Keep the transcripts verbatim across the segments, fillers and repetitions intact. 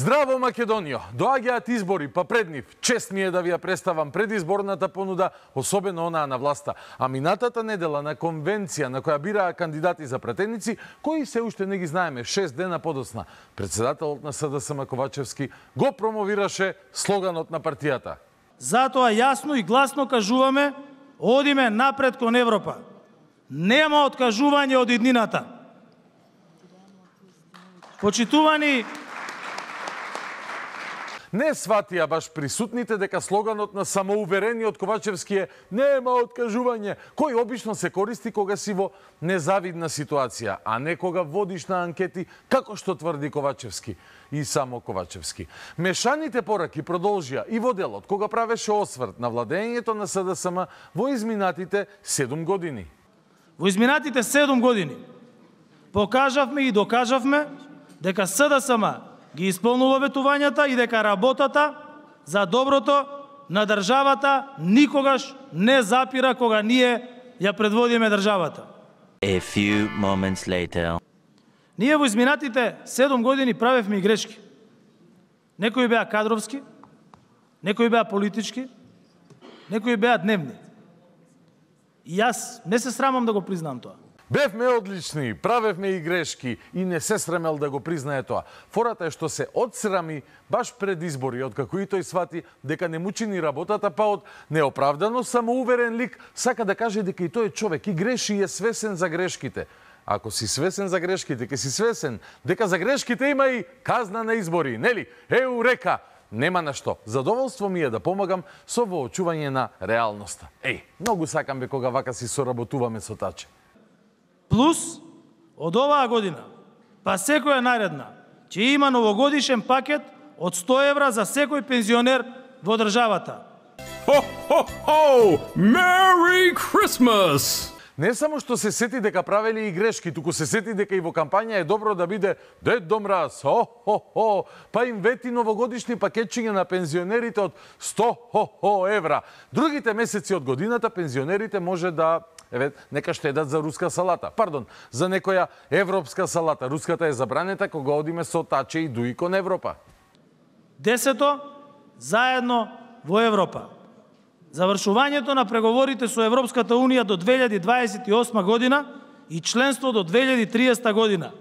Здраво, Македонијо! Доаѓаат избори, па пред нив. Чест ми е да ви ја представам предизборната понуда, особено онаа на власта. А минатата недела на конвенција на која бираа кандидати за пратеници, кои се уште не ги знаеме шест дена подоцна, председателот на СДСМ Ковачевски го промовираше слоганот на партијата. Затоа јасно и гласно кажуваме, одиме напред кон Европа. Нема откажување од иднината. Почитувани, не сватија баш присутните дека слоганот на самоуверениот Ковачевски е «Нема откажување», кој обично се користи кога си во незавидна ситуација, а не кога водиш на анкети, како што тврди Ковачевски и само Ковачевски. Мешаните пораки продолжија и во делот, кога правеше осврт на владењето на СДСМ во изминатите седум години. Во изминатите седум години покажавме и докажавме дека СДСМ ги исполнува ветувањата и дека работата за доброто на државата никогаш не запира кога ние ја предводиме државата. A few moments later. Ние во изминатите седум години правевме и грешки. Некои беа кадровски, некои беа политички, некои беа дневни. И јас не се срамам да го признам тоа. Бевме одлични, правевме и грешки и не се срамел да го признае тоа. Фората е што се одсрами баш пред избори, откако и тој свати дека не му чини работата, па од неоправдано самоуверен лик сака да каже дека и тој е човек и греши и е свесен за грешките. Ако си свесен за грешките, ке си свесен дека за грешките има и казна на избори, нели? Еурека! Нема на што. Задоволство ми е да помагам со воочување на реалноста. Еј, многу сакам бе кога вака си соработуваме со Таче. Плюс, од оваа година, па секоја наредна, ќе има новогодишен пакет од сто евра за секој пензионер во државата. Ho, ho, ho! Merry Christmas! Не само што се сети дека правели и грешки, туку се сети дека и во кампања е добро да биде Дедо Мраз, хо-хо-хо, па им вети новогодишни пакетчиња на пензионерите од сто хо-хо евра. Другите месеци од годината пензионерите може да еве, нека штедат за руска салата. Пардон, за некоја европска салата. Руската е забранета кога одиме со Таче и Дуи кон Европа. Десето, заедно во Европа. Завршувањето на преговорите со Европската Унија до две илјади дваесет и осма година и членство до две илјади триесета година.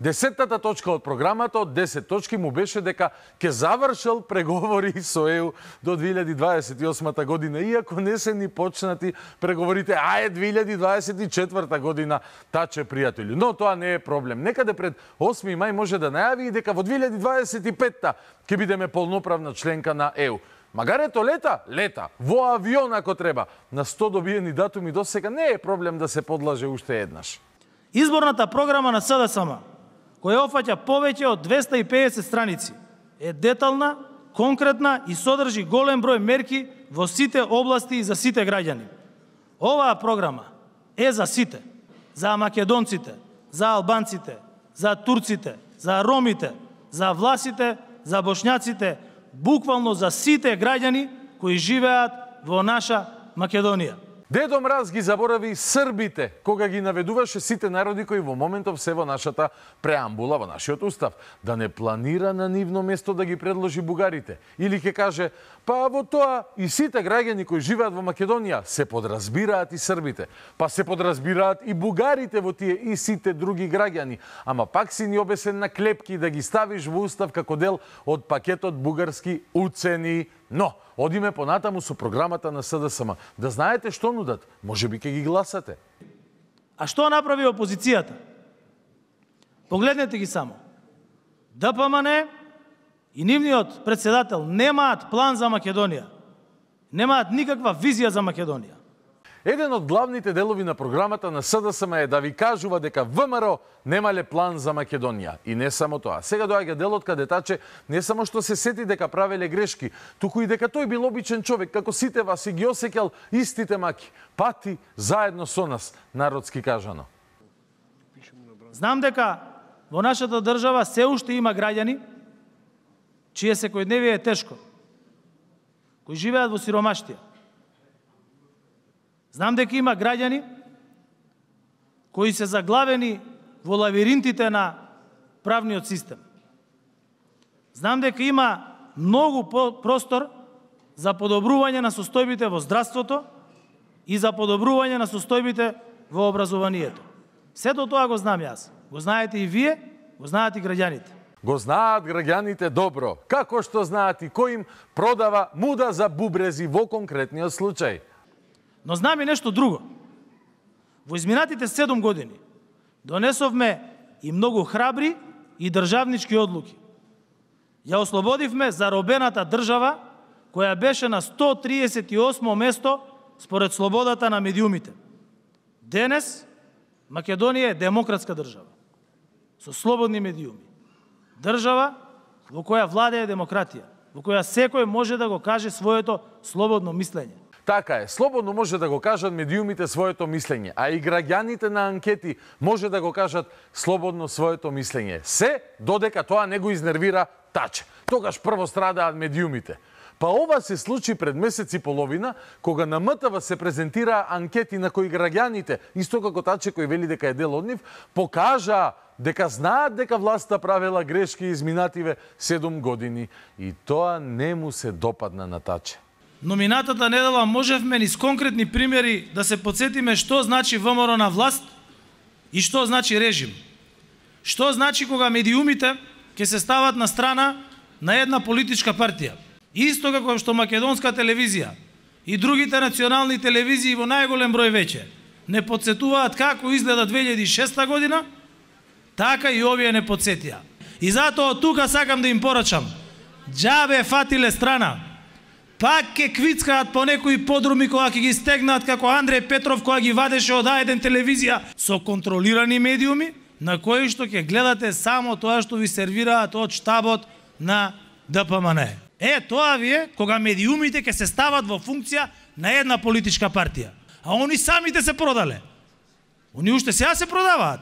Десеттата точка од програмата од десет точки му беше дека ќе завршил преговори со ЕУ до две илјади дваесет и осма година, иако не се ни почнати преговорите, а е две илјади дваесет и четврта година, Таче, пријатели. Но тоа не е проблем. Некаде пред осми мај може да најави и дека во две илјади дваесет и петта ќе бидеме полноправна членка на ЕУ. Магар ето лета, лета, во авион ако треба. На сто добиени датуми до сега не е проблем да се подлаже уште еднаш. Изборната програма на СДСМ, која офаќа повеќе од двесте и педесет страници, е детална, конкретна и содржи голем број мерки во сите области и за сите граѓани. Оваа програма е за сите, за македонците, за албанците, за турците, за ромите, за власите, за бошњаците, буквално за сите граѓани кои живеат во наша Македонија. Дедо Мраз ги заборави србите, кога ги наведуваше сите народи кои во моментов се во нашата преамбула, во нашиот устав, да не планира на нивно место да ги предложи бугарите. Или ќе каже, па во тоа и сите граѓани кои живеат во Македонија се подразбираат и србите, па се подразбираат и бугарите во тие и сите други граѓани, ама пак си ни обесен на клепки да ги ставиш во устав како дел од пакетот бугарски уцени. Но, одиме понатаму со програмата на СДСМ. Да знаете што нудат, може би ќе ги гласате. А што направи опозицијата? Погледнете ги само. ДПМН и нивниот председател немаат план за Македонија. Немаат никаква визија за Македонија. Еден од главните делови на програмата на СДСМ е да ви кажува дека ВМРО немале план за Македонија. И не само тоа. Сега доаѓа делот каде Таче не само што се сети дека правеле грешки, туку и дека тој бил обичен човек, како сите вас и ги осеќал истите маки. Пати заедно со нас, народски кажано. Знам дека во нашата држава се уште има граѓани чие секојдневие е тешко, кои живеат во сиромаштија. Знам дека има граѓани кои се заглавени во лавиринтите на правниот систем. Знам дека има многу простор за подобрување на состојбите во здравството и за подобрување на состојбите во образованието. Сето тоа го знам јас. Го знаете и вие, го знаат и граѓаните. Го знаат граѓаните добро, како што знаат и кој им продава муда за бубрези во конкретниот случај. Но знам и нешто друго. Во изминатите седум години донесовме и многу храбри и државнички одлуки. Ја ослободивме заробената држава, која беше на сто триесет и осмо место според слободата на медиумите. Денес Македонија е демократска држава, со слободни медиуми. Држава во која владее демократија, во која секој може да го каже своето слободно мислење. Така е, слободно може да го кажат медиумите своето мислење, а и граѓаните на анкети може да го кажат слободно своето мислење. Се додека тоа не го изнервира Таче. Тогаш прво страдаат медиумите. Па ова се случи пред месец и половина, кога на М Т В се презентира анкети на кои граѓаните, исто како Таче кој вели дека е дел од нив, покажа дека знаат дека власта правела грешки изминативе седум години и тоа не му се допадна на Таче. Но минатата недела можевме низ конкретни примери да се подсетиме што значи Вэ М Р на власт и што значи режим. Што значи кога медиумите ќе се стават на страна на една политичка партија. Исто како што македонска телевизија и другите национални телевизии во најголем број веќе не подсетуваат како изгледа две илјади и шеста година, така и овие не подсетија. И затоа тука сакам да им порачам. Џабе фатиле страна. Пак ке квицкаат по некои подруми кога ќе ги стегнат како Андреј Петров кога ги вадеше од А еден телевизија со контролирани медиуми, на кои што ќе гледате само тоа што ви сервираат од штабот на Д П М Н. Е, тоа ви е кога медиумите ќе се стават во функција на една политичка партија. А они самите се продале. Они уште сега се продаваат.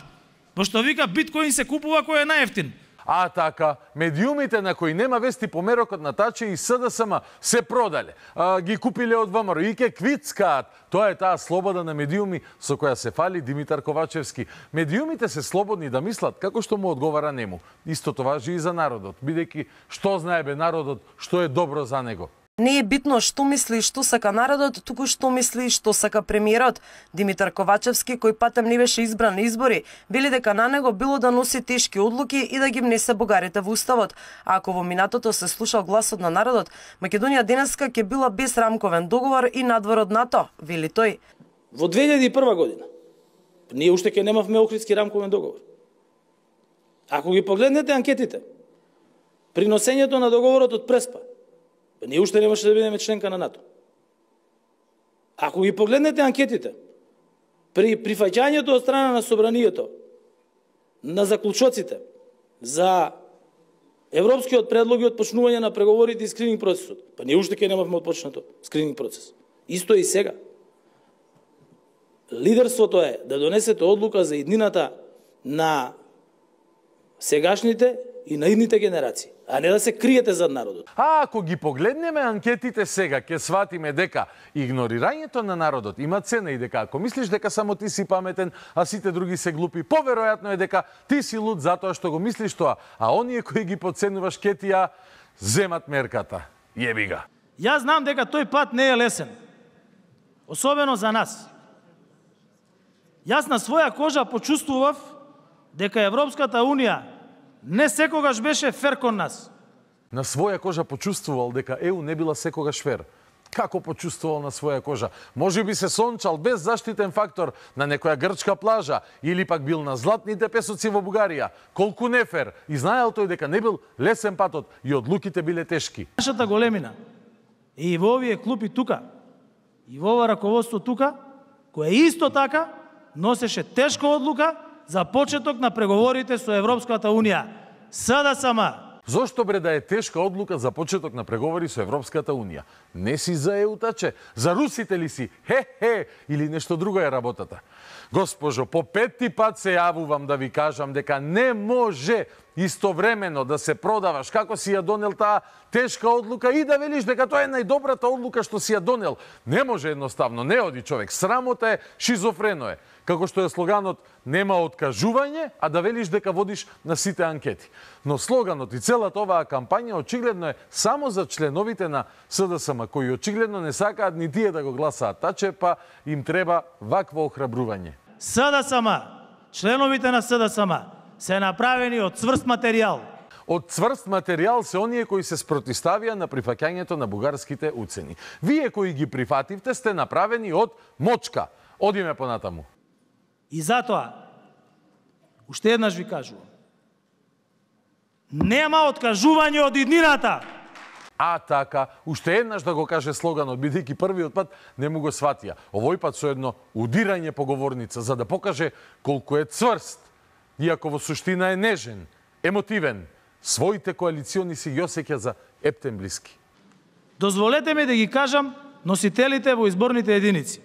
Пошто вика биткоин се купува кој е најевтин. А така, медиумите на кои нема вести померокот на Таче и С Д С М се продале, а, ги купиле од Вэ М Р и ке квицкаат. Тоа е таа слобода на медиуми со која се фали Димитар Ковачевски. Медиумите се слободни да мислат како што му одговара нему. Истото важи и за народот, бидејќи што знае бе народот, што е добро за него. Не е битно што мисли и што сака народот, туку што мисли и што сака премиерот. Димитар Ковачевски, кој патем не беше избран на избори, вели дека на него било да носи тешки одлуки и да ги внесе бугарите во уставот. А ако во минатото се слушал гласот на народот, Македонија денеска ќе била без рамковен договор и надвор од НАТО, вели тој. Во две илјади и прва година ние уште ќе немавме Охридски рамковен договор. Ако ги погледнете анкетите, при носењето на договорот од Преспа, ние уште немаше да бидеме членка на НАТО. Ако ги погледнете анкетите, при прифаќањето од страна на собранието на заклучоците за европскиот предлог и отпочнување на преговорите и скрининг процесот, па ние уште ќе немавме отпочнато скрининг процес. Исто и сега. Лидерството е да донесете одлука за иднината на сегашните и на идните генерации, а не да се криете зад народот. А ако ги погледнеме анкетите сега, ќе сватиме дека игнорирањето на народот има цена и дека ако мислиш дека само ти си паметен, а сите други се глупи, поверојатно е дека ти си луд затоа што го мислиш тоа, а оние кои ги подценуваш ке ти ја земат мерката. Јеби га. Јас знам дека тој пат не е лесен. Особено за нас. Јас на своја кожа почувствував дека Европската Унија не секогаш беше фер кон нас. На своја кожа почувствувал дека Е У не била секогаш фер. Како почувствувал на своја кожа? Може би се сончал без заштитен фактор на некоја грчка плажа или пак бил на златните песоци во Бугарија. Колку нефер и знаел тој дека не бил лесен патот и одлуките биле тешки. Нашата големина и во овие клупи тука и во ова раководство тука, кој исто така носеше тешка одлука за почеток на преговорите со Европската Унија. С Д С М. Зошто бре да е тешка одлука за почеток на преговори со Европската Унија? Не си за Е У, Таче? За русите ли си? Хе-хе! Или нешто друго е работата? Госпожо, по петти пат се јавувам да ви кажам дека не може истовремено да се продаваш како си ја донел таа тешка одлука и да велиш дека тоа е најдобрата одлука што си ја донел. Не може едноставно, не оди човек. Срамота е, шизофрено е. Како што е слоганот нема откажување, а да велиш дека водиш на сите анкети. Но слоганот и целата оваа кампања очигледно е само за членовите на СДСМ, кои очигледно не сакаат ни тие да го гласаат Таче, па им треба вакво охрабрување. СДСМ, членовите на СДСМ се направени од цврст материјал. Од цврст материјал се оние кои се спротиставија на прифаќањето на бугарските уцени. Вие кои ги прифативте сте направени од мочка. Одиме понатаму. И затоа, уште еднаш ви кажувам, нема откажување од иднината. А така, уште еднаш да го каже слоганот, бидејќи првиот пат не му го сватија. Овој пат со едно удирање по говорница, за да покаже колку е цврст, иако во суштина е нежен, емотивен, своите коалициони си ги осеќа за ептен блиски. Дозволете ми да ги кажам носителите во изборните единици.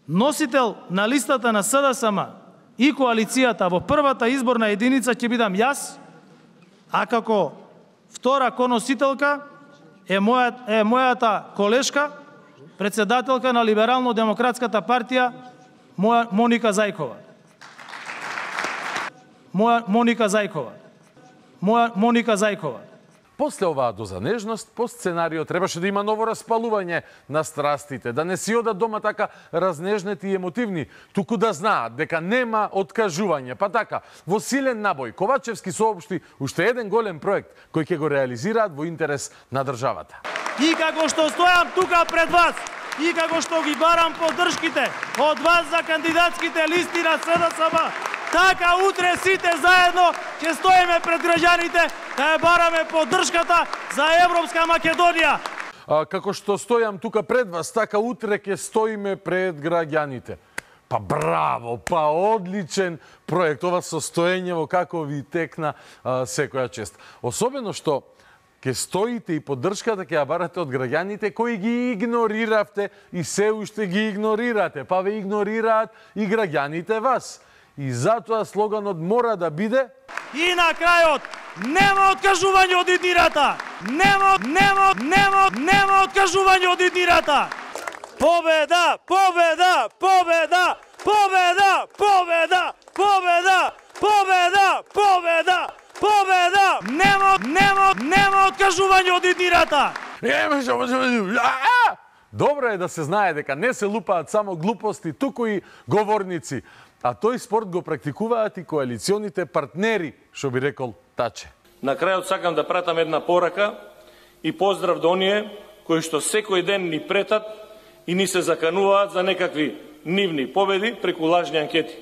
Носител на листата на СДСМ и коалицијата во првата изборна единица ќе бидам јас, а како втора коносителка е, моја, е мојата колешка, председателка на Либерално-демократската партија, моја Моника Зајкова. Моја Моника Зајкова. Моја Моника Зајкова. После оваа доза нежност, по сценарио требаше да има ново распалување на страстите, да не си одат дома така разнежнети и емотивни, туку да знаат дека нема откажување. Па така, во силен набој, Ковачевски соопшти уште еден голем проект кој ќе го реализираат во интерес на државата. И како што стојам тука пред вас, и како што ги барам поддршките од вас за кандидатските листи на СДСМ, така утре сите заедно ќе стоиме пред граѓаните да ја бараме поддршката за Европска Македонија. А, како што стојам тука пред вас, така утре ќе стоиме пред граѓаните. Па браво, па одличен проект. Ова состоење во како ви текна а, секоја чест. Особено што ќе стоите и поддршката ќе ја барате од граѓаните кои ги игнориравте и се уште ги игнорирате. Па ве игнорираат и граѓаните вас. И затоа слоганот мора да биде И на крајот, нема откажување од иднирата! Нема, нема, нема, нема откажување од иднирата! Победа, победа, победа, победа, победа, победа, победа, победа, победа! Нема, нема, нема откажување од иднирата! Добро е да се знае дека не се лупаат само глупости, туку и говорници. А тој спорт го практикуваат и коалиционите партнери, што би рекол Таче. На крајот сакам да пратам една порака и поздрав до оние кои што секој ден ни претат и ни се закануваат за некакви нивни победи преку лажни анкети.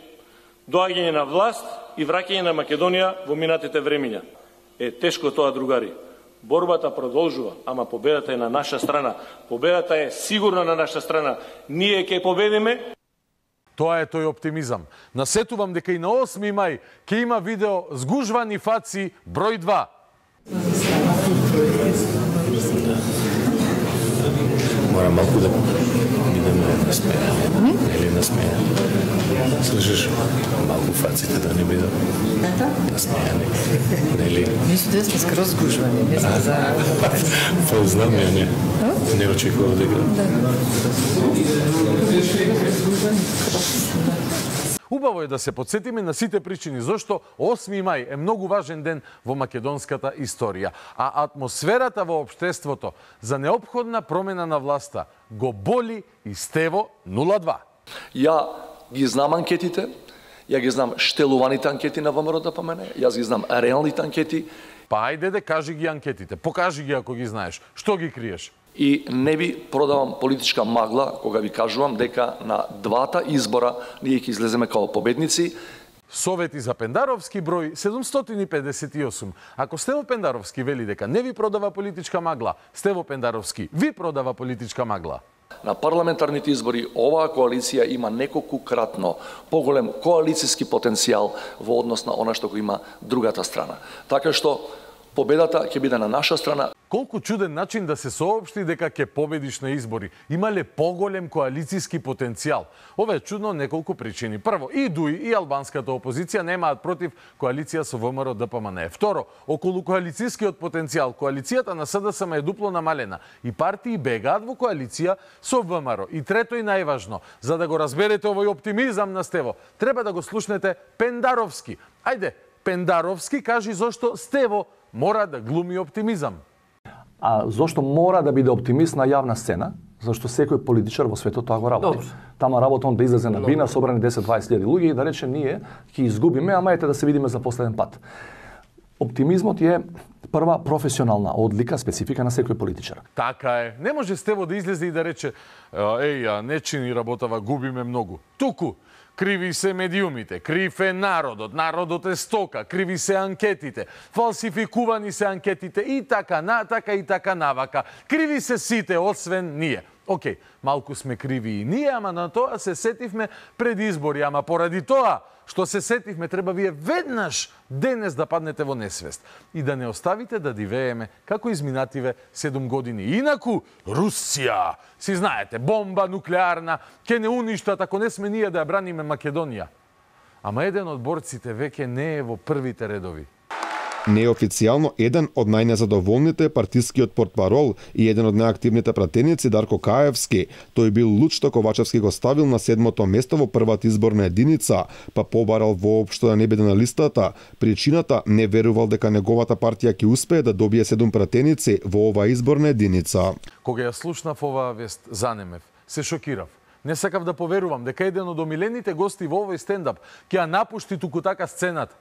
Доаѓање на власт и враќање на Македонија во минатите времиња. Е тешко тоа, другари. Борбата продолжува, ама победата е на наша страна. Победата е сигурно на наша страна. Ние ќе победиме. Тоа е тој оптимизам. Насетувам дека и на осми мај ќе има видео Згужвани фаци број два. Мора малку да бидеме насмејани. Или насмејани. Слушаш, малку фаците да не бидат насмејани. Нели? Мислам да сте скроз згужвани, не знам за... Па знам ја не. Не очекував дека... Убаво е да се подсетиме на сите причини зашто осми мај е многу важен ден во македонската историја, а атмосферата во општеството за неопходна промена на власта го боли и Стево нула два. Ја ги знам анкетите, ја ги знам штелуваните анкети на ВМРО-ДПМН, јас ги знам реалните анкети. Па ајде де кажи ги анкетите, покажи ги ако ги знаеш. Што ги криеш? И не би продавам политичка магла кога ви кажувам дека на двата избора ние ќе излеземе као победници. Совети за Пендаровски број седумстотини педесет и осум. Ако Стево Пендаровски вели дека не ви продава политичка магла, Стево Пендаровски ви продава политичка магла. На парламентарните избори оваа коалиција има неколку кратно поголем коалицијски потенцијал во однос на она што го има другата страна. Така што победата ќе биде на наша страна. Колку чуден начин да се соопшти дека ќе победиш на избори. Имале поголем коалицијски потенцијал. Ова е чудно од неколку причини. Прво, и ДУИ и албанската опозиција немаат против коалиција со ВМРО ДПМН. Второ, околу коалицијскиот потенцијал, коалицијата на СДСМ е дупло намалена и партии бегаат во коалиција со ВМРО. И трето и најважно, за да го разберете овој оптимизам на Стево, треба да го слушнете Пендаровски. Ајде, Пендаровски кажи зошто Стево мора да глуми оптимизам. А зошто мора да биде оптимист на јавна сцена? Зашто секој политичар во светот тоа го работи. Добре. Тама работа он да излезе на бина, собрани десет-дваесет илјади луѓе и да рече ние ќе изгубиме, ама ете да се видиме за последен пат. Оптимизмот е прва професионална одлика, специфика на секој политичар. Така е. Не може Стево да излезе и да рече еј, не чини работава, губиме многу. Туку, криви се медиумите, крив е народот, народот е стока, криви се анкетите, фалсификувани се анкетите и така натака и така навака. Криви се сите, освен ние. Океј, малку сме криви и ние, ама на тоа се сетивме пред избори, ама поради тоа што се сетивме, треба вие веднаш денес да паднете во несвест и да не оставите да дивееме како изминативе седум години. Инаку, Русија, си знаете, бомба нуклеарна, ке не уништат ако не сме ние да ја браниме Македонија. Ама еден од борците веќе не е во првите редови. Неофицијално еден од најнезадоволните е партискиот портпарол и еден од најактивните пратеници Дарко Каевски. Тој бил луд што Ковачевски го ставил на седмото место во првата изборна единица, па побарал воопшто да не биде на листата. Причината не верувал дека неговата партија ќе успее да добие седум пратеници во оваа изборна единица. Кога ја слушнав оваа вест, занемев, се шокирав. Не сакав да поверувам дека еден од омилените гости во овој стендап ќе ја напушти туку така сцената.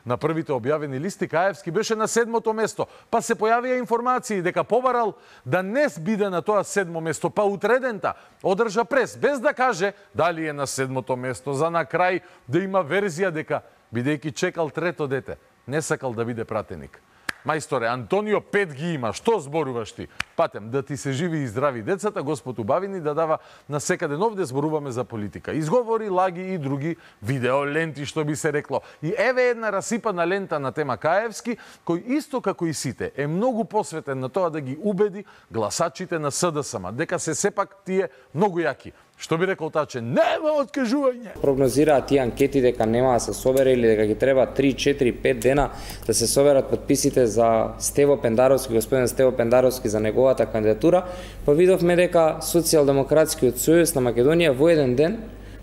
На првите објавени листи Каевски беше на седмото место, па се појавија информации дека побарал да не биде на тоа седмо место, па утредента одржа прес, без да каже дали е на седмото место, за на крај да има верзија дека, бидејќи чекал трето дете, не сакал да биде пратеник. Мајсторе, Антонио пет ги има, што зборуваш ти? Патем, да ти се живи и здрави децата, Господ убави ни да дава на секаде овде зборуваме за политика. Изговори, лаги и други видеоленти, што би се рекло. И еве една расипана лента на тема Каевски, кој исто како и сите е многу посветен на тоа да ги убеди гласачите на СДСМ, дека се сепак тие многу јаки. Што би рекол Таче? Нема откажување! Прогнозираат тие анкети дека нема да се собере или дека ги треба три, четири, пет дена да се соберат подписите за Стево Пендаровски, господин Стево Пендаровски за неговата кандидатура, па видовме дека Социјалдемократскиот сојуз на Македонија во еден ден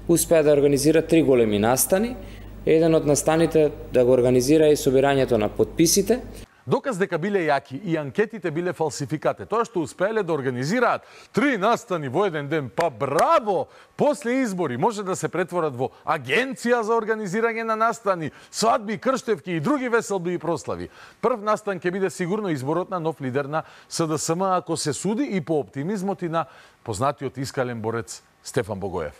успеа да организира три големи настани. Еден од настаните да го организира и собирањето на подписите. Доказ дека биле јаки и анкетите биле фалсификате, тоа што успееле да организираат три настани во еден ден, па браво! После избори може да се претворат во агенција за организирање на настани, свадби, крштевки и други веселби и прослави. Прв настан ќе биде сигурно изборот на нов лидер на СДСМ, ако се суди и по оптимизмот и на познатиот искален борец Стефан Богоев.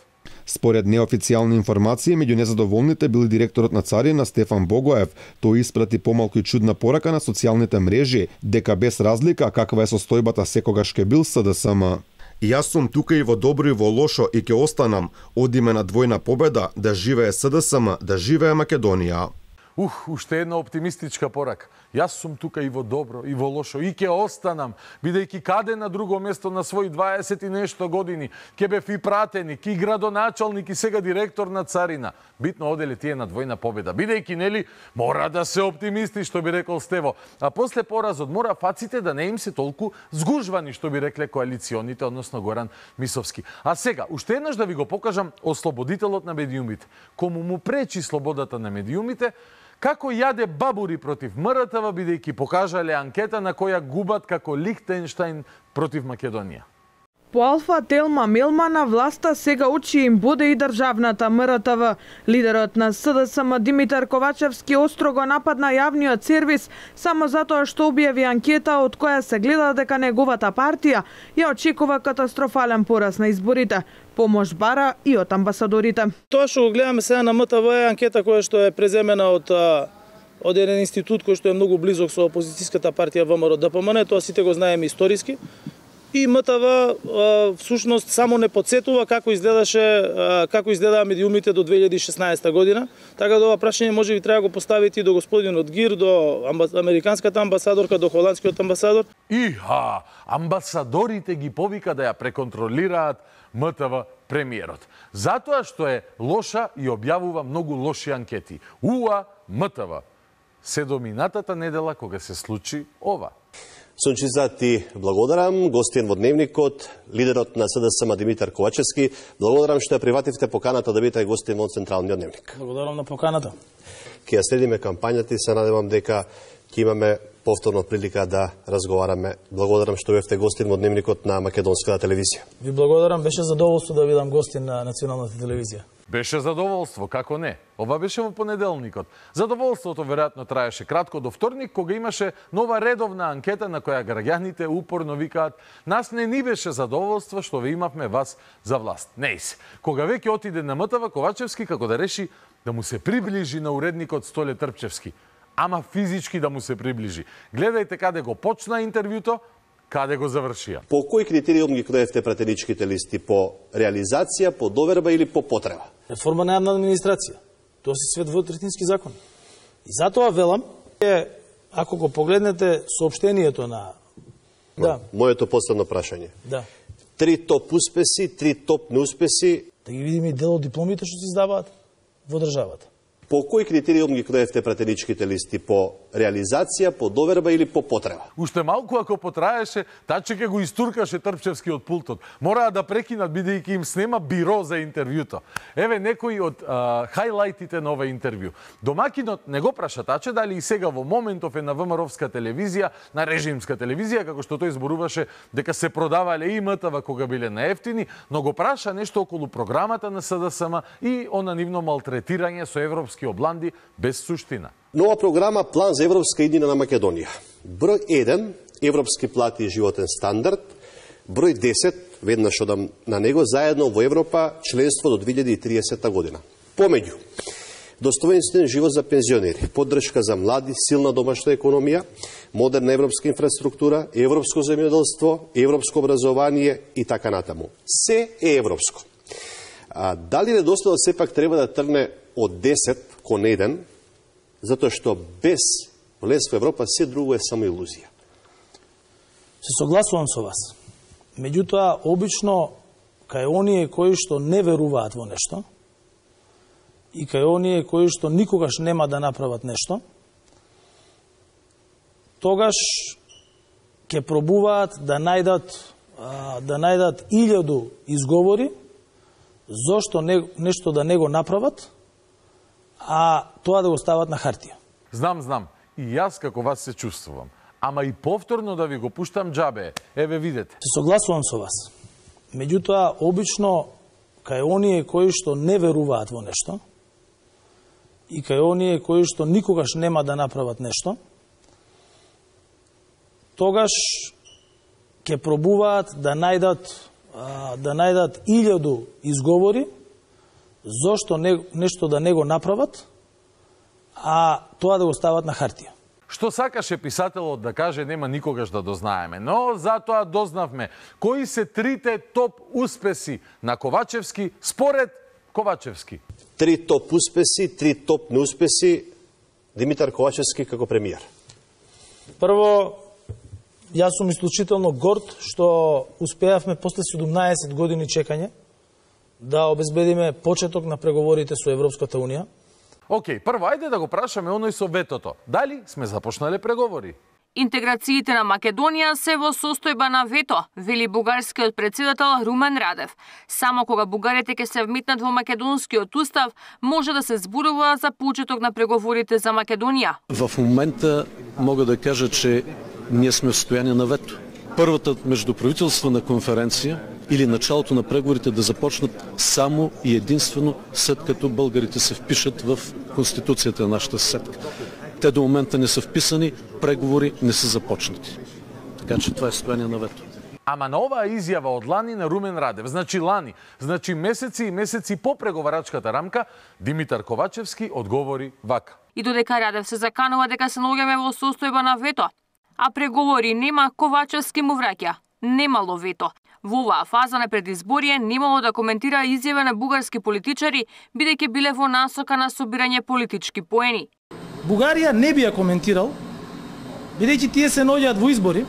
Според неофицијални информации, меѓу незадоволните бил директорот на Царина Стефан Богоев. Тој испрати помалку и чудна порака на социјалните мрежи, дека без разлика каква е состојбата секогаш ке бил СДСМ. Јас сум тука и во добро и во лошо и ќе останам. Одиме на двојна победа, да живее СДСМ, да живее Македонија. Ух, уште една оптимистичка порака. Јас сум тука и во добро, и во лошо, и ќе останам, бидејќи каде на друго место на своји дваесет и нешто години, ќе бев и пратеник, и градоначалник, и сега директор на Царина. Битно оделе тие на двојна победа, бидејќи, нели, мора да се оптимисти, што би рекол Стево. А после поразот мора фаците да не им се толку згужвани, што би рекле коалиционите, односно Горан Мисовски. А сега, уште еднаш да ви го покажам ослободителот на медиумите. Кому му пречи слободата на медиумите, како јаде бабури против МРТВ, бидејќи покажале анкета на која губат како Лихтенштајн против Македонија. По Алфа Телма Мелмана, власта сега учи им буде и државната МРТВ. Лидерот на СДСМ Димитар Ковачевски остро го нападна јавниот сервис само затоа што објави анкета од која се гледа дека неговата партија ја очекува катастрофален пораз на изборите. Помош бара и од амбасадорите. Тоа што го гледаме сега на МТВ е анкета која што е преземена од од еден институт кој што е многу близок со опозицијската партија ВМРО ДПМН, тоа сите го знаеме историски. И МТВ всушност само не подсетува како изгледаше како изгледаа медиумите до две илјади и шеснаесета година. Така да ова прашање може би треба го поставите и до господинот Гир, до американската амбасадорка, до холандскиот амбасадор. Иха, амбасадорите ги повика да ја преконтролираат МТВ премиерот. Затоа што е лоша и објавува многу лоши анкети. Уа МТВ. Се до минатата недела кога се случи ова. Сончица, ти благодарам. Гостин во Дневникот, лидерот на СДСМ Димитар Ковачевски. Благодарам што ја привативте поканата да бидете гостин во Централниот Дневник. Благодарам на поканата. Ке ја следиме кампањата и се надевам дека ќе имаме повторно прилика да разговараме. Благодарам што бевте гостин во Дневникот на Македонската телевизија. Ви благодарам, беше задоволство да бидам гостин на Националната телевизија. Беше задоволство, како не. Ова беше во понеделникот. Задоволството веројатно траеше кратко до вторник, кога имаше нова редовна анкета на која граѓаните упорно викаат: нас не ни беше задоволство што ве имавме вас за власт. Неис. Кога веќе отиде на МТВ, Ковачевски како да реши да му се приближи на уредникот Столе Трпчевски. Ама физички да му се приближи. Гледајте каде го почна интервјуто, каде го завршија. По кој критериум ги кроевте пратеничките листи? По реализација, по доверба или по потреба? Реформа на јавна администрација. Тоа се свет двотретински закон. И затоа велам, е, ако го погледнете соопштението на... Да. Моето последно прашање. Да. Три топ успеси, три топ неуспеси. Да ги видиме и дел од дипломите што се издаваат во државата. По кој критериум ги кроевте пратеничките листи? По реализација, по доверба или по потреба? Уште малку ако потраеше, таче ке го истуркаше Трпчевски од пултот. Мораа да прекинат бидејќи им снема биро за интервјуто. Еве некои од а, хајлајтите на ова интервју. Домакинот не го праша таче дали и сега во моментов е на ВМРО-вска телевизија, на режимска телевизија, како што тој зборуваше дека се продавале и МТВ кога биле наевтини, но го праша нешто околу програмата на СДСМ и она нивно малтретирање со европски обланди без суштина. Нова програма План за европска иднина на Македонија. Број еден, европски плати и животен стандард. Број десет, веднаш одам на него, заедно во Европа, членство до две илјади и триесета година. Помеѓу, достоинствен живот за пензионери, поддршка за млади, силна домашна економија, модерна европска инфраструктура, европско земјоделство, европско образование и така натаму. Се е европско. А, дали недостатот сепак треба да тргне од десет кон еден, затоа што без влез во Европа се друго е само илузија? Се согласувам со вас. Меѓутоа, обично, кај оние кои што не веруваат во нешто и кај оние кои што никогаш нема да направат нешто, тогаш ќе пробуваат да најдат да најдат илјаду изговори зошто не, нешто да не го направат, а тоа да го стават на хартија. Знам, знам. И јас како вас се чувствувам. Ама и повторно да ви го пуштам џабе. Еве видете. Се согласувам со вас. Меѓутоа, обично, кај оние кои што не веруваат во нешто и кај оние кои што никогаш нема да направат нешто, тогаш ќе пробуваат да најдат да најдат илјаду изговори зошто не, нешто да не го направат, а тоа да го стават на хартија. Што сакаше писателот да каже, нема никогаш да дознаеме, но затоа дознавме кои се трите топ успеси на Ковачевски според Ковачевски. Три топ успеси, три топ неуспеси Димитар Ковачевски како премиер. Прво, јас сум исклучително горд што успеавме после седумнаесет години чекање да обезбедиме почеток на преговорите со Европската Унија. Океј, прво, ајде да го прашаме оној со ветото. Дали сме започнале преговори? Интеграциите на Македонија се во состојба на вето, вели бугарскиот претседател Румен Радев. Само кога бугарите ќе се вмитнат во македонскиот устав, може да се зборува за почеток на преговорите за Македонија. В момента мога да кажа, че ние сме в состојание на вето. Првата меѓуправителствена конференција или началото на преговорите да започнат само и единствено след като българите се впишат в Конституцията на нашата съседка. Те до момента не са вписани, преговори не са започнати. Така че това е състояние на вето. Ама на оваа изјава од лани на Румен Радев, значи лани, значи месеци и месеци по преговарачката рамка, Димитар Ковачевски одговори вака. И додека Радев се заканува дека се наоѓаме во состојба на вето, а преговори нема, Ковачевски му враќа. немало вето. Во оваа фаза на предизборие немало да коментира изјава на бугарски политичари, бидејќи биле во насока на собирање политички поени. Бугарија не би ја коментирал, бидејќи тие се наоѓаат во избори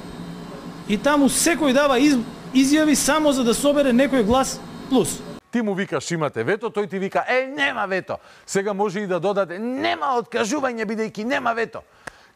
и таму секој дава из... изјави само за да собере некој глас плюс. Ти му викаш имате вето, тој ти вика е нема вето. Сега може и да додаде нема откажување бидејќи нема вето.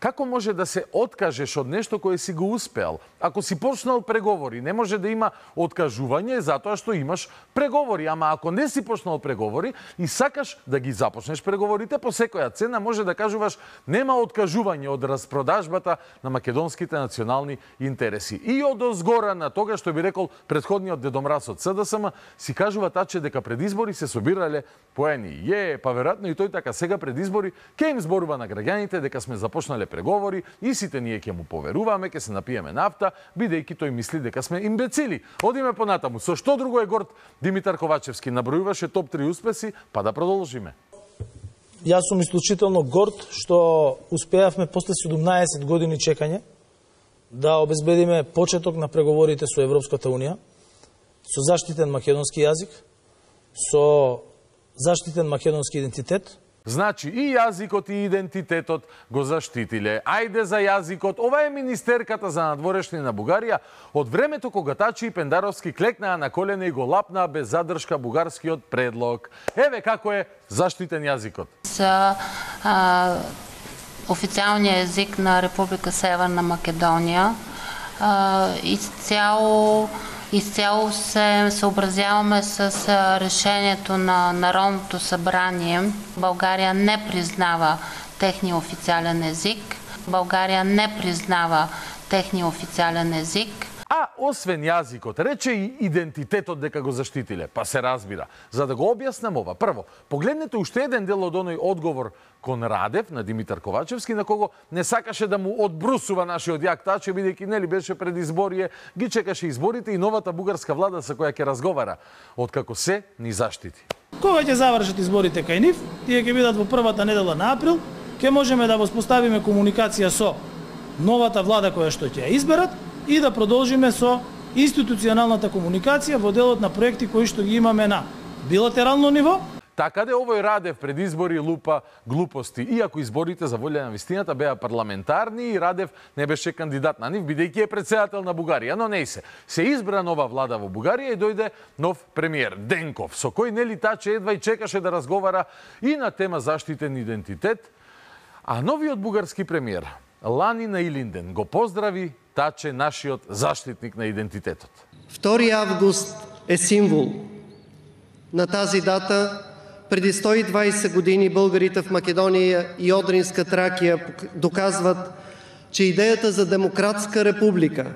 Како може да се откажеш од нешто кое си го успеал? Ако си почнал преговори, не може да има откажување затоа што имаш преговори. Ама ако не си почнал преговори и сакаш да ги започнеш преговорите, по секоја цена може да кажуваш нема откажување од распродажбата на македонските национални интереси. И од озгора на тога што би рекол претходниот дедомраз од СДСМ, си кажува таче дека пред избори се собирале поени. Е, па веројатно и тој така сега пред избори ќе им зборува на граѓаните дека сме започнале преговори и сите ние ќе му поверуваме, ќе се напиеме нафта, бидејќи тој мисли дека сме имбецили. Одиме понатаму. Со што друго е горд Димитар Ковачевски? Набројуваше топ три успеси, па да продолжиме. Јас сум исклучително горд што успеавме после седумнаесет години чекање да обезбедиме почеток на преговорите со Европската унија, со заштитен македонски јазик, со заштитен македонски идентитет. Значи и јазикот и идентитетот го заштитиле. Ајде за јазикот. Ова е министерката за надворешни на Бугарија од времето кога Тачи и Пендаровски клекнаа на колене и го лапнаа без задршка бугарскиот предлог. Еве како е заштитен јазикот. За а, официјалниот език на Република Северна Македонија а, изцяло Изцяло се съобразяваме с решението на Народното събрание. България не признава техния официален език. България не признава техния официален език. А освен јазикот, рече и идентитетот дека го заштитиле. Па се разбира. За да го објаснам ова, прво, погледнете уште еден дел од оној одговор кон Радев на Димитар Ковачевски, на кого не сакаше да му одбрусува нашиот јак Таче, бидејќи нели беше пред изборие, ги чекаше изборите и новата бугарска влада со која ќе разговара, откако се ни заштити. Кога ќе завршат изборите кај нив, тие ќе бидат во првата недела на април, ќе можеме да воспоставиме комуникација со новата влада која што ќе ја изберат и да продолжиме со институционалната комуникација во делот на проекти кои што ги имаме на билатерално ниво. Така де овој Радев пред избори лупа глупости. Иако изборите за волја на вистината беа парламентарни и Радев не беше кандидат на нив, бидејќи е претседател на Бугарија. Но не се. Се избра нова влада во Бугарија и дојде нов премиер Денков, со кој нели Таче едва и чекаше да разговара и на тема заштитен идентитет. А новиот бугарски премиер Лани Наилинден го поздрави Таче, нашиот заштитник на идентитетот. втори август е символ. На тази дата преди сто и дваесет години българите в Македонија и Одринска Тракија доказват, че идеята за демократска република,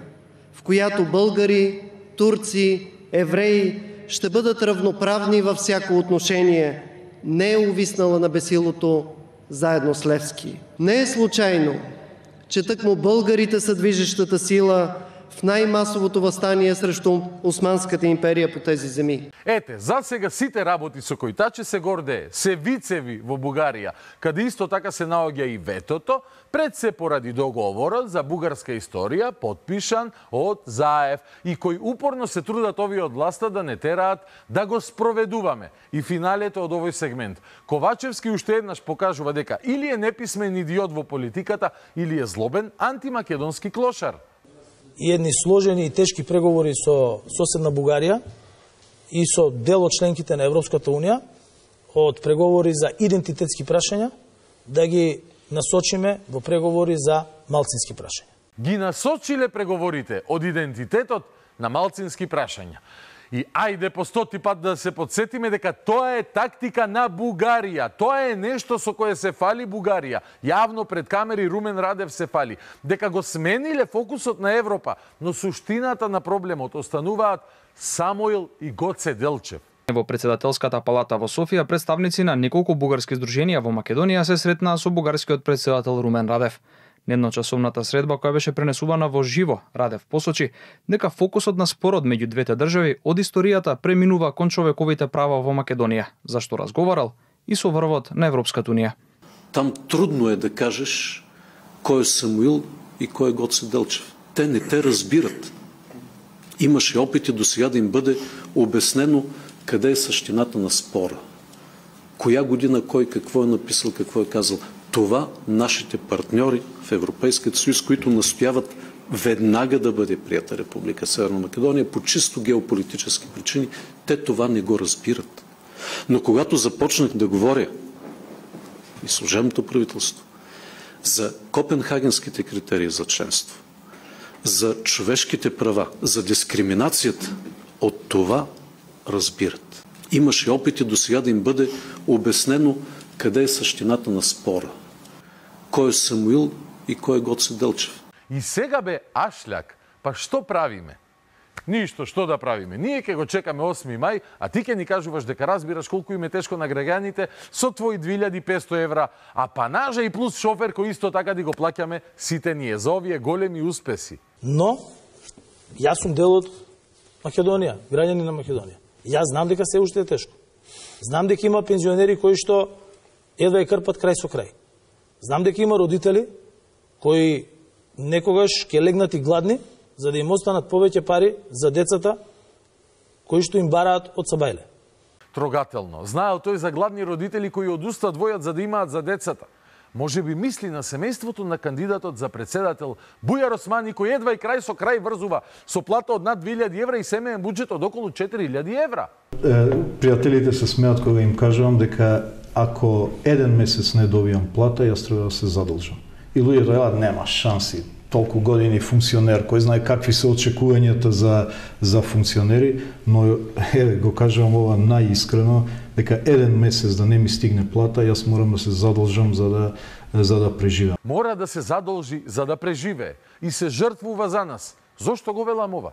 в която българи, турци, евреи ще бъдат равноправни във всяко отношение, не е увиснала на бесилото заедно с Левски. Не е случайно, че тъкмо българите са движещата сила в најмасовото востание срещу Османската империја по тези земи. Ете, за сега сите работи со кои Таче се гордее, се вицеви во Бугарија, каде исто така се наоѓа и ветото, пред се поради договорот за бугарска историја, подпишан од Заев, и кој упорно се трудат овие од власта да не тераат да го спроведуваме. И финалето од овој сегмент. Ковачевски уште еднаш покажува дека или е неписмен идиот во политиката, или е злобен антимакедонски клошар. И едни сложени и тешки преговори со соседна Бугарија и со дел од членките на Европската унија од преговори за идентитетски прашања да ги насочиме во преговори за малцински прашања. Ги насочиле преговорите од идентитетот на малцински прашања. И ајде по стоти пат да се подсетиме дека тоа е тактика на Бугарија. Тоа е нешто со кое се фали Бугарија. Јавно пред камери Румен Радев се фали. Дека го смениле фокусот на Европа, но суштината на проблемот остануваат Самоил и Гоце Делчев. Во председателската палата во Софија представници на неколку бугарски здруженија во Македонија се сретнаа со бугарскиот председател Румен Радев. Недночасовната средба која беше пренесувана во живо, Радев посочи дека фокусот на спорот меѓу двете држави од историјата преминува кон човековите права во Македонија, зашто разговарал и со врвот на Европската унија. Там трудно е да кажеш кој е Самуил и кој е Гоце Делчев. Те не те разбират. Имаше опити до сега да им бъде обяснено къде е същината на спора. Коя година кой какво е написал, какво е казал. Това нашите партньори в Европейския съюз, които настояват веднага да бъде прията Република Северна Македония по чисто геополитически причини, те това не го разбират. Но когато започнах да говоря и служебното правителство за копенхагенските критерии за членство, за човешките права, за дискриминацията, от това разбират. Имаше опити до сега да им бъде обяснено къде е същината на спора. Кой е Самуил и кой е Гоце Делчев. И сега бе Ашляк, па што правиме? Ништо, што да правиме? Ние ќе го чекаме осми мај, а ти ќе ни кажуваш дека разбираш колку им е тешко на граѓаните со твои две илјади и петсто евра, а панажа и плюс шофер кој исто така да го плаќаме сите ние за овие големи успеси. Но, јас сум дел од Македонија, граѓани на Македонија. Јас знам дека се уште е тешко. Знам дека има пензионери кои што едва е крпат крај со крај. Знам дека има родители кои некогаш ќе легнат и гладни, за да им останат повеќе пари за децата кои што им бараат од Сабајле. Трогателно. Знаел тој за гладни родители кои одуста двојат за да имаат за децата. Може би мисли на семејството на кандидатот за председател Бујар Османи, кој едва и крај со крај врзува со плата од над две илјади евра и семеен буџет од околу четири илјади евра. Е, пријателите се смеат кога им кажувам дека ако еден месец не добијам плата, јас треба да се задолжам. И луѓето велат нема шанси. Толку години функционер, кој знае какви се очекувањата за за функционери, но еве го кажувам ова најискрено дека еден месец да не ми стигне плата, јас морам да се задолжам за да за да преживеам. Мора да се задолжи за да преживее и се жртвува за нас. Зошто го велам ова?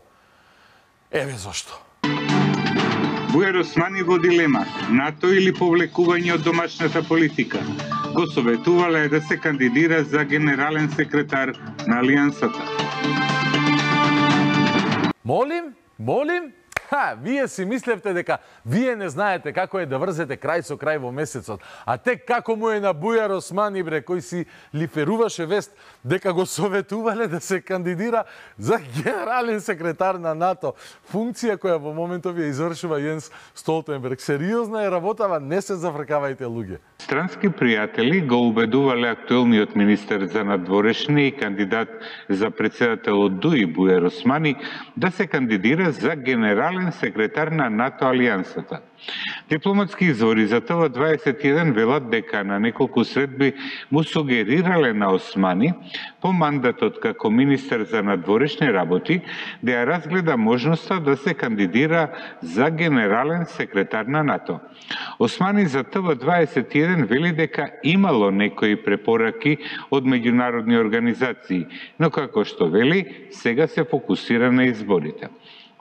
Еве зошто. Бујар Османи во дилема, НАТО или повлекување од домашната политика. Го советувале да се кандидира за генерален секретар на Алијансата. Молим, молим, ха, вие си мислевте дека вие не знаете како е да врзете крај со крај во месецот, а тек како му е на Бујар Османи, бре, кој си лиферуваше вест дека го советувале да се кандидира за генерален секретар на НАТО, функција која во моментов ја извршува Јенс Столтенберг. Сериозна е работава, не се зафркавајте луѓе. Странски пријатели го убедувале актуелниот министер за надворешни и кандидат за председател од ДУИ Бујар Османи да се кандидира за генерален секретар на НАТО Алијансата. Дипломатски извори за ТВ дваесет и еден велат дека на неколку средби му сугерирале на Османи по мандатот како министер за надворешни работи да ја разгледа можноста да се кандидира за генерален секретар на НАТО. Османи за ТВ дваесет и еден вели дека имало некои препораки од меѓународни организации, но како што вели, сега се фокусира на изборите.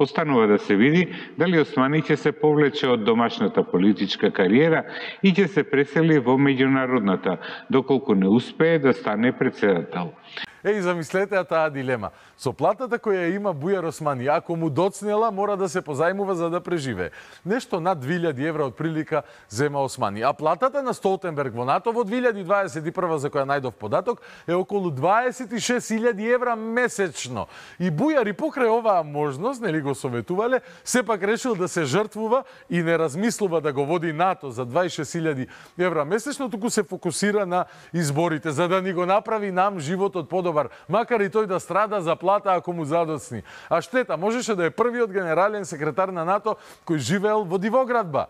Останува да се види дали Османи ќе се повлече од домашната политичка кариера и ќе се пресели во меѓународната, доколку не успее да стане председател. Еј, замислете ја таа дилема. Со платата која има Бујар Османи, ако му доцнела, мора да се позајмува за да преживее. Нешто над две илјади евра од прилика зема Османи. А платата на Столтенберг во НАТО во две илјади дваесет и прва, за која најдов податок, е околу дваесет и шест илјади евра месечно. И Бујар и покрај оваа можност, нели го советувале, сепак решил да се жртвува и не размислува да го води НАТО за дваесет и шест илјади евра месечно, туку се фокусира на изборите, за да ни го направи нам животот подобар, макар и тој да страда за плата ако му задоцни. А штета, можеше да е првиот генерален секретар на НАТО кој живеел во Дивоградба.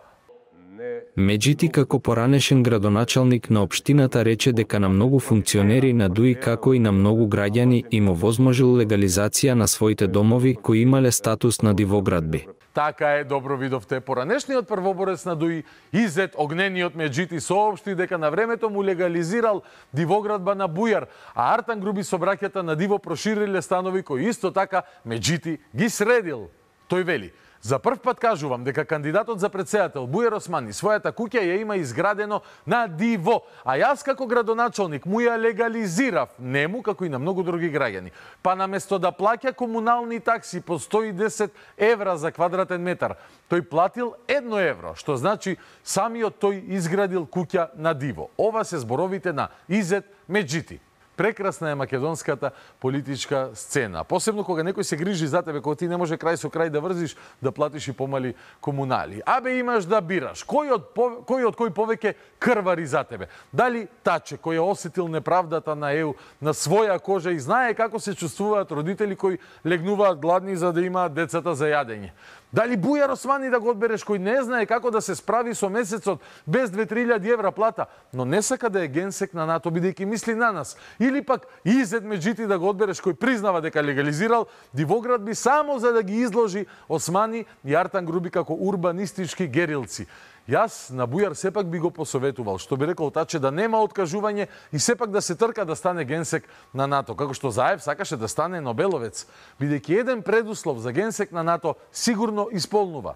Меджити како поранешен градоначалник на општината рече дека на многу функционери на ДУИ како и на многу граѓани им овозможил легализација на своите домови кои имале статус на дивоградби. Така е, добро видовте. Поранешниот првоборец на ДУИ, Изет Огнениот Меджити, соопшти дека на времето му легализирал дивоградба на Бујар, а Артан Груби со браќата на Диво прошириле станови кои исто така Меджити ги средил. Тој вели: за прв пат кажувам дека кандидатот за председател Бујар Османи својата куќа ја има изградено на Диво, а јас како градоначалник му ја легализирав, нему како и на многу други граѓани. Па наместо да плаќа комунални такси по сто и десет евра за квадратен метар, тој платил едно евро, што значи самиот тој изградил куќа на Диво. Ова се зборовите на Изет Меджити. прекрасна е македонската политичка сцена. Посебно кога некој се грижи за тебе, кога ти не може крај со крај да врзиш, да платиш и помали комунали. Абе имаш да бираш. Кој од, кој од кој повеќе крвари за тебе? Дали Таче, кој е осетил неправдата на ЕУ на своја кожа и знае како се чувствуваат родители кои легнуваат гладни за да имаат децата за јадење? Дали Бујар Османи да го одбереш, кој не знае како да се справи со месецот без две-три илјади евра плата, но не сака да е генсек на НАТО, бидејќи мисли на нас? Или пак Изет Меджити да го одбереш, кој признава дека легализирал дивоградби само за да ги изложи Османи и Артан Груби како урбанистички герилци? Јас на Бујар сепак би го посоветувал, што би рекол Таче, да нема откажување и сепак да се трка да стане генсек на НАТО, како што Заев сакаше да стане Нобеловец, бидејќи еден предуслов за генсек на НАТО сигурно исполнува.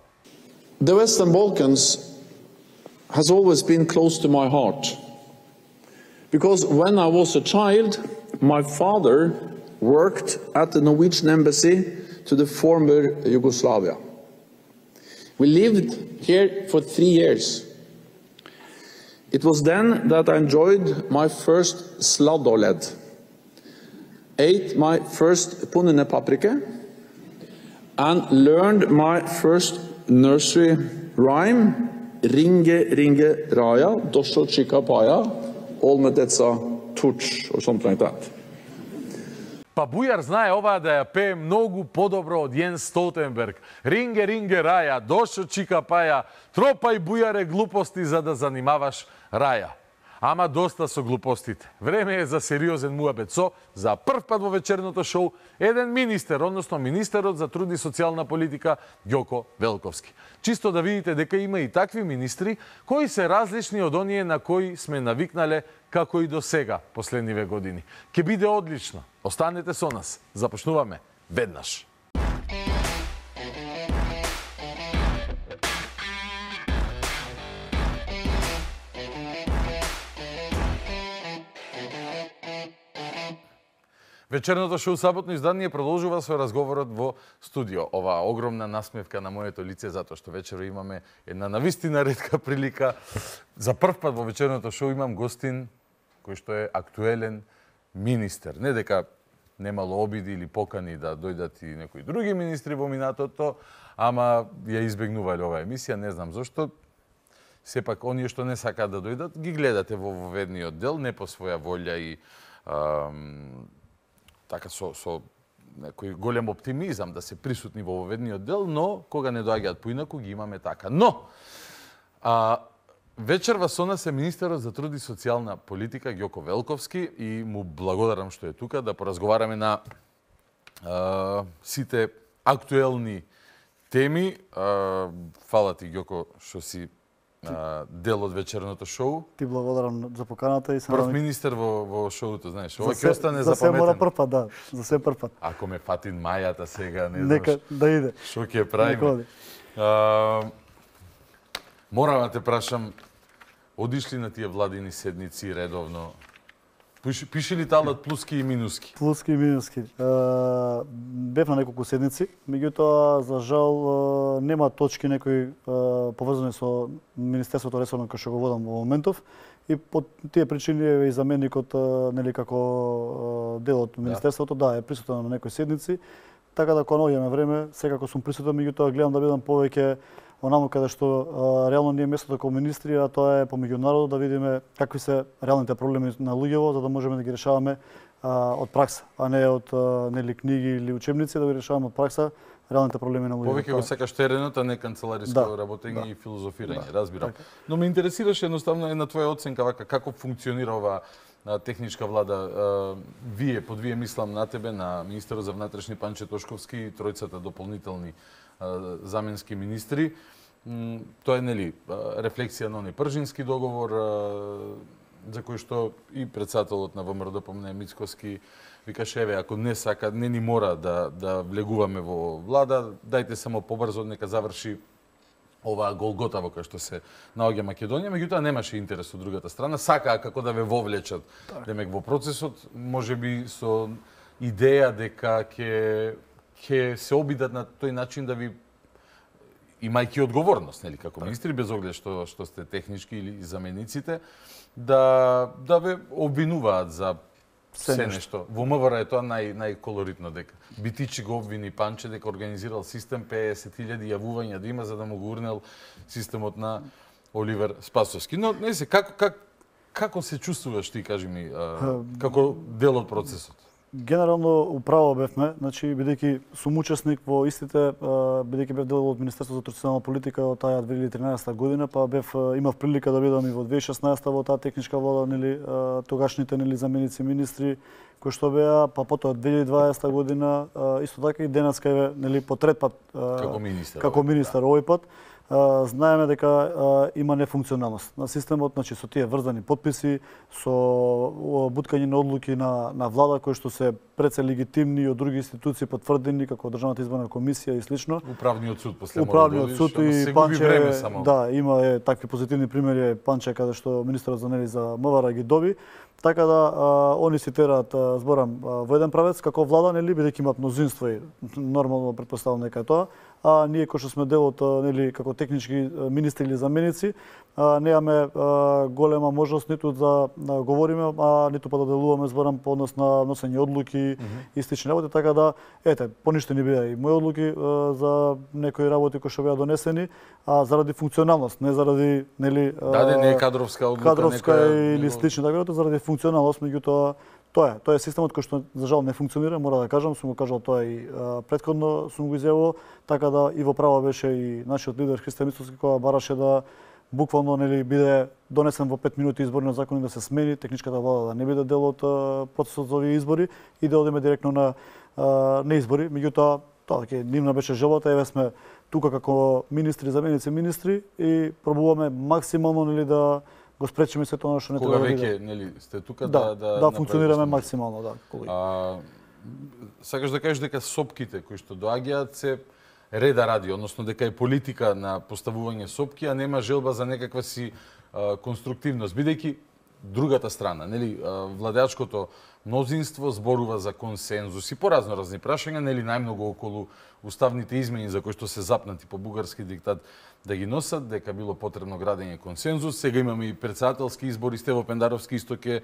The Western Balkans has always been close to my heart. Because when I was a child, my father worked at the Norwegian embassy to the former Yugoslavia. We lived here for three years. It was then that I enjoyed my first sladoled, ate my first punene paprika, and learned my first nursery rhyme, Ringe, ringe, raja, dosho chika paya, all medetsa tuch, or something like that. Па Бујар знае оваа да ја пее многу подобро од Јенс Столтенберг. Ринге, ринге, раја, дошо чика паја, тропај Бујаре глупости за да занимаваш раја. Ама доста со глупостите. Време е за сериозен муабет со, за прв пат во вечерното шоу, еден министер, односно министерот за труд и социјална политика, Ѓоко Велковски. Чисто да видите дека има и такви министри, кои се различни од оние на кои сме навикнале како и до сега, последниве години. Ке биде одлично. Останете со нас. Започнуваме веднаш. Вечерното шоу Саботно издание продолжува со разговорот во студио. Оваа огромна насмевка на моето лице, затоа што вечеро имаме една навистина ретка прилика. За прв пат во вечерното шоу имам гостин кој што е актуелен министер. Не дека немало обиди или покани да дојдат и некои други министри во минатото, ама ја избегнувале оваа емисија, не знам зошто. Сепак, оние што не сакаат да дојдат, ги гледате во воведниот дел, не по своја волја и ам, така со, со некој голем оптимизам да се присутни во воведниот дел, но кога не доаѓаат поинаку ги имаме така. Но, а, вечерва со нас е министерот за труд и социјална политика Ѓоко Велковски и му благодарам што е тука да поразговараме на а, сите актуелни теми. А, фала ти, Ѓоко, што си а, дел од вечерното шоу. Ти благодарам за поканата и сам прв министер во во шоуто, знаеш, ова ќе остане за запаметен. се мора прв пат, да, за се прв пат. Ако ме фатин мајата сега, не Нека знаш. да иде. Што ќе правиме? А, морам да те прашам, одишли на тие владини седници редовно? Пиши, пиши ли талат плуски и минуски? Плуски и минуски. Uh, бев на неколку седници, меѓутоа за жал uh, нема точки некои uh, поврзани со Министерството ресорно кој што го водам во моментов и по тие причини е и заменикот uh, нели како uh, дел од Министерството, да, да е присутен на некои седници, така да кога наоѓаме време, секако сум присутен, меѓутоа гледам да бидам повеќе онаму каде што а, реално не е местото како министри, а тоа е помеѓу народот, да видиме какви се реалните проблеми на луѓево, за да можеме да ги решаваме а, од пракса, а не од а, нели книги или учебници, да ги решаваме од пракса реалните проблеми на луѓето. Повеќе го сакаш теренот, а не канцелариско да, работење да, и филозофирање, да, разбирам. така. Но ме интересираше едноставно една твоја оценка вака како функционира оваа техничка влада. Вие, под вие мислам на тебе, на министерот за внатрешни Панче Тошковски и тројцата дополнителни заменски министри. Тоа е, нели, рефлексија на оној Пржински договор, за кој што и председателот на ВМРО помне Мицкоски викаше, еве, ако не сака, не ни мора да, да влегуваме во влада, дајте само побрзо, нека заврши оваа голгота во која што се наоѓа Македонија, меѓутоа немаше интерес од другата страна, сакаа како да ве вовлечат демек во процесот, можеби со идеја дека ќе ќе се обидат на тој начин да ви имајќи одговорност, нели, како министри, без оглед што што сте технички или замениците, да да ве обвинуваат за се, се нешто. Во МВР е тоа нај најколоритно дека Битичи го обвини Панче дека организирал систем песет илјади јавувања да има за да му го урнел системот на Оливер Спасовски. Но не се како как како се чувствуваш ти, кажи ми, а, како дел од процесот? Генерално управо бевме, значи бидејќи сум учесник во истите, бидејќи бев дел од Министерството за традиционална политика од таа две илјади и тринаесетта година, па бев имав прилика да бидам и во две илјади и шеснаесетта во таа техничка влада, нели тогашните нели заменици министри кои што беа, па потоа две илјади и дваесетта година исто така и денеска е нели по трет пат како министар. Како министар овој пат. Uh, знаеме дека uh, има нефункционалност на системот, значи со тие врзани подписи, со uh, буткање на одлуки на, на влада кои што се пред се легитимни од други институции потврдени како Државната изборна комисија и слично. Управниот суд после Управниот суд и Панче, време само. Да, има е такви позитивни примери, Панче каде што министерот за нели за МВР ги доби. Така да а, они си тераат зборам а, во еден правец како влада, нели бидејќи имаат мнозинство и нормално претпоставувам дека е тоа, а ние кои што сме дел од нели како технички министри или заменици, а, немаме а, голема можност ниту да, да говориме, а ниту па да делуваме зборам по однос на носење одлуки mm -hmm. и слични работи, така да ете, поништени беа и мои одлуки а, за некои работи кои што беа донесени, а заради функционалност, не заради нели да, да не е кадровска одлука, кадровска некоја... или слични така, заради функционалност, меѓутоа тоа е, тоа е системот кој што за жал не функционира, мора да кажам, сум го кажал тоа и а, претходно сум го изјавувал, така да и во право беше и нашиот лидер Христо Мицовски која бараше да буквално нели биде донесен во пет минути изборниот закон и да се смени, техничката влада да не биде дел од процесот за овие избори и да одиме директно на а, на избори, меѓутоа тоа ќе нивна беше желбата, еве сме тука како министри, заменици министри и пробуваме максимално нели да го спречиме се тоа што не треба да биде. Кога веќе нели сте тука да да да, да функционираме максимално, да. А, сакаш да кажеш дека сопките кои што доаѓаат се реда ради, односно дека е политика на поставување сопки, а нема желба за некаква си а, конструктивност, бидејќи другата страна, нели, а, владеачкото мнозинство зборува за консензус и по разноразни прашања, нели најмногу околу уставните измени за кои што се запнати по бугарски диктат да ги носат, дека било потребно градење консензус. Сега имаме и председателски избори, Стево Пендаровски исто ке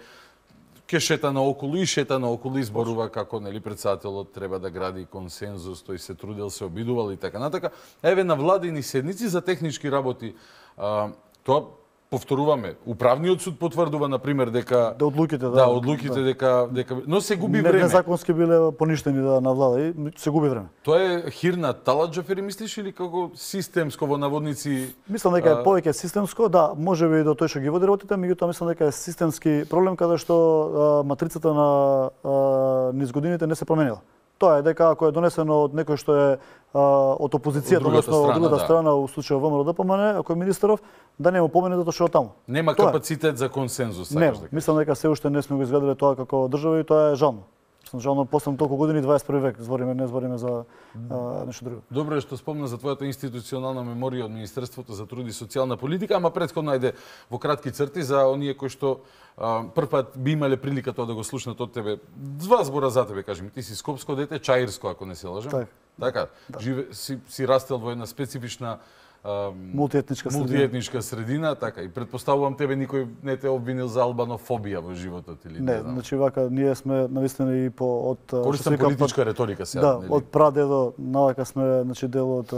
ке шета наоколу и шета наоколу и зборува како нели председателот треба да гради консензус, тој се трудел, се обидувал и така натака. Еве на владини седници за технички работи, а, тоа повторуваме, управниот суд потврдува на пример дека да одлуките да, да одлуките да. дека дека но се губи не, време. Незаконски биле поништени да на влада и се губи време. Тоа е хирна таладжафери мислиш или како системско во наводници? Мислам дека е повеќе системско, да, можеби до тој што ги води работите, меѓутоа мислам дека е системски проблем каде што а, матрицата на а, низ годините не се променила. Тоа е дека ако е донесено од некој што е а, од опозицијата, односно од другата да. страна, у случајот ВМРО ДПМН, ако е министеров, да не му помине затоа што е таму. Нема тоа капацитет е. за консензус, сакаш дека. Мислам дека се уште не сме го изградиле тоа како држава и тоа е жално. Мислам жално после толку години, дваесет и први век, збориме, не збориме за а, нешто друго. Добро е што спомна за твојата институционална меморија од Министерството за труд и социјална политика, ама претходно ајде во кратки црти за оние кои што првпат би имале прилика тоа да го слушнат од тебе. Два збора за тебе, кажи ми, ти си скопско дете, чаирско, ако не се лажам. Так. Така, да. Живе, си, си растел во една специфична а, мултиетничка средина. Мултиетничка средина, така, и предпоставувам тебе никој не те обвинил за албанофобија во животот или не, не знам. Значи вака ние сме навистина и по од користам политичка риторика сега, да, нели? Од прадедо навака сме значи дел од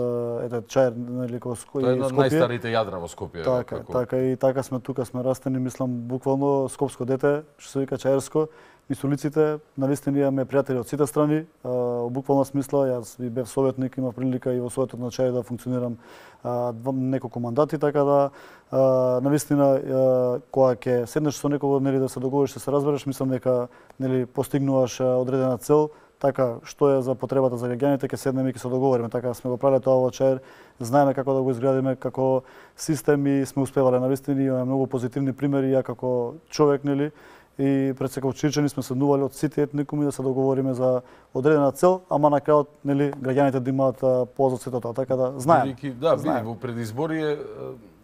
ете чаир нели кој Скопје. Тоа е едно од најстарите јадра во Скопје. Така, како... така и така сме тука сме растени, мислам буквално скопско дете, што се вика чаирско. Низ улиците, навистина имаме пријатели од сите страни, во буквална смисла, јас и бев советник, имав прилика и во Советот на Чаир да функционирам а, два, неколку мандати, така да а, навистина кога ќе седнеш со некого нели да се договориш, да се разбереш, мислам дека нели постигнуваш одредена цел, така што е за потребата за граѓаните, ќе седнеме и ќе се договориме, така сме го правеле тоа во Чаир, знаеме како да го изградиме како систем и сме успевале навистина, имаме многу позитивни примери, ја како човек нели и пред секој Чирчани сме седнували од сите етникуми да се договориме за одредена цел, ама на крајот нели граѓаните да имаат полза од сето тоа, така да знаеме. Да, види во предизборие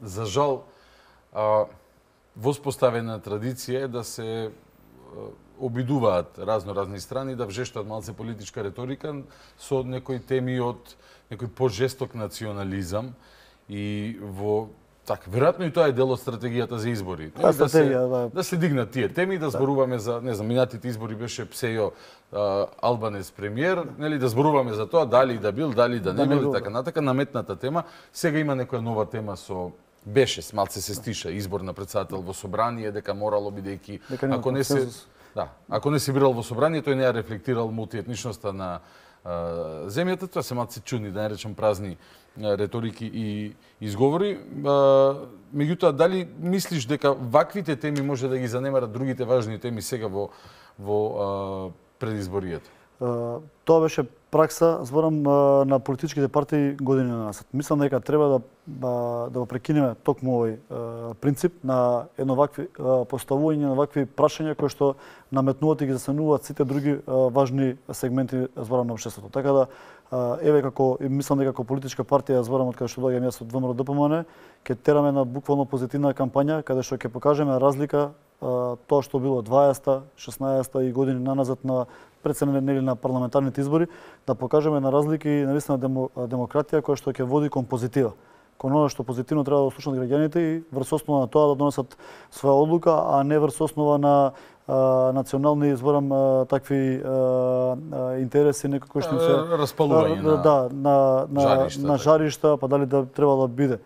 за жал а, воспоставена традиција е да се обидуваат разно-разни страни да вжештат малце политичка реторика со некои теми од некој пожесток национализам и во Така, веројатно и тоа е дел од стратегијата за избори. Да, да, се, да. да се дигнат тие теми, да зборуваме за, не знам, минатите избори беше Псејо Албанец премиер, нели, да зборуваме за тоа дали да бил, дали да не бил и така натака, наметната тема. Сега има некоја нова тема со беше, малце се стиша, избор на председател во собрание, дека морало бидејќи ако не се да, ако не се бирал во собрание, тој не ја рефлектирал мултиетничноста на а, земјата, тоа се малце чудни, да не речам празни а, реторики и изговори. А, меѓутоа, дали мислиш дека ваквите теми може да ги занемарат другите важни теми сега во во а, предизборијата? Uh, тоа беше пракса, зборам, uh, на политичките партии години назад. Мислам дека треба да uh, да го прекинеме токму овој uh, принцип на едно вакви uh, поставување на вакви прашања кои што наметнуваат и ги засенуваат сите други uh, важни сегменти, зборам, на општеството. Така да uh, еве како мислам дека како политичка партија, зборам, од каде што доаѓам јас од ВМРО ДПМН, ќе тераме на буквално позитивна кампања каде што ќе покажеме разлика uh, тоа што било дваесетта, шеснаесетта и години наназад на председнене нели на парламентарните избори, да покажеме на разлики и навистина демо, демократија која што ќе води кон позитива. Кон она што позитивно треба да слушнат граѓаните и врз основа на тоа да донесат своја одлука, а не врз основа на а, национални, зборам, а, такви а, а, интереси некои кои што се распалување на да, на на жаришта, на жаришта, па дали да треба да биде.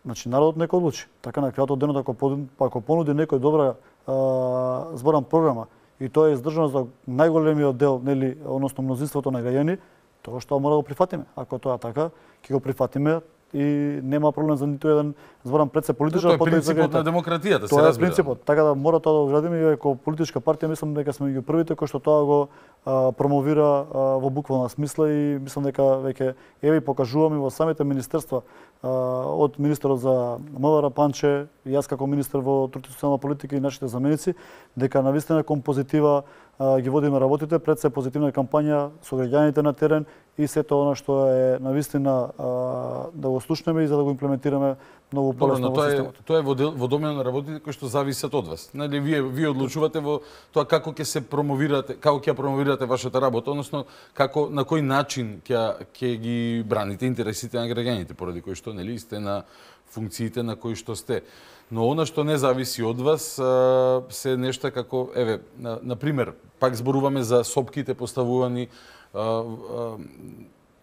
Значи народот нека одлучи. Така на крајот од денот ако ако понуди некој добра а, зборам програма и тоа е издржано за најголемиот дел, нели, односно мнозинството на граѓани, тоа што мора да го прифатиме. Ако тоа така, ќе го прифатиме и нема проблем за ниту еден, зборам, пред се политичар, тоа е принципот на демократијата, се тоа разбира. Тоа е принципот, така да мора тоа да го градиме и како политичка партија, мислам дека сме меѓу првите кои што тоа го а, промовира а, во буквална смисла и мислам дека веќе еве покажуваме во самите министерства а, од министерот за МВР Панче и јас како министер во труд и социјална политика и нашите заменици дека навистина кон позитива а, ги водиме работите, пред се позитивна кампања со граѓаните на терен и сето она што е навистина а, да го слушнеме и за да го имплементираме многу полесно во системот. Тоа е во, дел, во домен на работите кои што зависат од вас. Нели вие вие одлучувате во тоа како ќе се промовирате, како ќе промовирате вашата работа, односно како на кој начин ќе ќе ги браните интересите на граѓаните, поради кои што нели сте на функциите на кои што сте. Но она што не зависи од вас а, се нешта како еве на, на пример, пак зборуваме за сопките поставувани а, а,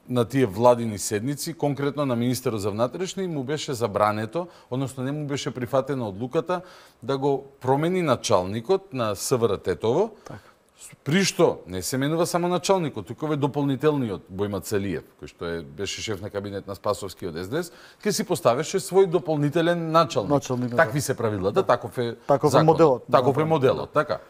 на тие владини седници, конкретно на министерот за внатрешни, му беше забрането, односно не му беше прифатена одлуката да го промени началникот на СВР Тетово, так. При што не се менува само началникот, туку е дополнителниот Бојма Целиев, кој што е беше шеф на кабинет на Спасовски од Ес Де Ес, ке си поставеше свој дополнителен началник. Началник, Такви се правилата, да. Таков е таков законот, е моделот. Таков е моделот, така.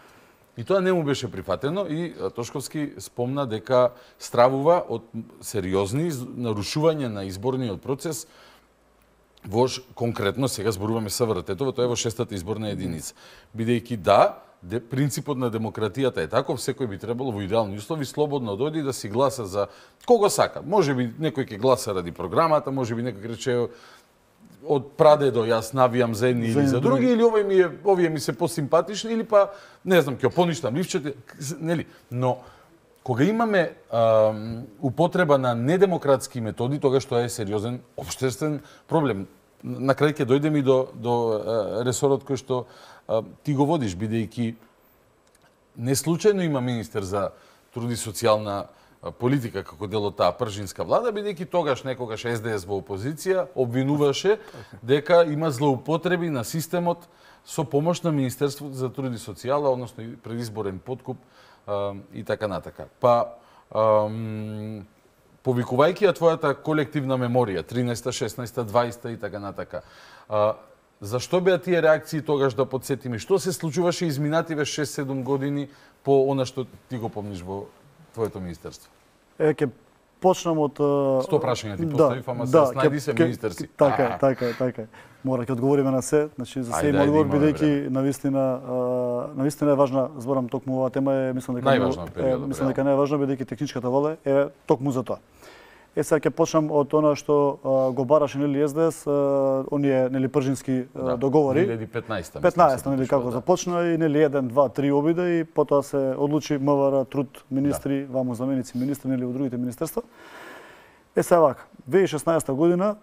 И тоа не му беше прифатено и Тошковски спомна дека стравува од сериозни нарушувања на изборниот процес во конкретно сега зборуваме СВР Тетово, тоа е во шестата изборна единица. Бидејќи да, де, принципот на демократијата е таков, секој би требало во идеални услови слободно дојде да си гласа за кого сака. Може би некој ќе гласа ради програмата, може би некој рече од прадедо јас навијам за едни или за други, или овој ми е, овие ми се посимпатични, или па, не знам, ќе поништам ливчете, нели? Но, кога имаме а, употреба на недемократски методи, тогаш тоа е сериозен општествен проблем. На крај ќе дојдеме и до, до а, ресорот кој што а, ти го водиш, бидејќи не случајно има министер за труд и социјална политика како дел од таа пржинска влада, бидејќи тогаш некогаш Ес Де Ес во опозиција обвинуваше дека има злоупотреби на системот со помош на Министерството за труд и социјала, односно предизборен подкуп а, и така натака. Па, ам, повикувајќи ја твојата колективна меморија, тринаесетта, шеснаесетта, дваесетта и така натака, а, зашто беа тие реакции тогаш да подсетиме? Што се случуваше изминативе шест-седум години по она што ти го помниш во твоето министерство? Е, ќе почнам од... Сто прашања ти поставив, да, ама да, се снајди се министер си. Така е, така е, така е. Мора ќе одговориме на се, значи за се има одговор, бидејќи навистина навистина е важна, зборам токму оваа тема е, мислам дека најважна период. Мислам дека најважна бидејќи техничката вола е токму за тоа. Е, сега ќе почнам од она што а, го бараше нели Ес Де Ес, а, оние нели пржински да, договори. две илјади и петнаесетта. петнаесетта нели како да. Започна и нели еден, два, три обида и потоа се одлучи МВР, труд, министри, да. Ваму заменици министри нели во другите министерства. Е сега вака, две илјади и шеснаесетта година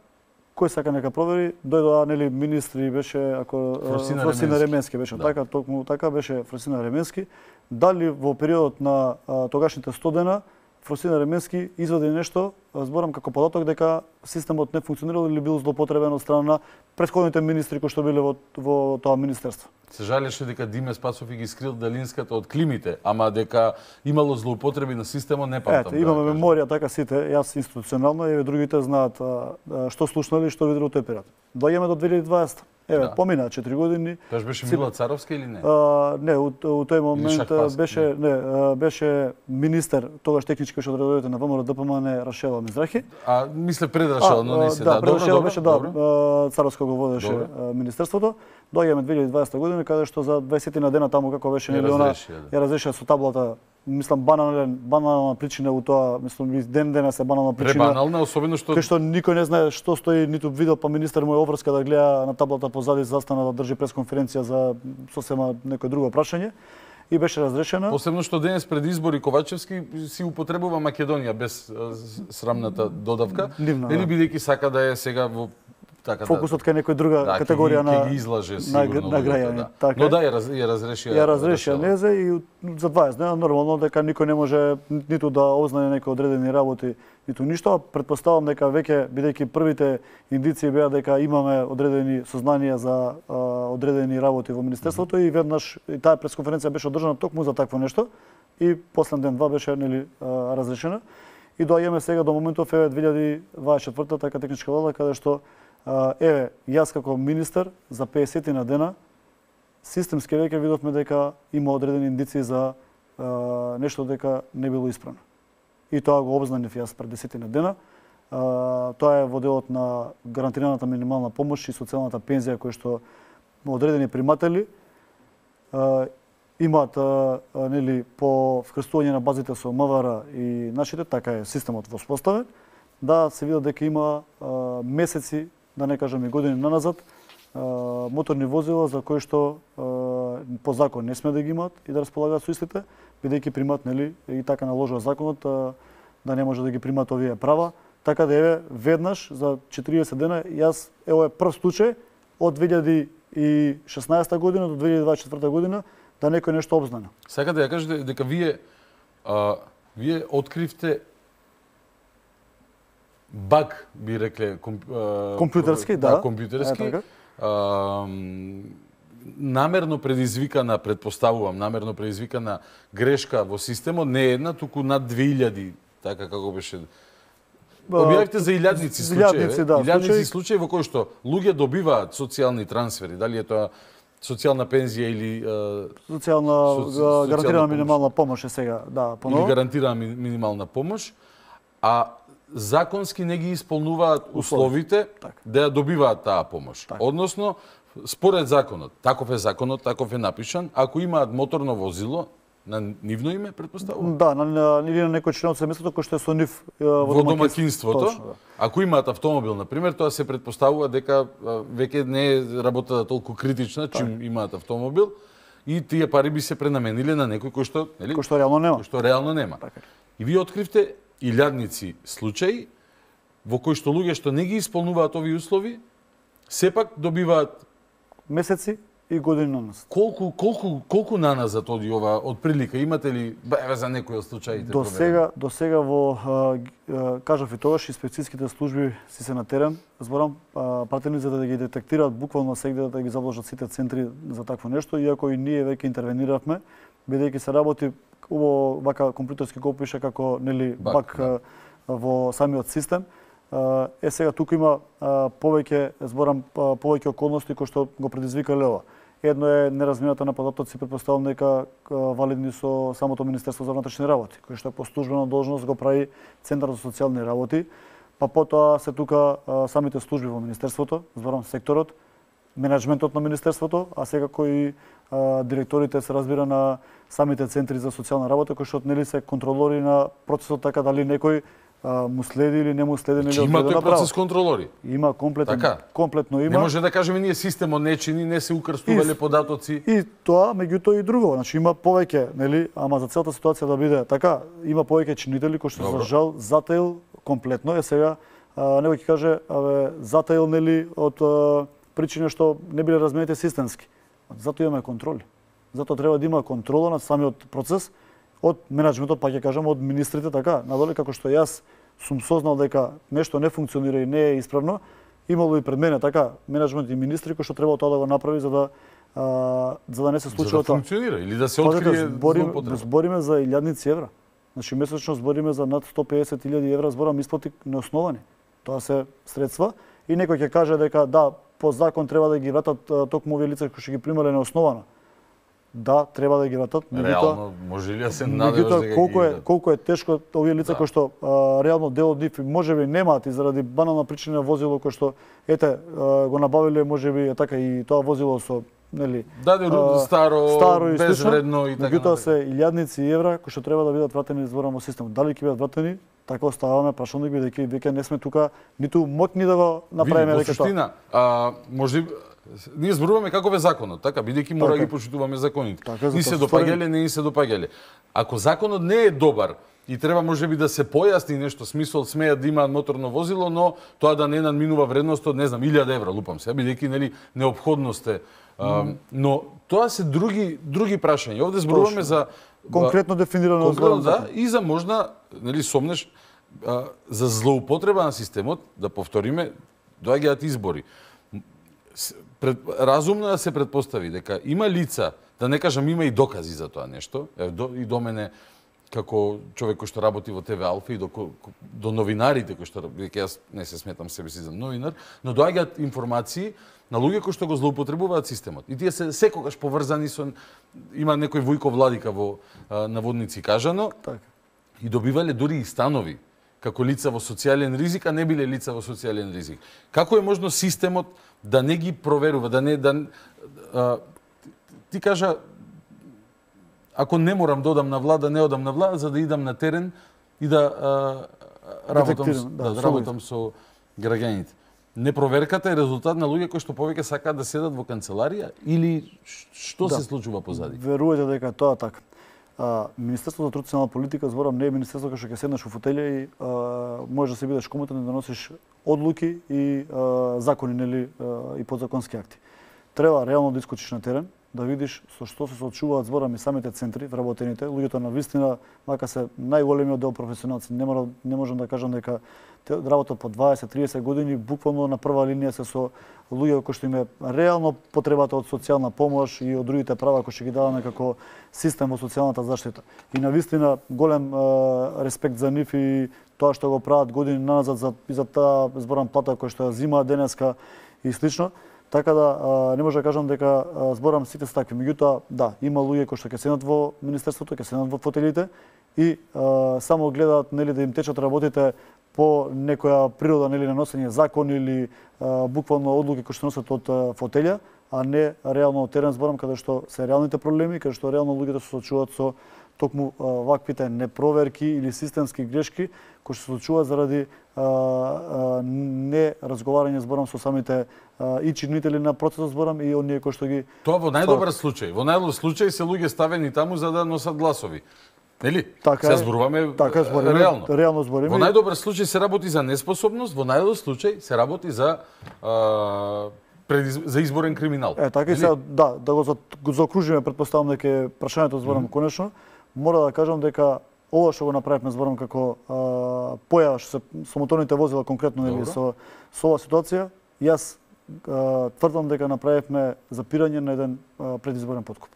кој сака нека провери, дојдоа нели министри беше ако Фросина, Фросина Ременски. Ременски беше Да. така, токму така беше Фросина Ременски, дали во периодот на а, тогашните сто дена Фросина Ременски извади нешто, зборам како податок дека системот не функционирал или бил злоупотребен од страна на претходните министри кои што биле во, во тоа министерство. Се жалеше дека Диме Спасов ги скрил Далинската од климите, ама дека имало злоупотреби на системот не памтам. Ете, имаме меморија така сите, јас институционално и другите знаат а, а, што слушнали и што видело тој период. Доаѓаме до две илјади и дваесета. Еве, Да. помина четири години. Тоа беше Си- Мила Царовска или не? А, не, у, у тој момент Шахпас, беше не, а, беше министер, тогаш технички беше од редовите на ВМРО ДПМН Рашела Мизрахи. А мисле пред Рашела, но не се. Да, Да, пред добро, Рашела добро, беше да, добро. а, Царовска го водеше Добро. а, министерството. Доаѓаме две илјади и дваесета година каде што за дваесет на дена таму како беше Ја нели она разрешија, да. ја разрешија со таблата. Мислам банален банална причина у тоа, мислам и ден денес е банална причина. Пребанална, особено што Кај што никој не знае што стои, ниту видел, па министер му е обврска да гледа на таблата позади, застана да држи пресконференција за сосема некој друго прашање и беше разрешена. Посебно што денес пред избори Ковачевски си употребува Македонија без а, с- срамната додавка, Нивна, или да. бидејќи сака да е сега во така Фокусот кај некој друга да, категорија ќе ги, на ќе ги излаже на, сигурно на луѓето, граѓани. да. Така Но е. да ја, раз, ја разрешија. Ја разрешија Рашела. незе и за дваесет дена нормално дека никој не може ниту да ознае некои одредени работи, ниту ништо. Претпоставам дека веќе бидејќи првите индиции беа дека имаме одредени сознанија за а, одредени работи во министерството и веднаш и таа пресконференција беше одржана токму за такво нешто и последен ден два беше нели а, разрешена. И доаѓаме сега до моментов еве две илјади и дваесет и четврта така техничка влада каде што а, еве јас како министер за песет на дена системски веќе видовме дека има одредени индиции за а, нешто дека не било исправно. И тоа го обзнанив јас пред десетина дена. А, тоа е во делот на гарантираната минимална помош и социјалната пензија кои што одредени приматели а, имаат а, а, нели по вкрстување на базите со МВР и нашите, така е системот воспоставен, да се видат дека има а, месеци, да не кажам и години наназад, а, моторни возила за кои што а, по закон не сме да ги имаат и да располагаат со истите, бидејќи примат нели и така наложува законот а, да не може да ги примат овие права. Така да еве веднаш за четириесет дена јас ево е прв случај од две илјади и шеснаесета година до две илјади и дваесет и четврта година да некој нешто обзнана. Сака да ја кажете дека вие а, вие откривте баг, би рекле, комп, а, Компјутерски, да. да компјутерски. Е, така. А, м, намерно предизвикана, предпоставувам, намерно предизвикана грешка во системот, не една, туку над две илјади, така како беше. Објавите за илјадници случаи, илјадници, да, илјадници случаи. случаи во кои што луѓе добиваат социјални трансфери, дали е тоа социјална пензија или а, Социјална со- социјална гарантирана помош. минимална помош е сега, да, или поново. гарантирана ми- минимална помош, а законски не ги исполнуваат условите да ја добиваат таа помош. Односно, според законот, таков е законот, таков е напишан, ако имаат моторно возило на нивно име, предпоставувам, Да, на, на, или на некој член од семејството кој што е со нив е, во, во домаќинството, Точно, да. ако имаат автомобил, на пример, тоа се предпоставува дека а, веќе не е работата толку критична, чим имаат автомобил, и тие пари би се пренамениле на некој кој што, нели? Кој што реално нема. Кој што реално нема. И вие откривте илјадници случаи во кои што луѓе што не ги исполнуваат овие услови, сепак добиваат месеци и години наназад. Колку колку колку наназад оди ова од прилика? Имате ли еве за некои од случаите? До сега, до сега во а, г- а, кажав и тогаш инспекцијските служби си се на терен, зборам а, пратени за да ги детектираат буквално сегде да ги заложат сите центри за такво нешто, иако и ние веќе интервениравме, бидејќи се работи убаво вака компјутерски го пише како нели Бак, бак, а, во самиот систем. А, Е сега туку има а, повеќе зборам а, повеќе околности кои што го предизвикале ова. Едно е неразмината на податоци, претпоставам дека а, валидни со самото Министерство за внатрешни работи, кој што по службена должност го прави Центар за социјални работи, па потоа се тука а, самите служби во Министерството, зборам секторот, менеджментот на Министерството, а секако и а, директорите се разбира на самите центри за социјална работа, кои што нели се контролори на процесот, така дали некој а, му следи или не му следи нели Значи, има одредена тој процес право. контролори. Има комплетно, Така. комплетно има. Не може да кажеме ние системот не чини, не се укрстувале И- податоци. И тоа, меѓутоа и друго, значи има повеќе, нели, ама за целата ситуација да биде така, има повеќе чинители кои што Добро. за жал затаил комплетно е сега некој ќе каже, абе, затаил нели од причини што не биле разменети системски. Затоа имаме контроли. Затоа треба да има контрола на самиот процес од менеджментот, па ќе кажам од министрите така, надоле како што јас сум сознал дека нешто не функционира и не е исправно, имало и пред мене така менеджмент и министри кои што треба тоа да го направи за да а, за да не се случи тоа. За да тоа. функционира или да се открие злоупотреба. Збориме за илјадници евра. Значи месечно збориме за над сто песет илјади евра зборам исплати неосновани. Тоа се средства и некој ќе каже дека да, по закон треба да ги вратат токму овие лица кои што ги примале неосновано. Да, треба да ги вратат. Реално може ли да се надеваш дека колку е ги... колку е тешко овие лица да. кои што а, реално дел од нив можеби немаат и заради банална причина возило кој што ете а, го набавиле можеби е така и тоа возило со нели да, да, старо, старо и безвредно и така. Меѓутоа се илјадници евра кои што треба да бидат вратени зборам во системот. Дали ќе бидат вратени? Така оставаме прашање бидејќи веќе не сме тука ниту моќни да го направиме веќе тоа. Суштина, а може ние зборуваме каков е законот, така бидејќи мора така. Ги почитуваме законите. Така, ни се допаѓале, не ни се допаѓале. Ако законот не е добар и треба можеби да се појасни нешто, смисол смеат да имаат моторно возило, но тоа да не надминува вредност од не знам илјада евра, лупам се, бидејќи нели неопходност е. Uh, но тоа се други други прашања. Овде зборуваме за конкретно дефинирано конкретно, да, и за можна, нели сомнеш а, за злоупотреба на системот, да повториме, доаѓаат избори. Пред, разумно да се предпостави дека има лица, да не кажам има и докази за тоа нешто, е, до, и до мене како човек кој што работи во Те Ве Алфа и до, до новинарите кои што дека јас не се сметам себе си за новинар, но доаѓаат информации на луѓе кои што го злоупотребуваат системот. И тие се секогаш поврзани со има некој Војко Владика во а, наводници кажано. Така. И добивале дури и станови како лица во социјален ризик, а не биле лица во социјален ризик. Како е можно системот да не ги проверува, да не да а, ти кажа ако не морам да одам на влада, не одам на влада за да идам на терен и да а, работам, да, да работам со граѓаните. Непроверката е резултат на луѓе кои што повеќе сакаат да седат во канцеларија или што да. Се случува позади? Верувате дека тоа така. А, Министерството за труд и социјална политика, зборам, не е министерство кај што ќе седнеш во фотелја и а, можеш да се бидеш комотен да носиш одлуки и а, закони нели а, и подзаконски акти. Треба реално да искочиш на терен, да видиш со што се соочуваат зборам и самите центри вработените, луѓето на вистина, мака се најголемиот дел професионалци, не мора не можам да кажам дека те работат по дваесет до триесет години, буквално на прва линија се со луѓе кои што им е реално потребата од социјална помош и од другите права кои што ги даваме како систем во социјалната заштита. И на вистина голем е, респект за нив и тоа што го прават години назад за и за таа зборам плата која што ја зимаат денеска и слично. Така да а, не може да кажам дека а, зборам сите се такви. Меѓутоа, да, има луѓе кои што ќе седнат во министерството, ќе седнат во фотелите и а, само гледаат нели да им течат работите по некоја природа нели на носење закон или а, буквално одлуки кои што носат од а, фотелја, а не реално од терен зборам каде што се реалните проблеми, каде што реално луѓето се соочуваат со токму а, ваквите непроверки или системски грешки кои што се случуваат заради а, а, не разговарање зборам со самите а, и чинители на процесот зборам и оние кои што ги Тоа во најдобар случај. Во најдобар случај се луѓе ставени таму за да носат гласови. Нели? Така се зборуваме така збориме, реално. Реално збориме. Во најдобар случај се работи за неспособност, во најлош случај се работи за а, предиз... за изборен криминал. Е, така и сега, да, да го, за... го заокружиме, предпоставам дека е прашањето зборам mm -hmm. конечно, мора да кажам дека ова што го направивме зборам како а, појава што се со моторните возила конкретно нели со со оваа ситуација, јас а, тврдам дека направивме запирање на еден а, предизборен подкуп.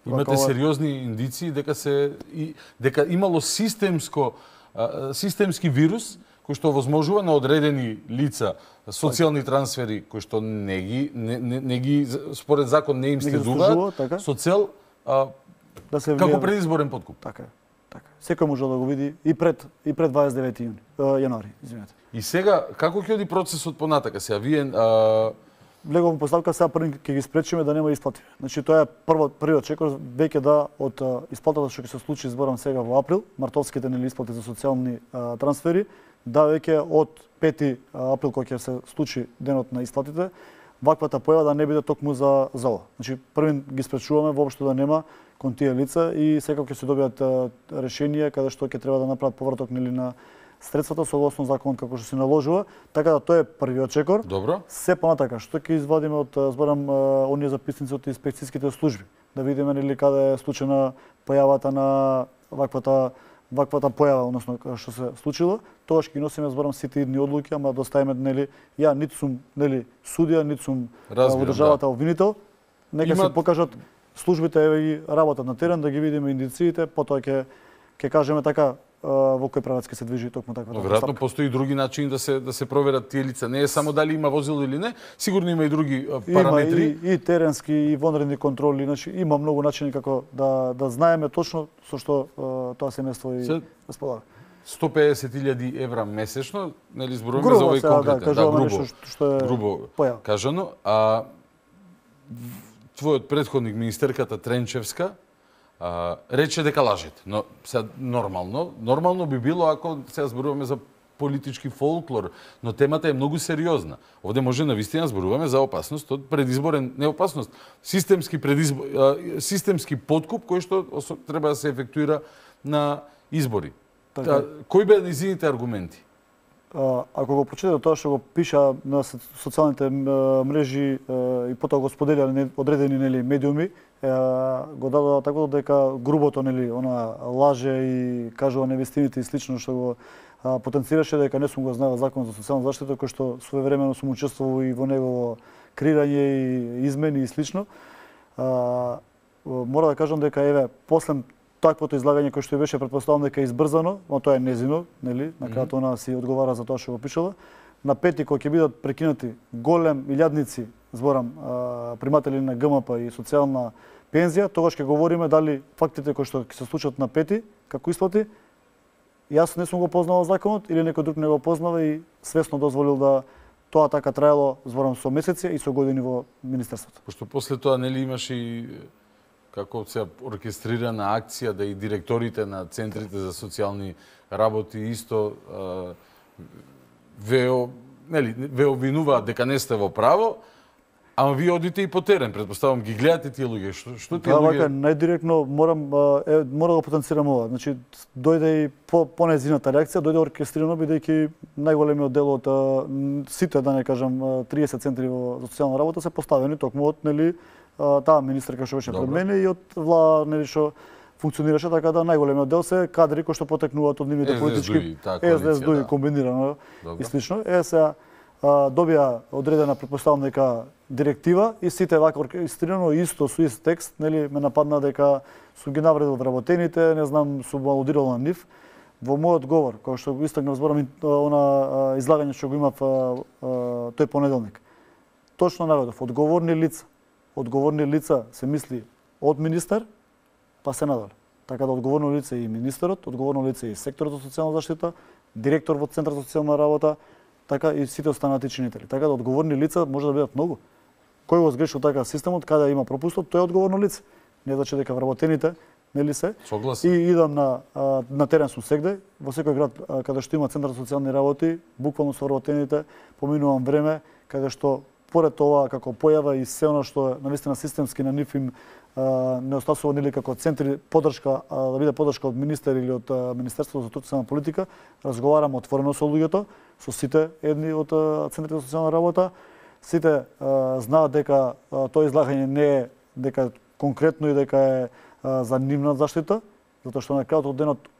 Имате Вака, сериозни индиции дека се и дека имало системско а, системски вирус кој што возможува на одредени лица социјални трансфери кои што не ги не, не, не ги според закон не им следуваат така? со цел а, да се како предизборен подкуп. Така е. Така. Секој може да го види и пред и пред дваесет и девети јуни, јануари, извинете. И сега како ќе оди процесот понатака? Сега вие а... влегувам поставка сега први ќе ги спречиме да нема исплати. Значи тоа е прво првиот чекор веќе да од а, исплатата што ќе се случи зборам сега во април, мартовските нели исплати за социјални а, трансфери, да веќе од пети април кога ќе се случи денот на исплатите, ваквата појава да не биде токму за за ова. Значи први ги спречуваме воопшто да нема кон тие лица и секако ќе се добијат решенија каде што ќе треба да направат повраток нели на средствата согласно законот како што се наложува, така да тоа е првиот чекор. Добро. Се понатака што ќе извадиме од зборам оние записници од инспекцијските служби, да видиме нели каде е случајна појавата на ваквата ваквата појава, односно што се случило, тогаш ќе носиме зборам сите идни одлуки, ама да оставиме нели ја ниту сум нели судија, ниту сум во државата обвинител. Нека Има... се покажат службите еве и работат на терен, да ги видиме индициите, потоа ќе ќе кажеме така во кој правец ќе се движи токму таква. Веројатно постои други начини да се да се проверат тие лица. Не е само дали има возило или не, сигурно има и други параметри. Има и, и теренски и вонредни контроли, значи има многу начини како да да знаеме точно со што тоа семејство и располага. сто педесет илјади евра месечно, нели зборуваме за овој конкретен, да, да, грубо, нешто што е грубо појава. Кажано, а твојот претходник министерката Тренчевска а, рече дека лажете, но сега нормално, нормално би било ако сега зборуваме за политички фолклор, но темата е многу сериозна. Овде може навистина зборуваме за опасност од предизборен, не опасност, системски предизбор, системски подкуп кој што треба да се ефектуира на избори. Така. Кои беа низините аргументи? А, ако го прочитате тоа што го пиша на социјалните мрежи и потоа го споделија одредени нели медиуми, го дадоа така дека грубото нели она лаже и кажува невестините и слично што го а, потенцираше, дека не сум го знаел закон за социјална заштита кој што своевремено сум учествувал и во негово креирање и измени и слично. А, мора да кажам дека еве после таквото излагање кој што беше претпоставам дека е избрзано, но тоа е незино, нели, на крајот она си одговара за тоа што го пишала. На пети кога ќе бидат прекинати голем илјадници, зборам, приматели на ГМП и социјална пензија, тогаш ќе говориме дали фактите кои што ќе се случат на пети, како исплати, јас не сум го познавал законот или некој друг не го познава и свесно дозволил да тоа така траело, зборам, со месеци и со години во министерството. Пошто после тоа нели имаше и како се оркестрирана акција да и директорите на центрите за социјални работи исто ве нели ве обвинуваат дека не сте во право, ама вие одите и по терен, претпоставам ги гледате тие луѓе. Што што тие да, луѓе? Да, најдиректно морам е, мора да го потенцирам ова. Значи дојде и по понезината реакција, дојде оркестрирано бидејќи најголемиот дел од сите, да не кажам, триесет центри во социјална работа се поставени токму од нели таа министерка што беше пред мене и од влада нели што функционираше, така да најголемиот дел се кадри кои што потекнуваат од нивните политички Ес Де Ес Ду и комбинирано и слично. Е сега добија одредена претпоставам дека директива и сите вака оркестрирано исто со ист текст, нели ме нападна дека сум ги навредил вработените, не знам, сум алудирал на нив. Во мојот говор, кој што го истакнав зборам она излагање што го имав тој понеделник. Точно наведов одговорни лица. Одговорни лица се мисли од министер па се надале. Така да одговорно лице и министерот, одговорно лице и секторот за социјална заштита, директор во Центар за социјална работа, така и сите останати чинители. Така да одговорни лица може да бидат многу. Кој го сгрешил така системот, каде има пропустот, тој е одговорно лице. Не значи дека вработените нели се. Согласен. И идам на на терен сум сегде, во секој град каде што има Центар за социјални работи, буквално со вработените поминувам време каде што поред тоа како појава и се она што навистина системски на нив им не остасува нели како центри поддршка, да биде поддршка од министер или од Министерството за социјална политика, разговарам отворено со луѓето, со сите едни од центрите за социјална работа. Сите знаат дека тоа излагање не е дека конкретно и дека е за нивна заштита, затоа што на крајот од денот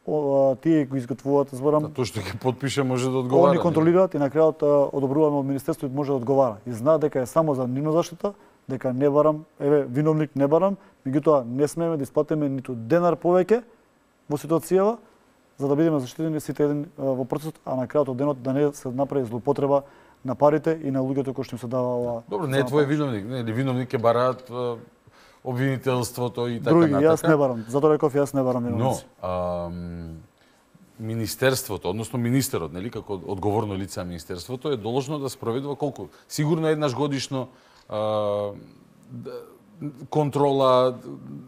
тие го изготвуваат, зборам. Тоа што ги подпише може да одговара. Они контролираат и на крајот одобруваме од министерството може да одговара. И знаат дека е само за нивна заштита, дека не барам, еве виновник не барам, меѓутоа не смееме да исплатиме ниту денар повеќе во ситуацијава за да бидеме заштитени сите еден во процесот, а на крајот од денот да не се направи злоупотреба на парите и на луѓето кои што им се дава ова. Добро, не е твој виновник, не, виновник е бараат обвинителството и така други, натака. Јас не барам, затоа реков јас не барам виновници. Но, а, министерството, односно министерот, нели, како одговорно лице на министерството е должно да спроведува колку? Сигурно еднаш годишно а, контрола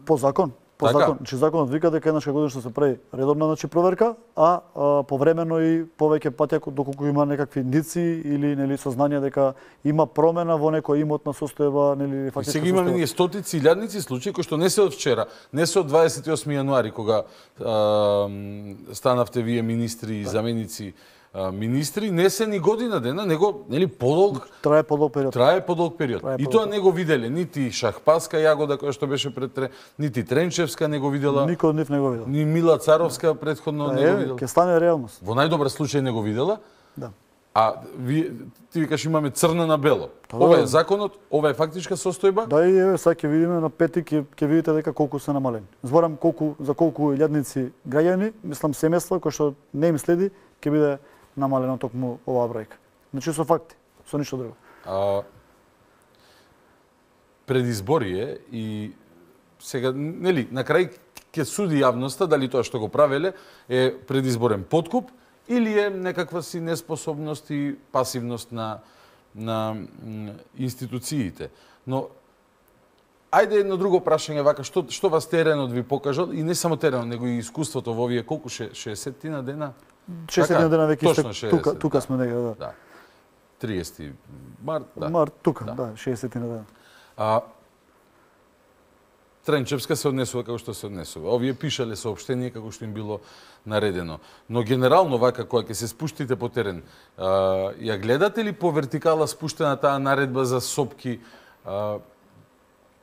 по закон. По Така. закон, че законот вика дека еднаш годишно се прави редовна значи проверка, а, а повремено и повеќе патја доколку има некакви индици или нели сознание дека има промена во некој имотна состојба, нели фактичка. Сега имаме ние стотици илјадници случаи кои што не се од вчера, не се од дваесет и осми јануари кога а, станавте вие министри и заменици а, министри, не се ни година дена, него нели подолг трае подолг период. Трае подолг период. Трае и подолг. тоа не го виделе нити Шахпаска Јагода која што беше пред тре, нити Тренчевска не го видела. Никој од нив не го видел. Ни Мила Царовска претходно Да, не го е, видела. ќе стане реалност. Во најдобар случај не го видела. Да. А ви, ти викаш имаме црна на бело. Па, Ова да. е законот, ова е фактичка состојба. Да, и еве сега ќе видиме на пети ќе ќе видите дека колку се намалени. Зборам колку за колку илјадници граѓани, мислам семејства кои што не им следи, ќе биде намалено токму оваа бројка. Значи со факти, со ништо друго. А, предизбори е и сега нели на крај ќе суди јавноста дали тоа што го правеле е предизборен подкуп или е некаква си неспособност и пасивност на на м, институциите. Но ајде едно друго прашање вака, што што вас теренот ви покажал и не само теренот, него и искуството во овие колку ше, шеесет на дена? шеесет дена веќе точно истек, тука тука сме негде, да. Да. триесети март, да. Март тука, Да. да, шеесет на дена. А Тренчевска се однесува како што се однесува. Овие пишале соопштение како што им било наредено. Но генерално вака кога ќе се спуштите по терен, а, ја гледате ли по вертикала спуштена таа наредба за сопки а,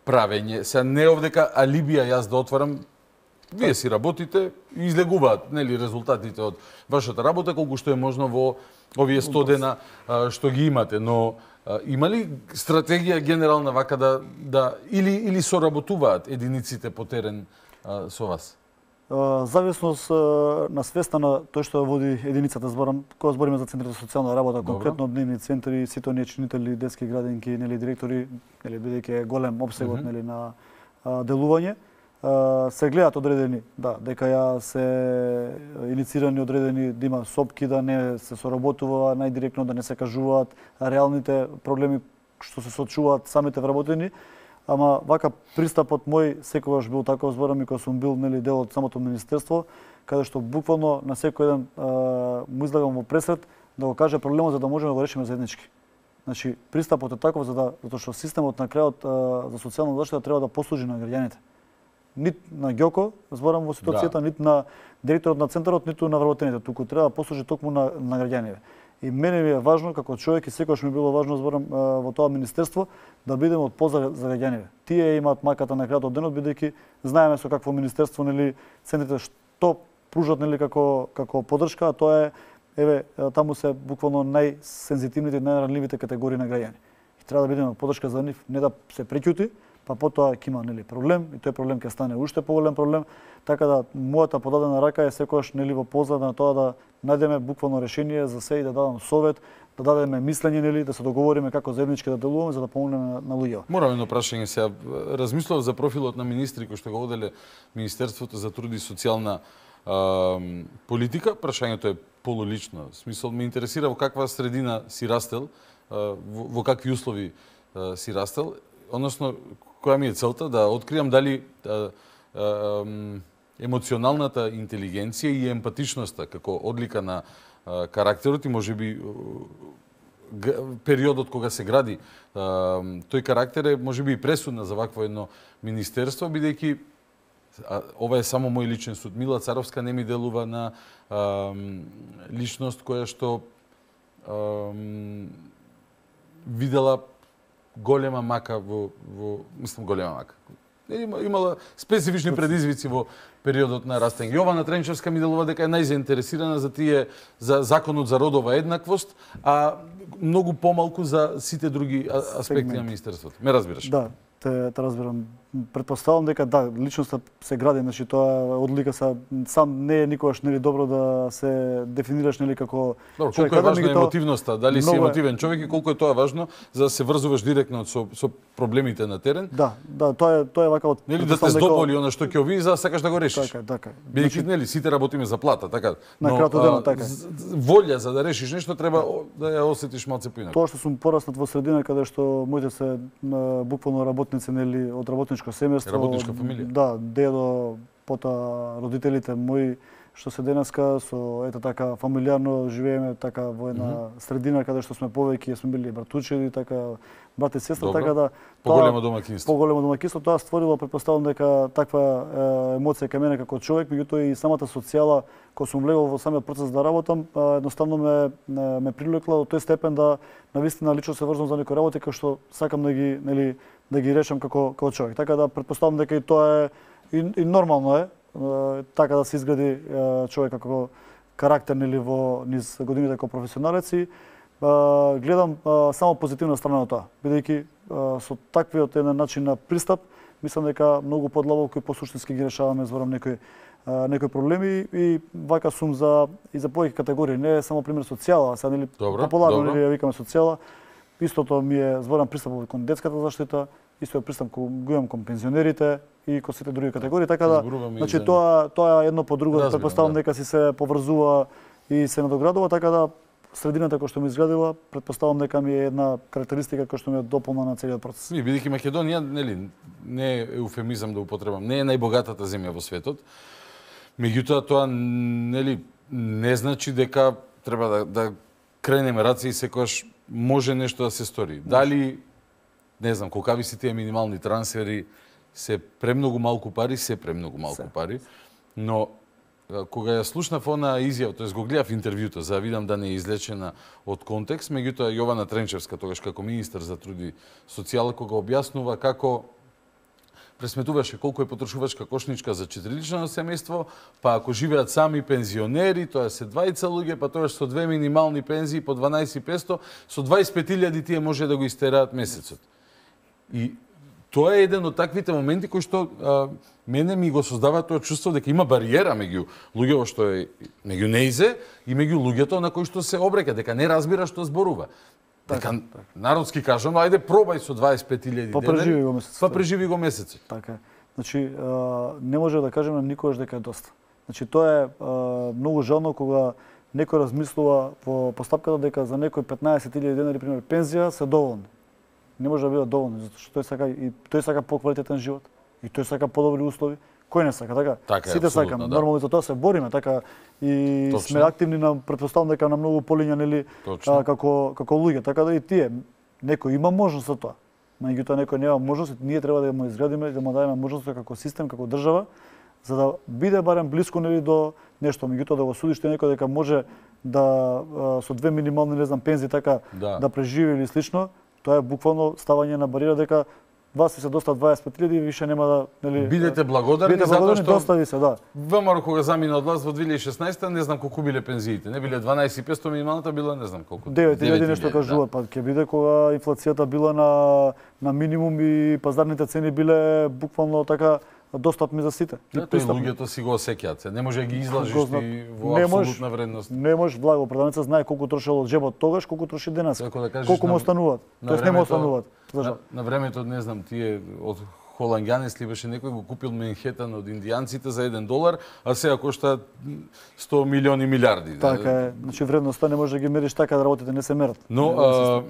правење? Се не овдека алибија јас да отварам. Вие си работите и излегуваат нели резултатите од вашата работа колку што е можно во овие сто дена а, што ги имате, но а, има ли стратегија генерална вака да да или или соработуваат единиците по терен а, со вас? Uh, зависност uh, на свеста на тој што води единицата, зборам, кога збориме за центрите за социјална работа, Добро. конкретно дневни центри, сите оние чинители, детски градинки, нели директори, нели бидејќи е голем обсегот Мгм. нели на uh, делување, uh, се гледат одредени, да, дека ја се иницирани одредени да има сопки, да не се соработува најдиректно, да не се кажуваат реалните проблеми што се соочуваат самите вработени. Ама вака пристапот мој секогаш бил таков, зборам и кога сум бил нели дел од самото министерство, каде што буквално на секој еден а, му излагам во пресред да го каже проблемот за да можеме да го решиме заеднички. Значи пристапот е таков за да затоа што системот на крајот а, за социјална заштита треба да послужи на граѓаните. Нит на Ѓоко, зборам во ситуацијата, да. Нит на директорот на центарот, ниту на вработените, туку треба да послужи токму на, на граѓаните. И мене ми е важно, како човек и секогаш ми било важно, зборам, во тоа министерство, да бидеме од поза за граѓаните. Тие имаат маката на крајот од денот, бидејќи знаеме со какво министерство, нели, центрите што пружат, нели, како, како подршка, а тоа е, еве, таму се буквално најсензитивните и најранливите категории на граѓани. И треба да бидеме подршка за нив, не да се преќути, па потоа ќе има нели проблем и тој проблем ќе стане уште поголем проблем, така да мојата подадена рака е секогаш нели во поза на тоа да најдеме буквално решение за се и да дадам совет, да дадеме мислење нели да се договориме како заеднички да делуваме за да помогнеме на, на луѓето. Морам едно прашање сега. Размислував за профилот на министри кои што го воделе Министерството за труд и социјална а, политика. Прашањето е полулично. В смисол ме интересира во каква средина си растел, а, во, во какви услови а, си растел, односно која ми е целта да откриам дали а, а, емоционалната интелигенција и емпатичноста како одлика на а, карактерот и можеби периодот кога се гради а, тој карактер е можеби и пресудна за вакво едно министерство, бидејќи а, ова е само мој личен суд. Мила Царовска не ми делува на а, личност која што а, видела голема мака во, во мислам голема мака. Има, имала специфични предизвици во периодот на растење. Јована Тренчевска ми делува дека е најзаинтересирана за тие за законот за родова еднаквост, а многу помалку за сите други аспекти на министерството. Ме разбираш? Да, те, те разбирам. Предпоставам дека да, личноста се гради, значи тоа одлика са сам не е никогаш нели добро да се дефинираш нели како Добро, колку е важна емотивноста, дали си емотивен човек и колку е тоа важно за да се врзуваш директно со со проблемите на терен? Да, да, тоа е тоа е вака од нели да те здоболи она што ќе ови за да сакаш да го решиш. Така, така. Бидејќи нели сите работиме за плата, така. На крајот денот така. Волја за да решиш нешто треба да ја осетиш малце поинаку. Тоа што сум пораснат во средина каде што моите се буквално работници нели од работничко работничко семејство. Работничка фамилија. Да, дедо, потоа родителите мои што се денеска со ете така фамилиарно живееме така во една mm -hmm. средина каде што сме повеќе, сме били братучеди, така брат и сестра, така да поголемо домаќинство. Поголемо домаќинство, тоа створило, претпоставам дека таква е, емоција кај мене како човек, меѓутоа и самата социјала кога сум влегол во самиот процес да работам, едноставно ме ме, ме привлекла до тој степен да навистина лично се врзам за некои работи кои што сакам да ги, нели, да ги решам како како човек. Така да претпоставам дека и тоа е и, и нормално е така да се изгради човек како карактер нели во низ годините како професионалец и гледам само позитивна страна на тоа, бидејќи со таквиот еден начин на пристап мислам дека многу подлабоко и посуштински ги решаваме зборам некои некои проблеми и вака сум за и за повеќе категории, не е само пример социјала, а сега нели популарно нели ја викаме социјала. Истото ми е зборам пристапот кон детската заштита, истиот пристап го имам кон пензионерите и кон сите други категории, така да значи тоа тоа е едно по друго, претпоставам дека си се поврзува и се надоградува, така да средината која што ми изградила, претпоставам дека ми е една карактеристика која што ми е дополна на целиот процес. Ми бидејќи Македонија нели не е еуфемизам да употребам, не е најбогатата земја во светот. Меѓутоа тоа нели не значи дека треба да да кренеме раце и секогаш може нешто да се стори. Дали не знам колкави се тие минимални трансфери, се премногу малку пари, се премногу малку се. пари, но кога ја слушнав она изјава, тоест го гледав интервјуто за да видам да не е излечена од контекст, меѓутоа Јована Тренчевска тогаш како министар за труд и социјала кога објаснува како пресметуваше колку е потрошувачка кошничка за четирилично семејство, па ако живеат сами пензионери, тоа се двајца луѓе, па тоа со две минимални пензии по дванаесет и петстотини, со дваесет и пет илјади тие може да го истераат месецот. И тоа е еден од таквите моменти кои што а, мене ми го создава тоа чувство дека има бариера меѓу луѓето што е меѓу неизе и меѓу луѓето на кои што се обрека, дека не разбира што зборува. Дека народски кажам, ајде пробај со дваесет и пет илјади па преживи го месецот. Па преживи го месецот. Така е. Значи не може да кажеме никогаш дека е доста. Значи тоа е многу жално кога некој размислува во постапката дека за некој петнаесет илјади денари пример пензија се доволни. Не може да бидат доволни затоа што тој сака и тој сака поквалитетен живот и тој сака подобри услови. Кој не сака, така? така Сите сакаме, да. Нормално за тоа се бориме, така и Точно. Сме активни на претпоставам дека на многу полиња нели а, како како луѓе, така да и тие некој има можност за тоа. Меѓутоа некој нема можност, ние треба да му изградиме, да му дадеме можност како систем, како држава, за да биде барем блиску нели до нешто, меѓутоа да го судиш тој некој дека може да а, со две минимални не знам пензии така да, да преживи или слично, тоа е буквално ставање на бариера дека вас се доста дваесет и пет илјади и више нема да нели бидете благодарни затоа што достави се, да. ВМРО кога замина од власт во две илјади и шеснаесета не знам колку биле пензиите, не биле дванаесет и петстотини минималната била не знам колку. девет илјади нешто кажуваат, па ќе биде кога инфлацијата била на на минимум и пазарните цени биле буквално така достапни за сите. Да, тој луѓето си го осеќаат се, не може да ги излажиш ти во апсолутна вредност. Не можеш, благо продавница знае колку трошел од джебот тогаш, колку троши денес. Да колку му остануваат. Тоест не му остануваат. На, на времето, не знам, тие од Холанѓанес ли беше некој го купил Менхетан од индијанците за еден долар, а сега кошта сто милиони милиарди. Така е, значи вредноста не може да ги мериш така да работите не се мерат. Но а,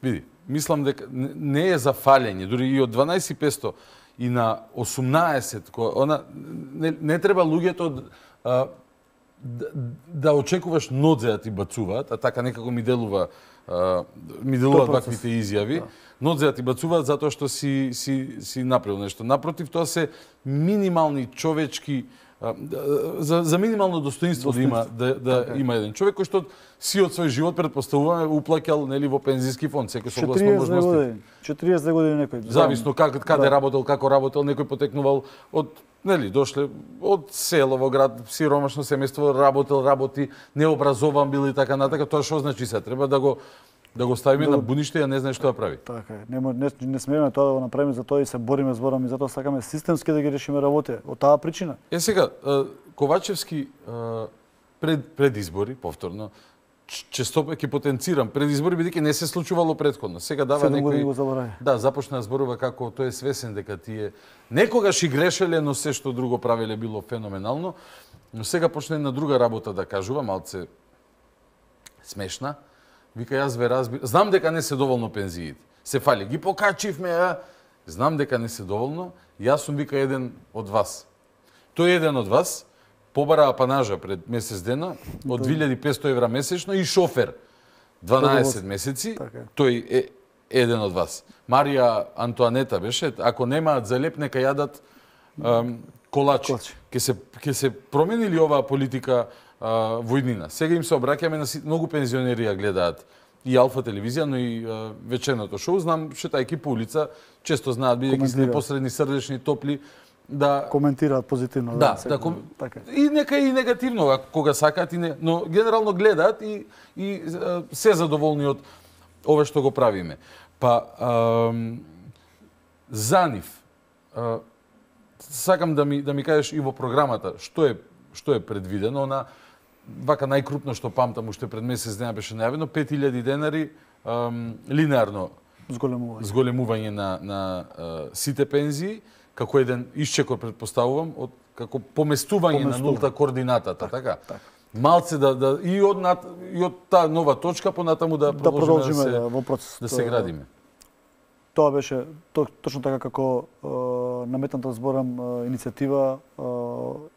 види, мислам дека не е за фалење, дури и од дванаесет и петстотини и на осумнаесет, она не, не треба луѓето а, да, да очекуваш нодзе да ти бацуваат, а така некако ми делува а, ми делуваат ваквите изјави. Да. Нодзе да ти бацуваат затоа што си си си направил нешто. Напротив, тоа се минимални човечки а, за за минимално достоинство, достоинство. да има да, да така. Има еден човек кој што си од свој живот предпоставуваме уплаќал нели во пензиски фонд, секој согласно можности. четириесет години некој. Зависно как каде да. работел, како работел, некој потекнувал од нели дошле од село во град, сиромашно семејство, работел, работи, необразован бил и така натака, тоа што значи се треба да го да го ставиме да, на будниште, а не знае што да прави. Така е. Не, не, не смееме тоа да го направиме, за тоа и се бориме, зборам и затоа сакаме системски да ги решиме работи. Од таа причина. Е сега, Ковачевски пред пред избори повторно често ќе потенцирам пред избори бидејќи не се случувало претходно. Сега дава некој да започна да зборува како тој е свесен дека тие некогаш и грешеле, но се што друго правеле било феноменално, но сега почне една друга работа да кажува, малце смешна. Вика, јас ве разбирам. Знам дека не се доволно пензиите. Се фали. Ги покачивме, а знам дека не се доволно, јас сум вика еден од вас. Тој еден од вас побара апанажа пред месец дена од две илјади и петстотини евра месечно и шофер дванаесет месеци, тој е еден од вас. Марија Антуанета беше, ако немаат за леп, нека јадат ем, колачи. Ке се, ке се промени ли оваа политика а, војнина? Сега им се обраќаме на многу пензионери ја гледаат и Алфа телевизија, но и а, вечерното шоу. Знам, шетајки по улица, често знаат, бидејќи се непосредни, срдечни, топли, да коментираат позитивно. Да, да, ком... така. И нека и негативно, кога сакаат, и не... но генерално гледаат и, и а, се задоволни од ова што го правиме. Па, а, за нив, а, сакам да ми, да ми кажеш и во програмата, што е, што е предвидено на вака најкрупно што памтам, уште пред месец дена беше најавено, пет илјади денари ам, линеарно зголемување, зголемување на, на а, сите пензии, како еден исчекор, предпоставувам, од како поместување, поместување. на нулта координатата, так, така? Так. Малце да, да и од над, и од таа нова точка понатаму да продолжиме да, продолжиме, да, се, во процес, да се градиме. Тоа беше то, точно така како е, наметната зборам е, иницијатива е,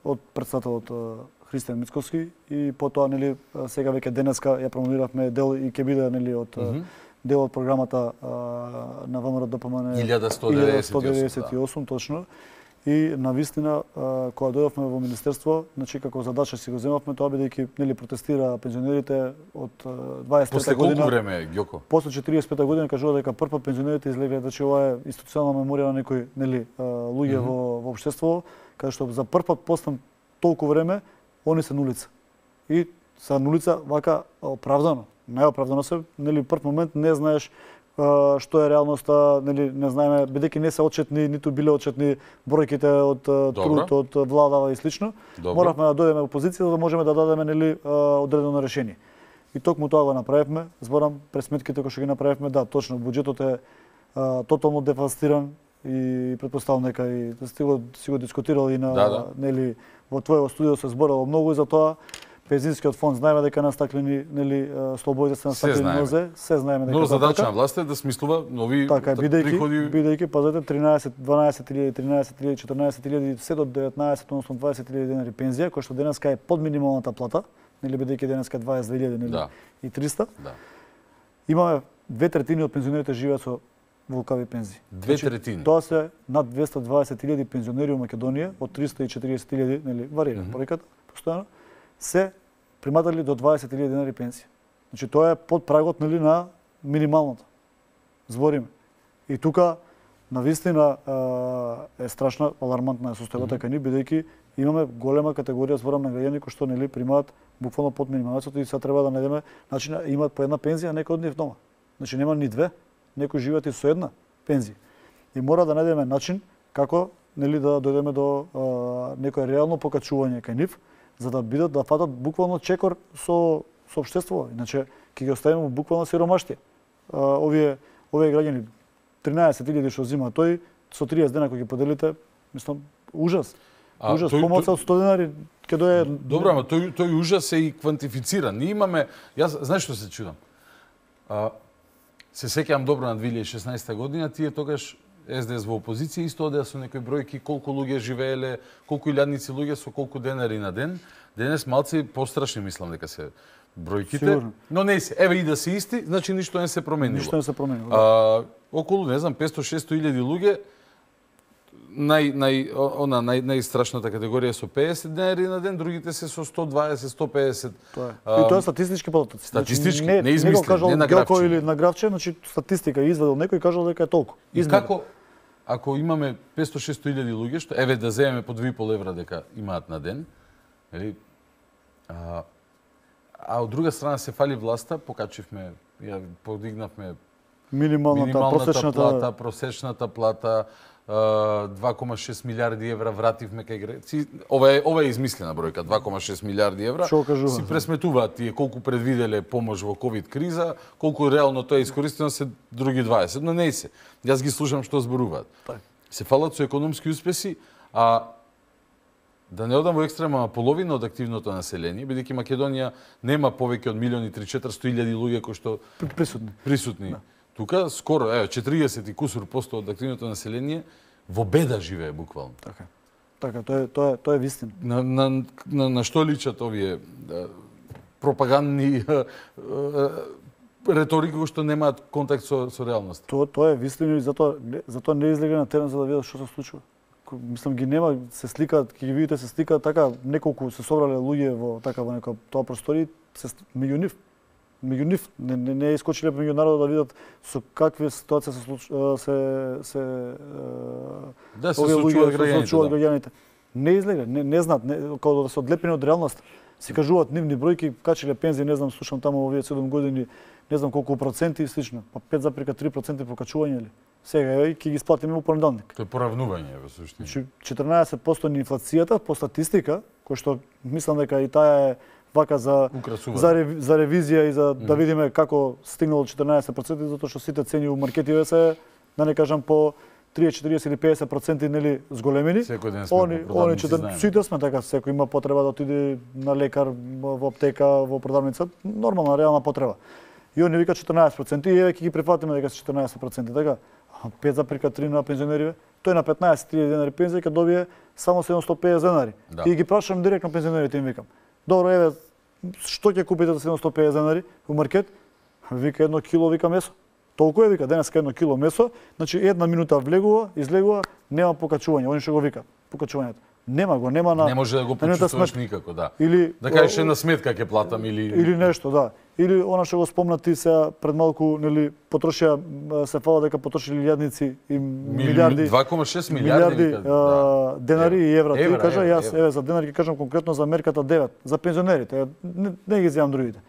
од председателот Христијан Мицковски и потоа нели сега веќе денеска ја промовиравме дел и ќе биде нели од mm -hmm. дел од програмата а, на ВМРО ДПМН илјада сто деветдесет и осум, илјада сто деветдесет и осум да. Точно. И на вистина кога дојдовме во министерство, значи како задача си го земавме тоа бидејќи нели протестира пензионерите од дваесет и трета година. После колку време, Ѓоко? После четириесет и пета година кажува дека прв пат пензионерите излегле, значи ова е институционална меморија на некои нели луѓе mm -hmm. во во општеството, каде што за прв пат после толку време они се на улица. И се на улица вака оправдано. Најоправдано се, нели прв момент не знаеш а, што е реалноста, нели не знаеме, бидејќи не се отчетни, ниту биле отчетни бројките од труд, од владава и слично. Добро. Моравме да дојдеме во позиција за да можеме да дадеме нели одредено решение. И токму тоа го направивме, зборам пресметките кои што ги направивме, да, точно буџетот е а, тотално девастиран и претпоставувам дека и да си го, си го дискутирал и на да, да. нели во твоето студио се зборало многу и за тоа. Пензионскиот фонд знаеме дека настаклени нели слободите се настаклени нозе, се знаеме дека. Но задача на власта е да смислува нови така, бидејќи, приходи. Бидејќи пазете тринаесет, дванаесет илјади, тринаесет илјади, четрнаесет илјади, се до деветнаесет, односно дваесет илјади денари пензија, која што денеска е под минималната плата, нели бидејќи денеска дваесет и две илјади нели да. и триста. Да. Имаме две третини од пензионерите живеат со волкави пензии. Две третини. Тоа се над двесте и дваесет илјади пензионери во Македонија, од триста и четириесет илјади, нели варира mm -hmm. бројката постојано, се приматали до дваесет илјади денари пензија. Значи тоа е под прагот нели на минималната. Збориме. И тука на вистина е страшна, алармантна е состојбата кај нив, бидејќи имаме голема категорија зборам на граѓани кои што нели примаат буквално под минималната и сега треба да најдеме начин имаат по една пензија, некој од нив дома. Значи нема ни две, некои живеат и со една пензија. И мора да најдеме начин како нели да дојдеме до а, некое реално покачување кај нив, за да бидат да фатат буквално чекор со со општеството. Иначе ќе ги оставиме буквално сиромаштија. Овие овие граѓани тринаесет илјади што зима тој со триесет дена кога ги поделите, мислам ужас. А, ужас, тој, помоца од сто денари ќе дое. Добро, ама тој тој ужас е и квантифициран. Ние имаме, јас знаеш што се чудам. А, се сеќавам добро на две илјади и шеснаесета година, тие тогаш Ес Де Ес во опозиција исто одеа со некои бројки колку луѓе живееле, колку илјадници луѓе со колку денари на ден. Денес малци пострашни мислам дека се бројките. Сигурно. Но не се, еве и да се исти, значи ништо не се променило. Ништо не се променило. Да. А, околу, не знам, петсто до шесто илјади луѓе, нај нај она нај најстрашната категорија со пеесет денари на ден, другите се со сто дваесет, сто пеесет. Тоа е. И тоа е статистички податоци. Статистички, не, не измислен, не на графче. Или на графче, значи статистика извадил некој и кажал дека е толку. И како ако имаме петсто до шесто илјади луѓе, што еве да земеме по две и пол евра дека имаат на ден, нели? А, а од друга страна се фали власта, покачивме, ја подигнавме минималната, минималната просечната плата, просечната плата, два кома шест милиарди евра вративме кај Греција. Ова е ова е измислена бројка, два кома шест милиарди евра. Си пресметуваат тие колку предвиделе помош во ковид криза, колку реално тоа е искористено се други дваесет, но не се. Јас ги слушам што зборуваат. Се фалат со економски успеси, а да не одам во екстрема, половина од активното население, бидејќи Македонија нема повеќе од милион и триста до четиристотини илјади луѓе кои што присутни. Присутни. Да. Тука скоро, еве, четириесет и кусур посто од активното население во беда живее буквално. Така. Така, тоа е тоа е тоа е вистина. На на на, на што личат овие да, пропагандни реторики кои што немаат контакт со со реалноста? Тоа тоа е вистина и затоа затоа не излега на терен за да видат што се случува. Мислам ги нема, се сликаат, ќе ги видите се сликаат така, неколку се собрале луѓе во така во нека тоа простори, се меѓу нив. Меѓу нив не не, не искочиле меѓу народот да видат со какви ситуации се се се да се случуваат граѓаните. граѓаните. Не излега, не не знаат, не, како да се одлепени од реалноста. Се кажуваат нивни бројки, качиле пензии, не знам, слушам таму овие седум години, не знам колку проценти и слично, па пет зарез три проценти покачување ли. Сега е ќе ги исплатиме во понеделник. Тоа е поравнување во суштина. Значи четрнаесет проценти на инфлацијата по статистика, кој што мислам дека и таа е вака за за, реви, за ревизија и за mm. да видиме како стигнало четрнаесет проценти, затоа што сите цени у маркетиве се, да не кажам, по триесет, четириесет или педесет проценти нели зголемени. Секој ден сме они, они четири, сите сме така, секој има потреба да отиде на лекар, во аптека, во продавница, нормална реална потреба. И они вика четрнаесет проценти и еве ќе ги прифатиме дека се четрнаесет проценти, така. пет зарез три на пензионериве, тој на петнаесет илјади денари пензија ќе добие само седумстотини и педесет денари. Да. И ги прашам директно пензионерите им викам. Добро, еве, што ќе купите за седумстотини и педесет денари во маркет? Вика едно кило вика месо. Толку е вика денеска едно кило месо, значи една минута влегува, излегува, нема покачување. Они што го вика, покачувањето. Нема го, нема на. Не може да го почувствуваш никако, да. Или да кажеш една сметка ќе платам или или нешто, да. Или она што го спомна ти се пред малку, нели, потрошија се фала дека потрошили илјадници и милиарди. два кома шест милиарди, милиарди да. денари и евра. Ти кажа, јас еве за денари ќе кажам конкретно за мерката девет, за пензионерите. Не, не ги земам другите.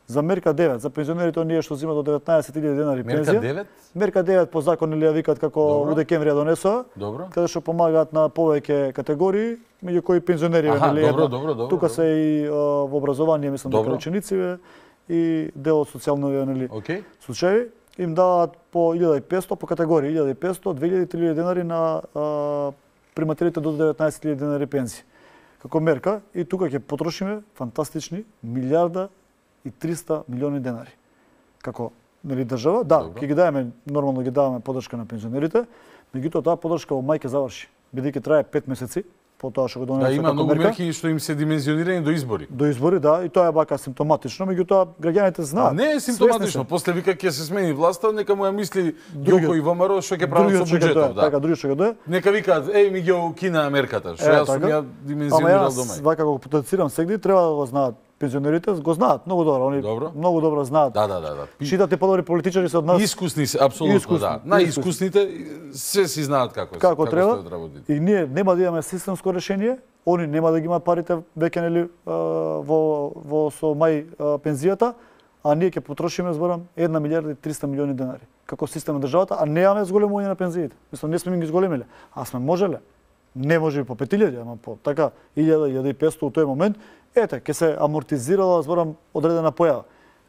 За мерка девет, за пензионерите оние што земат до деветнаесет илјади денари пензија. Мерка девет? Мерка девет по закон или ја викаат како у декември ја донесоа. Добро. Каде што помагаат на повеќе категории, меѓу кои пензионери нели. Добро, добро, добро. Тука се и во образование, мислам дека ученици и дел од социјални нели okay. случаи им даваат по илјада и петсто по категории, илјада и петсто, две илјади, три илјади денари на а, примателите до деветнаесет илјади денари пензии. Како мерка и тука ќе потрошиме фантастични милиарда и триста милиони денари. Како нели држава, да, ќе ги даваме, нормално ги даваме поддршка на пензионерите, меѓутоа таа поддршка во мај ќе заврши, бидејќи трае пет месеци. По тоа што го донесе да, има многу мерки што им се димензионирани до избори. До избори, да, и тоа е бака симптоматично, меѓутоа граѓаните знаат. Не е симптоматично, после вика ќе се смени власта, нека му ја мисли Ѓоко и ВМРО што ќе прават со буџетот, да. Така, други што го нека викаат, еј ми ги укина мерката, што јас сум ја димензионирал до мај. Ама јас вака го потенцирам сегде, треба да го знаат пензионерите, го знаат многу добро, они добро. многу добро знаат. Да, да, да, да. Читате подобри политичари се од нас. Искусни се, апсолутно, искусни, да. Најискусните се си знаат како, како, како треба. Како и ние нема да имаме системско решение, они нема да ги имаат парите веќе нели во во со мај пензијата, а ние ќе потрошиме зборам една милијарда и триста милиони денари како систем на државата, а немаме зголемување на пензиите. Мислам не сме ги зголемиле, а сме можеле. Не може по пет илјади, ама по така илјада, илјада и петсто у тој момент, ете, ќе се амортизирала зборам одредена појава.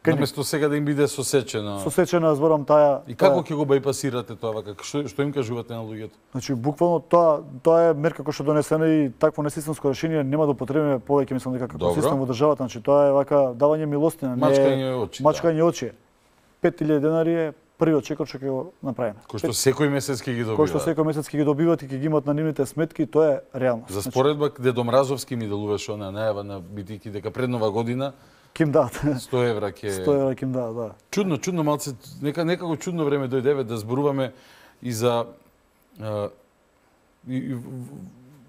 Наместо сега да им биде сосечена. Сосечена зборам таа. И како ќе го бајпасирате тоа вака? Што што им кажувате на луѓето? Значи буквално тоа тоа е мерка која што донесена и такво несистемско решение нема да употребиме повеќе, мислам дека како систем во државата, значи тоа е вака давање милостина, не мачкање очи. Мачкање очи. пет илјади денари е првиот чекор што ќе го направиме. Кој што секој месец ќе ги добива. Кој што секој месец ќе ги добиват и ќе ги имаат на нивните сметки, тоа е реалност. За споредба Дедо Мразовски ми делуваше она најава на битики дека пред нова година Ким дадат. сто евра ќе сто евра ким дадат, да. Чудно, чудно малце, нека некако чудно време дојдеве да зборуваме и за а, и, и,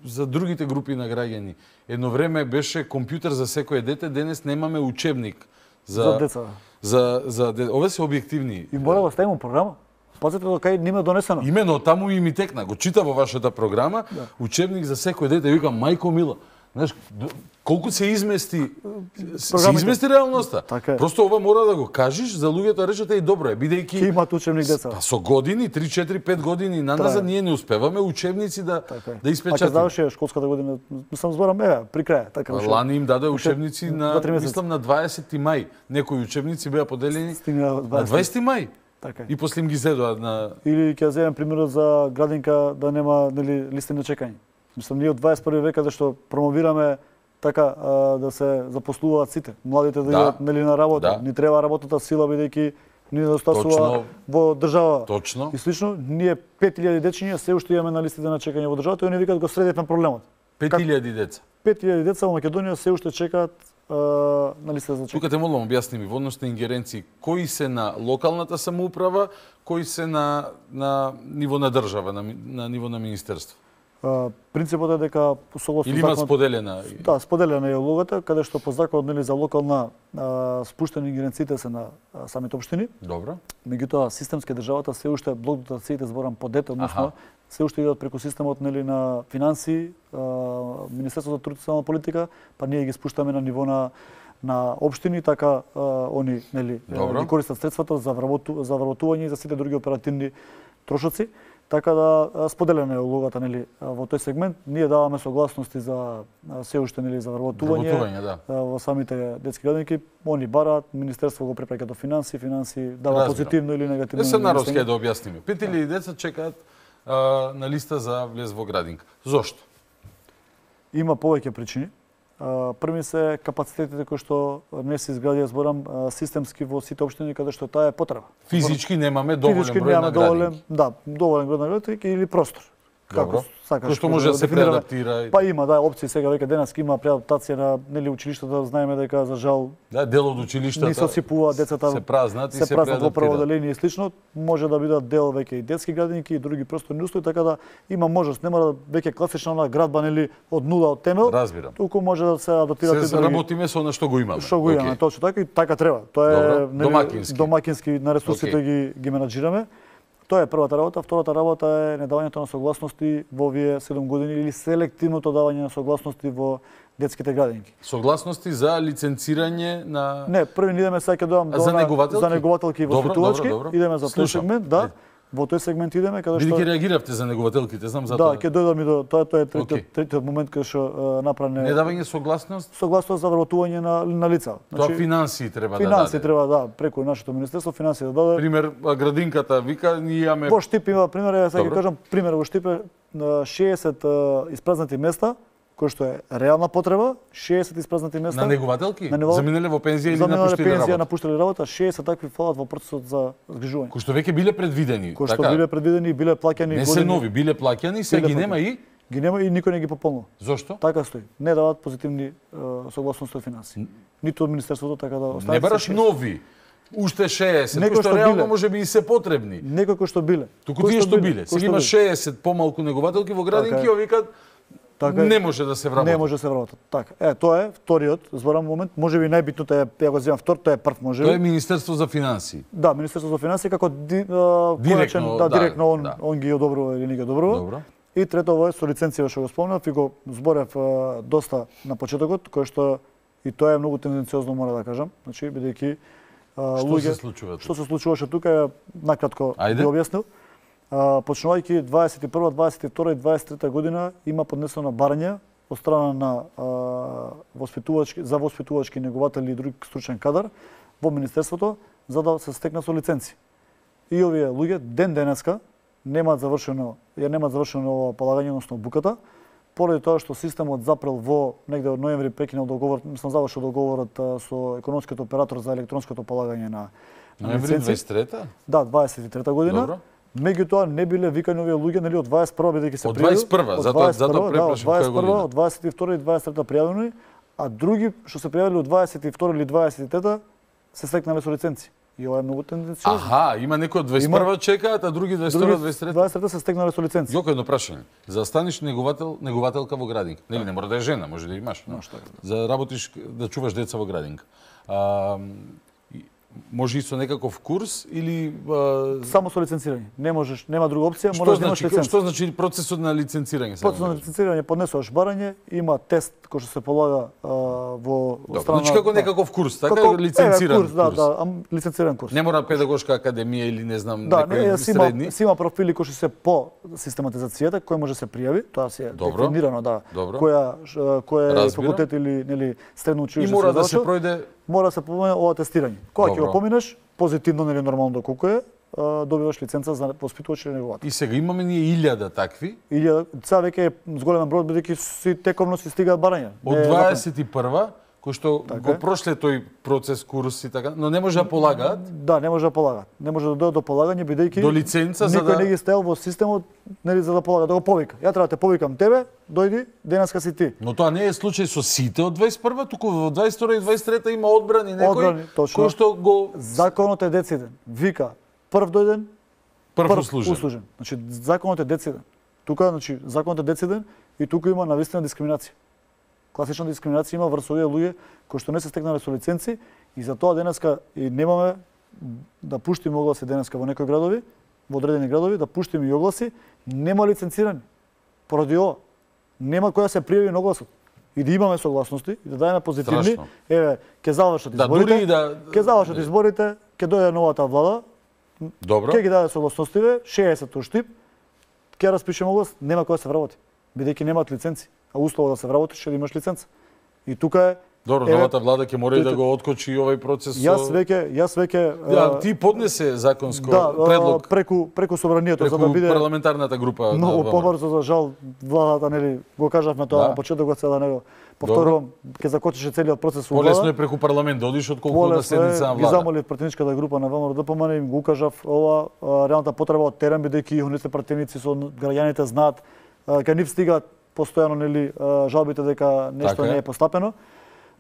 за другите групи на граѓани. Едно време беше компјутер за секое дете, денес немаме учебник за за деца. За за де... овие се објективни. И мора да ставиме програма. Пазете до кај нема донесено. Имено таму и ми текна, го чита во вашата програма, да. Учебник за секое дете, викам мајко мила. Знаеш, колку се измести, се измести реалноста. Така Просто ова мора да го кажеш за луѓето, да речете и добро е, бидејќи ќе имаат учебник деца. Па со години, три, четири, пет години наназад ние не успеваме учебници да така да испечатиме. А ќе заврши школската година, мислам зборам еве, при крај, така уште. Лани им даде учебници на мислам на дваесети мај. Некои учебници беа поделени на дваесети мај. Така. И после им ги зедоа на или ќе земем примерот за градинка да нема нели листи на чекање. Мислам, ние од дваесет и први век зашто промовираме така а, да се запослуваат сите, младите да идат да. нели на работа. Да. Ни треба работната сила бидејќи ни недостасува во држава. Точно. И слично, ние пет илјади дечиња се уште имаме на листите на чекање во државата и они викаат го средивме проблемот. пет илјади деца. пет илјади деца во Македонија се уште чекаат на листа за чекање. Тука те молам објасни ми во однос на ингеренции кои се на локалната самоуправа, кои се на на ниво на држава, на, на ниво на министерство. Uh, принципот е дека согласно или има законот, споделена. Да, споделена е улогата, каде што по законот нели за локална а, спуштени ингеренциите се на а, самите општини. Добро. Меѓутоа системски државата се уште блок дотациите зборам по дете, односно се уште идат преку системот нели на финанси, а, Министерството за труд и социјална политика, па ние ги спуштаме на ниво на на општини, така а, они нели ги користат средствата за вработу, за вработување и за сите други оперативни трошоци. Така да споделена е улогата нели во тој сегмент. Ние даваме согласности за се уште нели за вработување да. во самите детски градинки. Они бараат, министерство го препраќа до финанси, финанси дава Разбирам. Позитивно или негативно. Не се народски да објасниме. пет илјади деца чекаат а, на листа за влез во градинка. Зошто? Има повеќе причини. Први се капацитетите кои што не се изградија, зборам, системски во сите општини каде што таа е потреба. Физички немаме доволен Физички број на градинки. Да, доволен број на градинки или простор. Како сакаш. Кој што може да се преадаптира. Па има, да, опции сега веќе денеска има преадаптација на нели училиштата, знаеме дека за жал да, дел од училиштата не се осипува децата, се празнат и се, се празнат во прво преадаптираат. одделение и слично, може да бидат дел веќе и детски градинки и други просторни услови, така да има можност, нема да веќе класична на градба нели од нула од темел. Разбирам. Туку може да се адаптираат и други. Се работиме со она што го имаме. Што го имаме, okay. Точно така и така треба. Тоа е нели домакински. домакински на ресурсите okay. ги ги менаџираме. Тоа е првата работа. Втората работа е недавањето на согласности во овие седум години или селективното давање на согласности во детските градинки. Согласности за лиценцирање на Не, први не идеме сега ќе доам до за негователки, за негователки и воспитувачки. Идеме за тој сегмент, да. Во тој сегмент идеме каде што Бидејќи реагиравте за негователките, знам за тоа. тоа. Да, ќе дојдам и до тоа, тоа е третиот okay. третиот момент каде што направне недавање согласност, согласност за вработување на на лица. Значи, тоа финансии треба финанси да даде. Финанси треба да, преку нашето министерство финанси да даде. Пример, градинката вика, ние имаме Во Штип има пример, ја сега ќе кажам, пример во Штип е шеесет испразнати места, кој што е реална потреба, шеесет испразнати места. На негователки? На невал... Заминале во пензија или напуштиле пензија, работа? напуштиле работа, шеесет такви фалат во процесот за згрижување. Кои што веќе биле предвидени, Кои што така? биле предвидени и биле плаќани не години. се нови, биле плаќани, се ги нема и ги нема и никој не ги пополнува. Зошто? Така стои. Не даваат позитивни uh, согласности од финанси. Ниту од министерството така да остават. Не бараш нови. Уште шеесет, кои што реално може би и се потребни. Некои кои што биле. Туку тие што биле. Сега има шеесет помалку негователки во градинки, така викат така не може да се вработат. Не може да се вработат. Така. Е, тоа е вториот, зборам момент, можеби најбитното е, ја го земам втор, тоа е прв можеби. Тоа е Министерство за финансии. Да, Министерство за финансии како ди, а, директно, коначен, да, да, директно он, да. он ги одобрува или не ги одобрува. Добро. И трето ово е со лиценција што го спомнав и го зборев а, доста на почетокот, кој што и тоа е многу тенденциозно мора да кажам, значи бидејќи што луѓе, се случува? Што се случуваше тука, накратко Ајде. би објаснил. Почнувајќи дваесет и прва, дваесет и втора и дваесет и трета година има поднесено барање од страна на а, воспитувачки за воспитувачки негователи и друг стручен кадар во министерството за да се стекна со лиценци. И овие луѓе ден денеска немаат завршено, ја немаат завршено ова полагање, односно буката, поради тоа што системот запрел во негде од ноември прекинал договор, мислам завршил договорот а, со економскиот оператор за електронското полагање на ноември дваесет и трета? Да, дваесет и трета година. Добро. Меѓутоа не биле викани овие луѓе нели од дваесет и прва бидејќи се од дваесет и прва, затоа затоа препрашам која година. Од дваесет и втора и дваесет и трета пријавени, а други што се пријавиле од дваесет и втора или дваесет и трета се стекнале со лиценци. И ова е многу тенденциозно. Аха, има некои од дваесет и прва чекаат, а други дваесет и втора, дваесет и трета. дваесет и трета се стекнале со лиценци. Јоко едно прашање. За да станеш неговател, негователка во градинка, нели не мора да е жена, може да имаш, но за работиш да чуваш деца во градинка. А, може и со некаков курс или а... само со лиценцирање. Не можеш, нема друга опција, мораш да имаш значи, лиценца. Што значи процесот на лиценцирање? Процесот на лиценцирање поднесуваш барање, има тест кој што се полага а, во страна. Значи како некаков курс, така како, лиценциран курс. Да, курс. да, ам, лиценциран курс. Не мора педагошка академија или не знам да, некои не, средни. Да, си има профили кои што се по систематизацијата, кој може се пријави, тоа си е дефинирано, да. Добро. Која кој е факултет или нели средно училиште. И мора да се пројде мора да се помине ова тестирање. Кога ќе го поминеш, позитивно нели нормално доколку е, добиваш лиценца за воспитувач или неговател. И сега имаме ние илјада такви. Илјада, сега веќе е зголемен број бидејќи си тековно си стигаат барања. Од дваесет и прва кои што Така го е. прошле тој процес, курс и така, но не може да полагаат Да, не може да полагаат. Не може да дојдат до полагање бидејќи до лиценца за никој да не ги стел во системот, нели за да полага, да го повика. Ја треба да те повикам тебе, дојди, денеска си ти. Но тоа не е случај со сите од дваесет и прва, туку во дваесет и втора и дваесет и трета има одбрани некои Одбрани, точно. кои што го Законот е дециден. Вика прв дојден, прв услужен. услужен. Значи законот е дециден. Тука, значи законот е дециден и тука има навистина дискриминација. Класична дискриминација има врз овие луѓе кои што не се стекнале со лиценци и за тоа денеска и немаме да пуштиме огласи денеска во некои градови, во одредени градови, да пуштиме и огласи, нема лиценцирани. Поради ова, нема кој да се пријави на огласот. И да имаме согласности, и да дајме позитивни, Страшно. еве, ќе завршат Да, изборите, дури и да- ќе завршат изборите, ќе дојде новата влада, Добро. ќе ги даде согласностиве, шеесет уштип, ќе распишеме оглас, нема кој да се вработи, бидејќи немаат лиценци, а условот да се вработиш е да имаш лиценца. И тука е Добро, еве, новата влада ќе мора и да тој- го откочи и овој процес. Јас со- веќе, јас веќе Да, а, ти поднесе законско да, а, предлог преку преку собранието за преку да биде парламентарната група. многу на ВМРО. побрзо, за жал владата, нели, го кажавме тоа Да. на почетокот, сега да не го повторувам, ќе закочише целиот процес во влада. Полесно е преку парламент да одиш отколку на Полесно е, седница на ги влада. замолив пратеничката група на ВМРО ДПМН и им го укажав ова а, реалната потреба од терен, бидејќи оние пратеници со граѓаните знаат, а, кај нив стигаат постојано, нели, а, жалбите дека нешто Така е. не е постапено.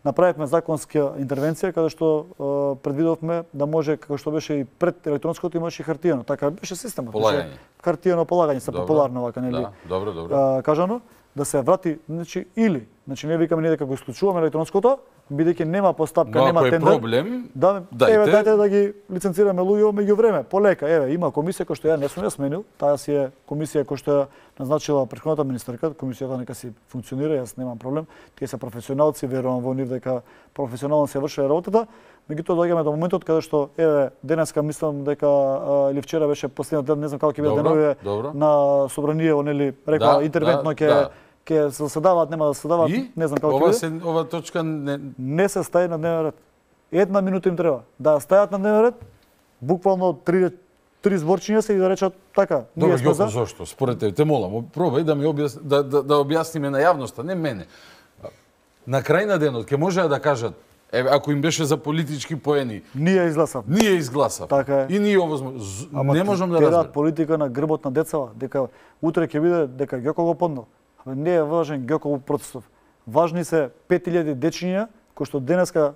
Направивме законска интервенција каде што а, предвидовме да може, како што беше и пред електронското, имаше и хартијано. Така беше системот. Полагање. Хартијано полагање се Добро. популарно вака, нели? Да, добро, добро. а, кажано, да се врати, значи, или, значи не викаме ние дека го исклучуваме електронското, бидејќи нема постапка, Но нема ако е тендер. проблем, да, дајте. еве дајте да ги лиценцираме луѓе меѓу време, полека. Еве, има комисија која што ја не сум ја сменил, таа си е комисија која што ја назначила претходната министерка, комисијата нека си функционира, јас немам проблем. Тие се професионалци, верувам во нив дека професионално се врши работата. Меѓутоа доаѓаме до моментот каде што еве денеска мислам дека а, или вчера беше последниот ден, не знам како ќе биде Добро, деновите добро. на собраниево, нели, рекла Да, интервентно да, ќе да. ќе се заседаваат, нема да се заседаваат, И не знам како ќе ова биде. се ова точка не Не се стаи на дневен ред. Една минута им треба да стајат на дневен ред, буквално три три зборчиња се и да речат така, Добро, ние сме Ѓоко, за. зошто? Според тебе, те молам, пробај да ми објас... да, да, да објасниме на јавноста, не мене. На крај на денот ќе можеа да кажат, еве, ако им беше за политички поени, Ние изгласав. ние изгласав. Така е. И ние овозможно. З- Ама Не можам да те разберам. политика на грбот на децава, дека утре ќе биде дека Ѓоко го поднал. Абе не е важен Ѓоко процесов. Важни се пет илјади дечиња кои што денеска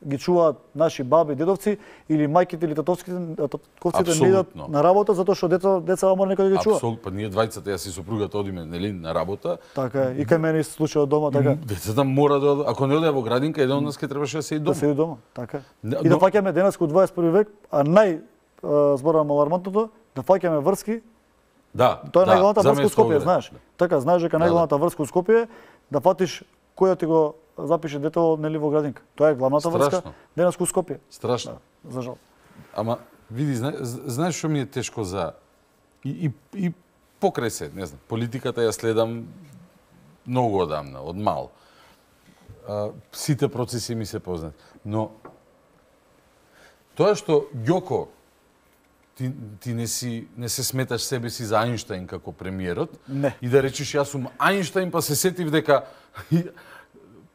ги чуваат наши баби, дедовци или мајките или татовските, татковците не идат Апсолутно. на работа затоа што деца деца мора некој да ги чува. Апсолутно, па ние двајцата, јас и сопругата одиме, нели, на работа. Така е. И кај мене се случува дома така. Децата мора да одат, ако не оде во градинка, еден од нас ќе требаше да се и дома. Да се и дома, така е. Не, И да но- фаќаме денес во дваесет и први век, а нај а, зборам алармантното, да фаќаме врски. Да, Тоа е да, најглавната за врска мен у Скопје, со знаеш. Така, знаеш дека Да, најглавната врска у Скопје е да фатиш кој ти го запише детето, нели, во градинка. Тоа е главната врска Страшно. денес у Скопје. Страшно. Да, за жал. Ама, види, зна, знаеш што ми е тешко за... И, и, и покрај се, не знам, политиката ја следам многу одамна, од мал. А, сите процеси ми се познати. Но, тоа што Ѓоко, ти, ти не, си, не се сметаш себе си за Ајнштајн како премиерот, Не. и да речиш јас сум Ајнштајн, па се сетив дека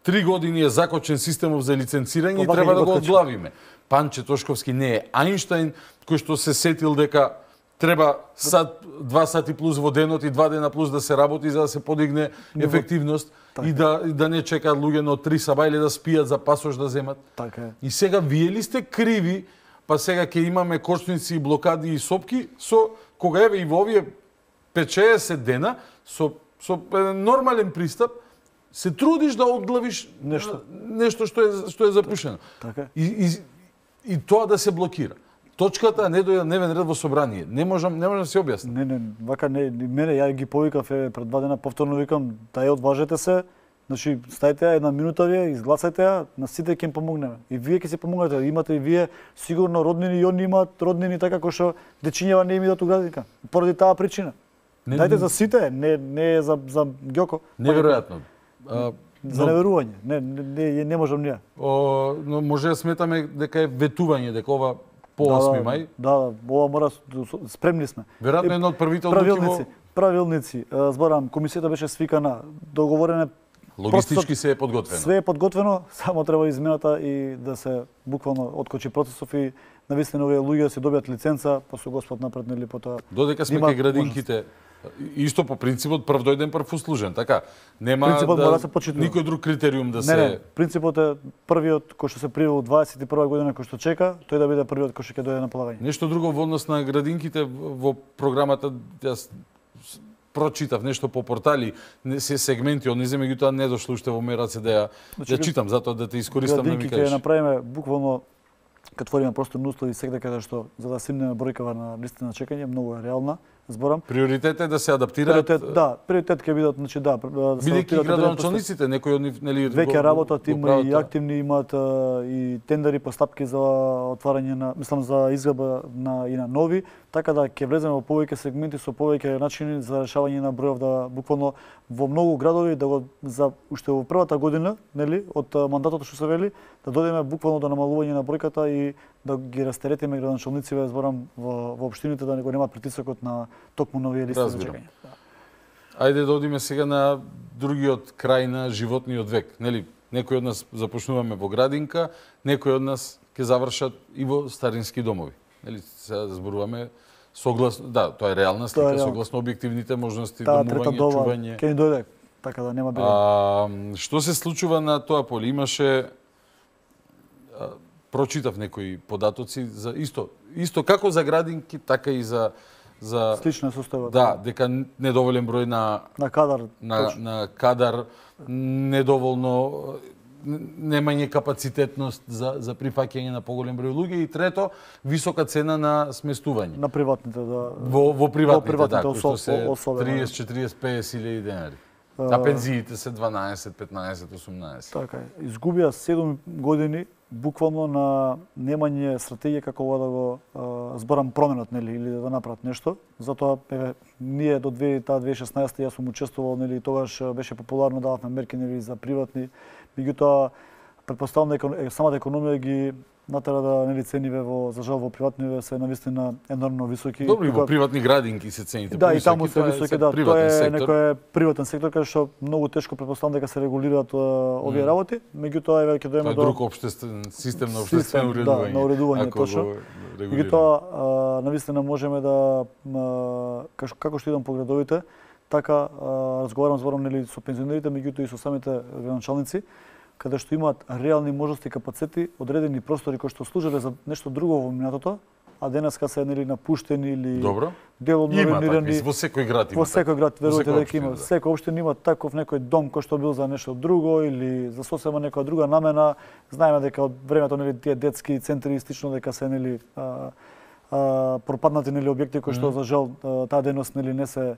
три години е закочен системов за лиценцирање и Па, треба вака да ги го откачи. одглавиме. Панче Тошковски не е Ајнштајн, кој што се сетил дека треба сат, два сати плюс во денот и два дена плюс да се работи за да се подигне ефективност и да, и да не чекаат луѓе на три саба или да спијат за пасош да земат. Така е. И сега вие ли сте криви, па сега ќе имаме кочници, блокади и сопки, со кога еве и во овие пет-шеесет дена, со, со еден нормален пристап, се трудиш да одглавиш Нешто. нешто што е, што е запишено. Така е. И, и, и тоа да се блокира. Точката не дојде на дневен ред во собрание. Не можам, не можам да се објаснам. Не, не, вака не, ни мене ја ги повикав е пред два дена повторно викам да ја одважете се. Значи стајте ја една минута вие, изгласајте ја, на сите ќе им помогнеме. И вие ќе се помогнете, имате и вие сигурно роднини и они имаат роднини така кои што дечињева не им идат у градинка. Поради таа причина. Не, Дајте за сите, не не е за за Ѓоко. Неверојатно. А, За но- неверување. Не, не, не, не можам ние. О, но може да сметаме дека е ветување, дека ова по осми мај. Да, да, ова мора спремни сме. Веројатно Е, едно од првите одлуки правилници, во... правилници, е, зборам, комисијата беше свикана, договорен е логистички се е подготвено. Све е подготвено, само треба измената и да се буквално откочи процесов и навистина овие луѓе да се добијат лиценца, па со Господ напред нели потоа. Додека сме кај градинките, исто по принципот прв дојден прв услужен, така. Нема принципот да, мора да се почитува. Никој друг критериум да не, се Не, принципот е првиот кој што се привил дваесет и прва година кој што чека, тој да биде првиот кој што ќе дојде на полагање. Нешто друго во однос на градинките во програмата, јас прочитав нешто по портали, не се сегменти од незе, меѓутоа не дошло уште во мој раце да ја значи, да читам, затоа да те искористам да ми кажеш. кажеш. Градинки ќе направиме буквално кога твориме просторни услови секаде каде што за да симнеме бројкава на листа на чекање, многу е реална. Зборам. Приоритет е да се адаптираат. Приоритет, да, приоритет ќе бидат, значи да, да се бидејќи градоначалниците, некои од нив нели веќе работат, има и активни, имаат и тендери, постапки за отварање на, мислам за изградба на и на нови, така да ќе влеземе во повеќе сегменти со повеќе начини за решавање на бројов, да буквално во многу градови да го за уште во првата година, нели, од мандатот што се вели, да додеме буквално до намалување на бројката и да ги растеретиме градоначалниците, зборам во, во општините да не го нема притисокот на токму нови листи за чекање. Ајде да одиме сега на другиот крај на животниот век, нели? Некои од нас започнуваме во градинка, некои од нас ќе завршат и во старински домови. Нели, сега зборуваме согласно, да, тоа е реална слика, е согласно објективните можности, Та, домување, доба, чување. Ќе ни дојде, така да нема биле. А, што се случува на тоа поле? Имаше а, прочитав некои податоци за исто, исто како за градинки, така и за за слична состојба. Да, дека недоволен број на на кадар, на, на кадар, недоволно немање капацитетност за за прифаќање на поголем број луѓе и трето висока цена на сместување. На приватните, да. Во во приватните, во приватните да, кои што се особено. триесет, четириесет, петдесет илјади денари. А пензиите се дванаесет, петнаесет, осумнаесет. Така е. Изгубија седум години буквално на немање стратегија како ова да го а, зборам променат, нели, или да направат нешто. Затоа еве ние до две таа две тисячи и шеснаесета јас сум учествувал, нели, тогаш беше популарно, дававме мерки, нели, за приватни. Меѓутоа претпоставам дека самата економија ги натера да, нели, цениве во за жал во приватниве се навистина енормно високи. Добро, и во приватни градинки се цените да, повисоки. Да, и таму се високи, да, тоа е сектор. некој приватен сектор каде што многу тешко претпоставам дека се регулираат овие mm. работи, меѓутоа еве ќе дојдеме до друг општествен систем на општествено уредување. Да, на уредување точно. Меѓутоа навистина можеме да како што идам по градовите, така разговарам зборам, нели, со пензионерите, меѓутоа и со самите градоначалници, каде што имаат реални можности и капацитети, одредени простори кои што служеле за нешто друго во минатото, а денеска се, нели, напуштени или Добро. деломно реномирани. Во секој град има. Во секој град верувате дека има. Секој општина има таков некој дом кој што бил за нешто друго или за сосема некоја друга намена. Знаеме дека од времето, нели, тие детски центри истично дека се, нели, а, а, пропаднати, нели, објекти кои што mm. за жал таа дејност, нели, не се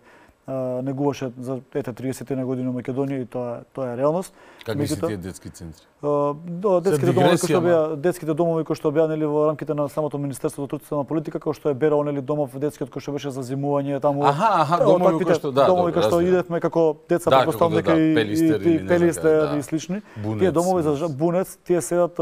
негуваше за ете триесет на години во Македонија и тоа тоа е реалност. Какви се тие детски центри? До детските домови кои што беа детските домови кои што беа, нели, во рамките на самото Министерство за труд и политика, кој што е берал, нели, домов детскиот кој што беше за зимување таму. Аха, аха, домови кои што да, домови кои што идевме како деца, да, претпоставам дека да, и пелистер и пелистер да. и слични. Бунец, тие домови за бунец, тие седат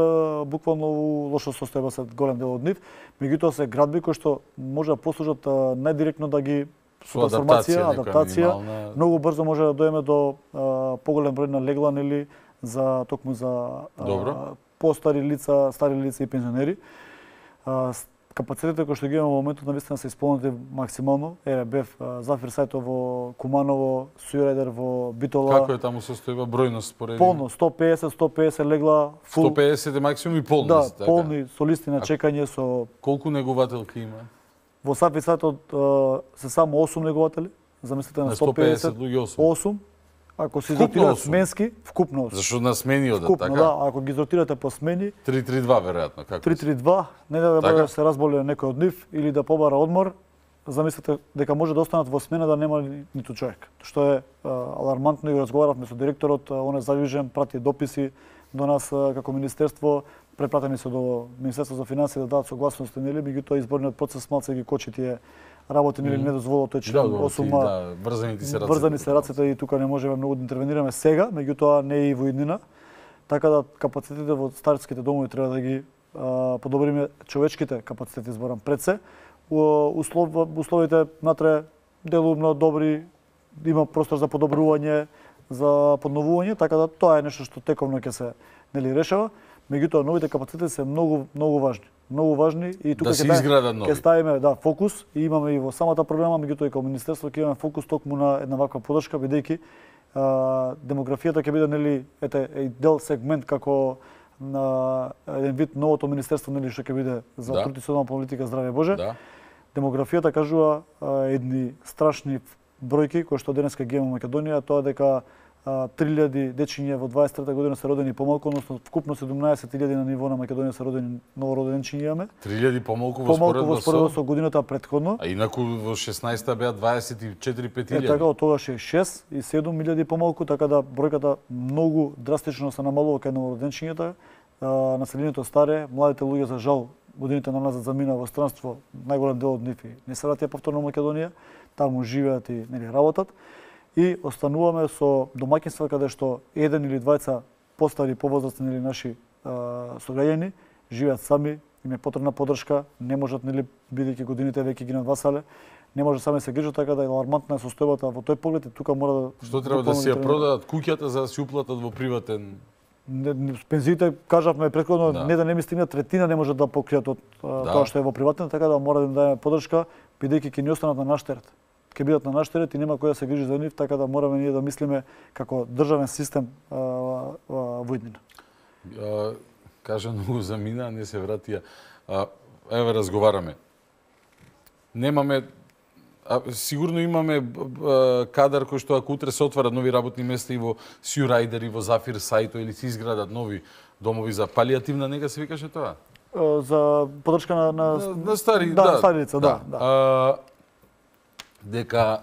буквално во лошо состојба се голем дел од нив. Меѓутоа се градби кои што може да послужат најдиректно да ги со трансформација, адаптација, минимална... многу брзо може да дојдеме до а, поголем број на легла, нели, за токму за а, постари лица, стари лица и пензионери. А, капацитетите кои што ги имаме во моментот навистина се исполнети максимално. Еве бев Зафир Сајтов во Куманово, Сујрајдер во Битола. Како е таму состојба бројност споредно? Полно, сто пеесет сто пеесет легла, фул. сто пеесет е максимум и полност, да, така. полни со листи на чекање со колку негувателки има? Во Зафир Сајтов се само осум негователи, замислете на сто пеесет луѓе осум. Ако се изротираат сменски, вкупно осум. Зашто на смени одат, вкупно, така? Да, ако ги изротирате по смени, три три два веројатно, како? три три два, не да така? Да се разболе некој од нив или да побара одмор, замислете дека може да останат во смена да нема ниту човек. Што е а, алармантно и разговаравме со директорот, он е задвижен, прати дописи до нас а, како министерство, препратени се до Министерство за финансии да дадат согласност, нели, меѓутоа изборниот процес малце ги кочи тие работи, нели, не дозволува тој член осум. Да, врзани се рацете. Врзани се рацете и тука не можеме многу да интервенираме сега, меѓутоа не е и во иднина. Така да капацитетите во старските домови треба да ги а, подобриме, човечките капацитети зборам пред се. Услов, условите натре делумно добри, има простор за подобрување, за подновување, така да тоа е нешто што тековно ќе се нели решава. Меѓутоа новите капацитети се многу многу важни. Многу важни и тука да се изградат нови. Ќе ставиме да фокус и имаме и во самата програма, меѓутоа и како министерство ќе имаме фокус токму на една ваква подршка, бидејќи демографијата ќе биде нели ете е дел сегмент како на еден вид новото министерство нели што ќе биде за да. традиционална политика здраве Боже. Да. Демографијата кажува а, едни страшни бројки кои што денеска ги имаме во Македонија, тоа дека три илјади дечиња во дваесет и трета година се родени помалку, односно вкупно седумнаесет илјади на ниво на Македонија се родени новороденчиња имаме. три илјади помалку во споредба споредба со годината претходно. А инаку во шеснаесета беа дваесет и четири пет илјади. Е така, од тогаш е шест и седум илјади помалку, така да бројката многу драстично се намалува кај новороденчињата. Населението старе, младите луѓе за жал годините на назад замина во странство, најголем дел од нив не се враќа повторно во Македонија, таму живеат и нели работат. И остануваме со домаќинства каде што еден или двајца постари повозрастни или наши а, сограѓани живеат сами, им е потребна поддршка, не можат нели бидејќи годините веќе ги надвасале, не може сами се грижат, така да е алармантна е состојбата во тој поглед и тука мора да Што треба да си ја продадат куќата за да си уплатат во приватен не, пензиите кажавме претходно да. не да не ми стигнат третина не може да покријат од да. тоа што е во приватен, така да мора да им дадеме поддршка бидејќи ќе ни останат на наш терет. Ќе бидат на наш терет и нема кој да се грижи за нив, така да мораме ние да мислиме како државен систем а, а, во иднина. Кажа многу замина, не се вратија. А, еве разговараме. Немаме а, сигурно имаме а, кадар кој што ако утре се отварат нови работни места и во Сјурайдер и во Зафир Сајто или се изградат нови домови за палијативна нега се викаше тоа? А, за поддршка на на, на, на стари, да, да, стари лица, да. да. А, дека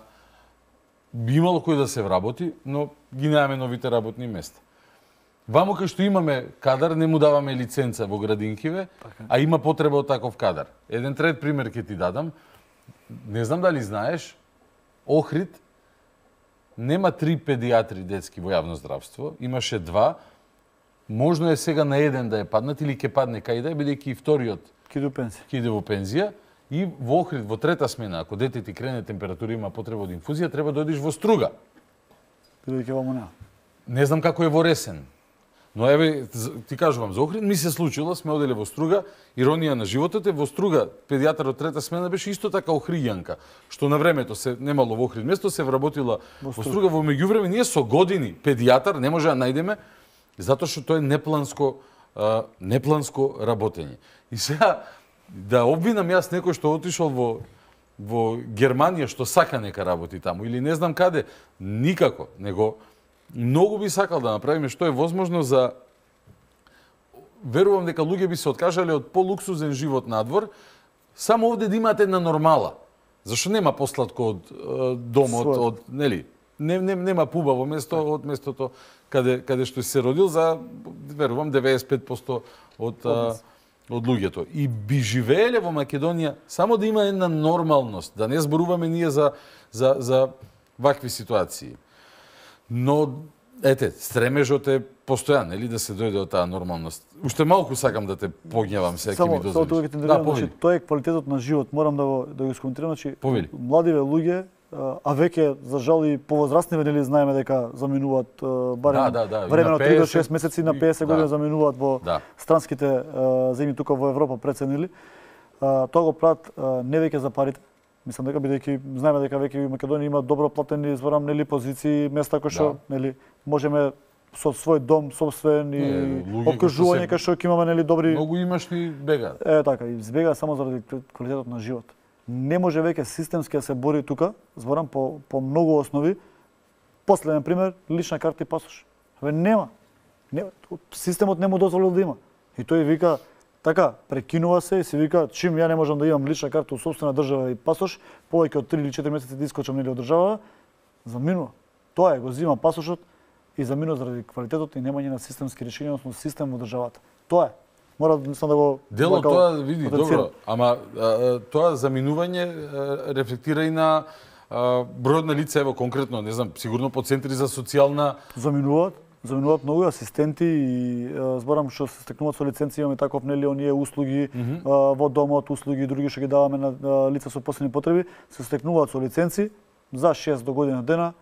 би имало кој да се вработи, но ги немаме новите работни места. Ваму кај што имаме кадар, не му даваме лиценца во градинкиве, така. А има потреба од таков кадар. Еден трет пример ќе ти дадам. Не знам дали знаеш, Охрид нема три педиатри детски во јавно здравство, имаше два. Можно е сега на еден да е паднат или ќе падне кај да е, бидејќи и вториот ќе иде во пензија. Ќе иде во пензија. И во Охрид, во трета смена, ако дете ти крене температура има потреба од инфузија, треба да одиш во Струга. Бидејќи ваму нема. Не знам како е во Ресен. Но еве, ти кажувам, за Охрид ми се случило, сме оделе во Струга, иронија на животот е, во Струга педијатар од трета смена беше исто така охријанка, што на времето се немало во Охрид место, се вработила во Струга. Во Струга, во меѓувреме ние со години педијатар не може да најдеме, затоа што тоа е непланско, а, непланско работење. И сега, да обвинам јас некој што отишол во во Германија што сака нека работи таму или не знам каде, никако, него многу би сакал да направиме што е возможно за верувам дека луѓе би се откажале од полуксузен живот надвор, само овде да имате една нормала. Зашто нема посладко од е, домот, Свой. од нели, не, не, нема пубаво место од местото каде каде што си се родил за верувам деветдесет и пет проценти од а, од луѓето. И би живееле во Македонија само да има една нормалност, да не зборуваме ние за за за вакви ситуации. Но ете, стремежот е постојан, нели да се дојде од таа нормалност. Уште малку сакам да те погневам сега ќе ми дозволиш. Само тоа ќе те да, значи, тоа е квалитетот на живот, морам да го да го искоментирам, значи Повели. Младиве луѓе, а веќе за жал и повозрастни нели знаеме дека заминуваат барем да, да, да. времено три до шест месеци на песет години да. заминуваат во да. странските земји тука во Европа преценили. Тоа го прават не веќе за парите. Мислам дека бидејќи знаеме дека веќе во Македонија има добро платени зборам нели позиции, места кои што да. нели можеме со свој дом собствен и окружување кај што ќе имаме нели добри многу имашни бегаат. Е така, и збега само заради квалитетот на живот. Не може веќе системски да се бори тука, зборам по по многу основи. Последен пример, лична карта и пасош. Абе нема. Не, системот не му дозволил да има. И тој вика така, прекинува се и се вика чим ја не можам да имам лична карта у сопствена држава и пасош, повеќе од три или четири месеци да искочам нели од држава, заминува. Тоа е, го зима пасошот и заминува заради квалитетот и немање на системски решенија, односно систем во државата. Тоа е. Мора да да го дело тоа види добро, ама а, тоа заминување а, рефлектира и на а, бројот на лица, ево конкретно, не знам, сигурно по центри за социјална заминуваат. Заминуваат многу асистенти и зборам што се стекнуваат со лиценци, имаме таков нели оние услуги mm -hmm. а, во домот, услуги други што ги даваме на а, лица со посебни потреби, се стекнуваат со лиценци за шест до година дена,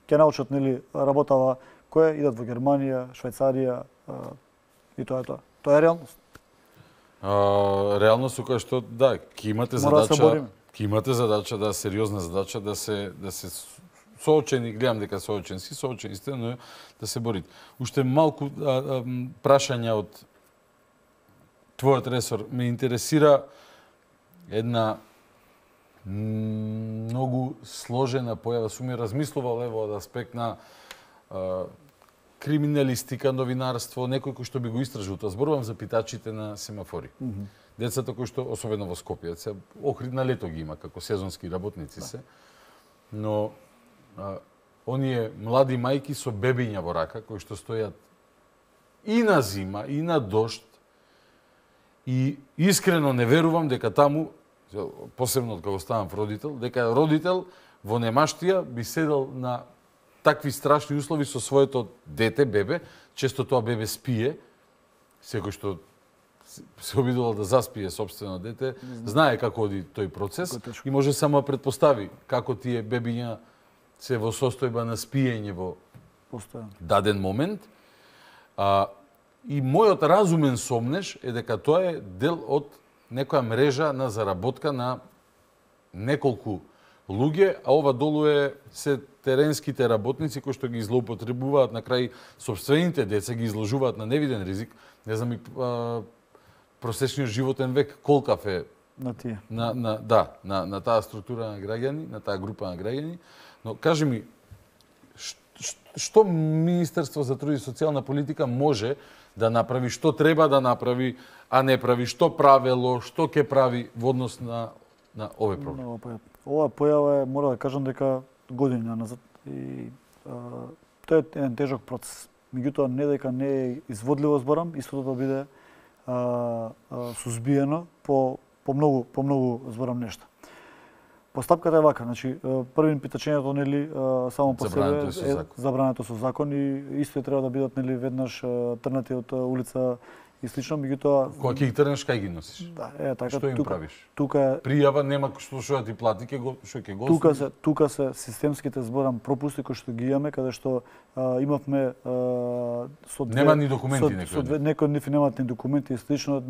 ќе научат нели работава која идат во Германија, Швајцарија и тоа е тоа. Тоа е реалност. А, реалност со која што да, ќе имате Мора задача, да ќе имате задача да сериозна задача да се да се соочени, гледам дека соочени си, соочени сте, но да се борите. Уште малку а, а, прашања од твојот ресор ме интересира една многу сложена појава. Сум ја размислувал ево од аспект на а, криминалистика, новинарство, некој кој што би го истражил тоа. Зборувам за питачите на семафори. Mm -hmm. Децата кои што, особено во Скопје, се Охрид на лето ги има како сезонски работници се. Но а, оние млади мајки со бебиња во рака, кои што стојат и на зима, и на дожд, и искрено не верувам дека таму, посебно од кога ставам родител, дека родител во немаштија би седел на такви страшни услови со своето дете, бебе, често тоа бебе спие, секој што се обидувал да заспие собствено дете, знае како оди тој процес и може само да предпостави како тие бебиња се во состојба на спиење во Постојано. даден момент. А, и мојот разумен сомнеш е дека тоа е дел од некоја мрежа на заработка на неколку луѓе, а ова долу е се теренските работници кои што ги злоупотребуваат на крај собствените деца, ги изложуваат на невиден ризик. Не знам и а, просечниот животен век колкав е на тие. На, на, да, на, на таа структура на граѓани, на таа група на граѓани. Но кажи ми, што Министерство за труд и социјална политика може да направи, што треба да направи, а не прави, што правело, што ќе прави во однос на на овој проблем? Ова појава е, мора да кажам дека години назад и а, тоа е еден тежок процес. Меѓутоа не дека не е изводливо зборам, истото да биде а, а, сузбиено по по многу по многу зборам нешта. Постапката е вака, значи првим питачењето нели само по себе е забрането со закон и исто треба да бидат нели веднаш трнати од улица и слично, меѓутоа кога ќе ги трнеш кај ги носиш? Да, е така. Што им тука, правиш? Тука е пријава, нема што што да ти плати, ќе го што ќе го. Тука се тука се системските зборам пропусти кои што ги имаме, каде што а, имавме а, со две, нема ни документи некои. Со две, некои ниф немаат ни документи и слично,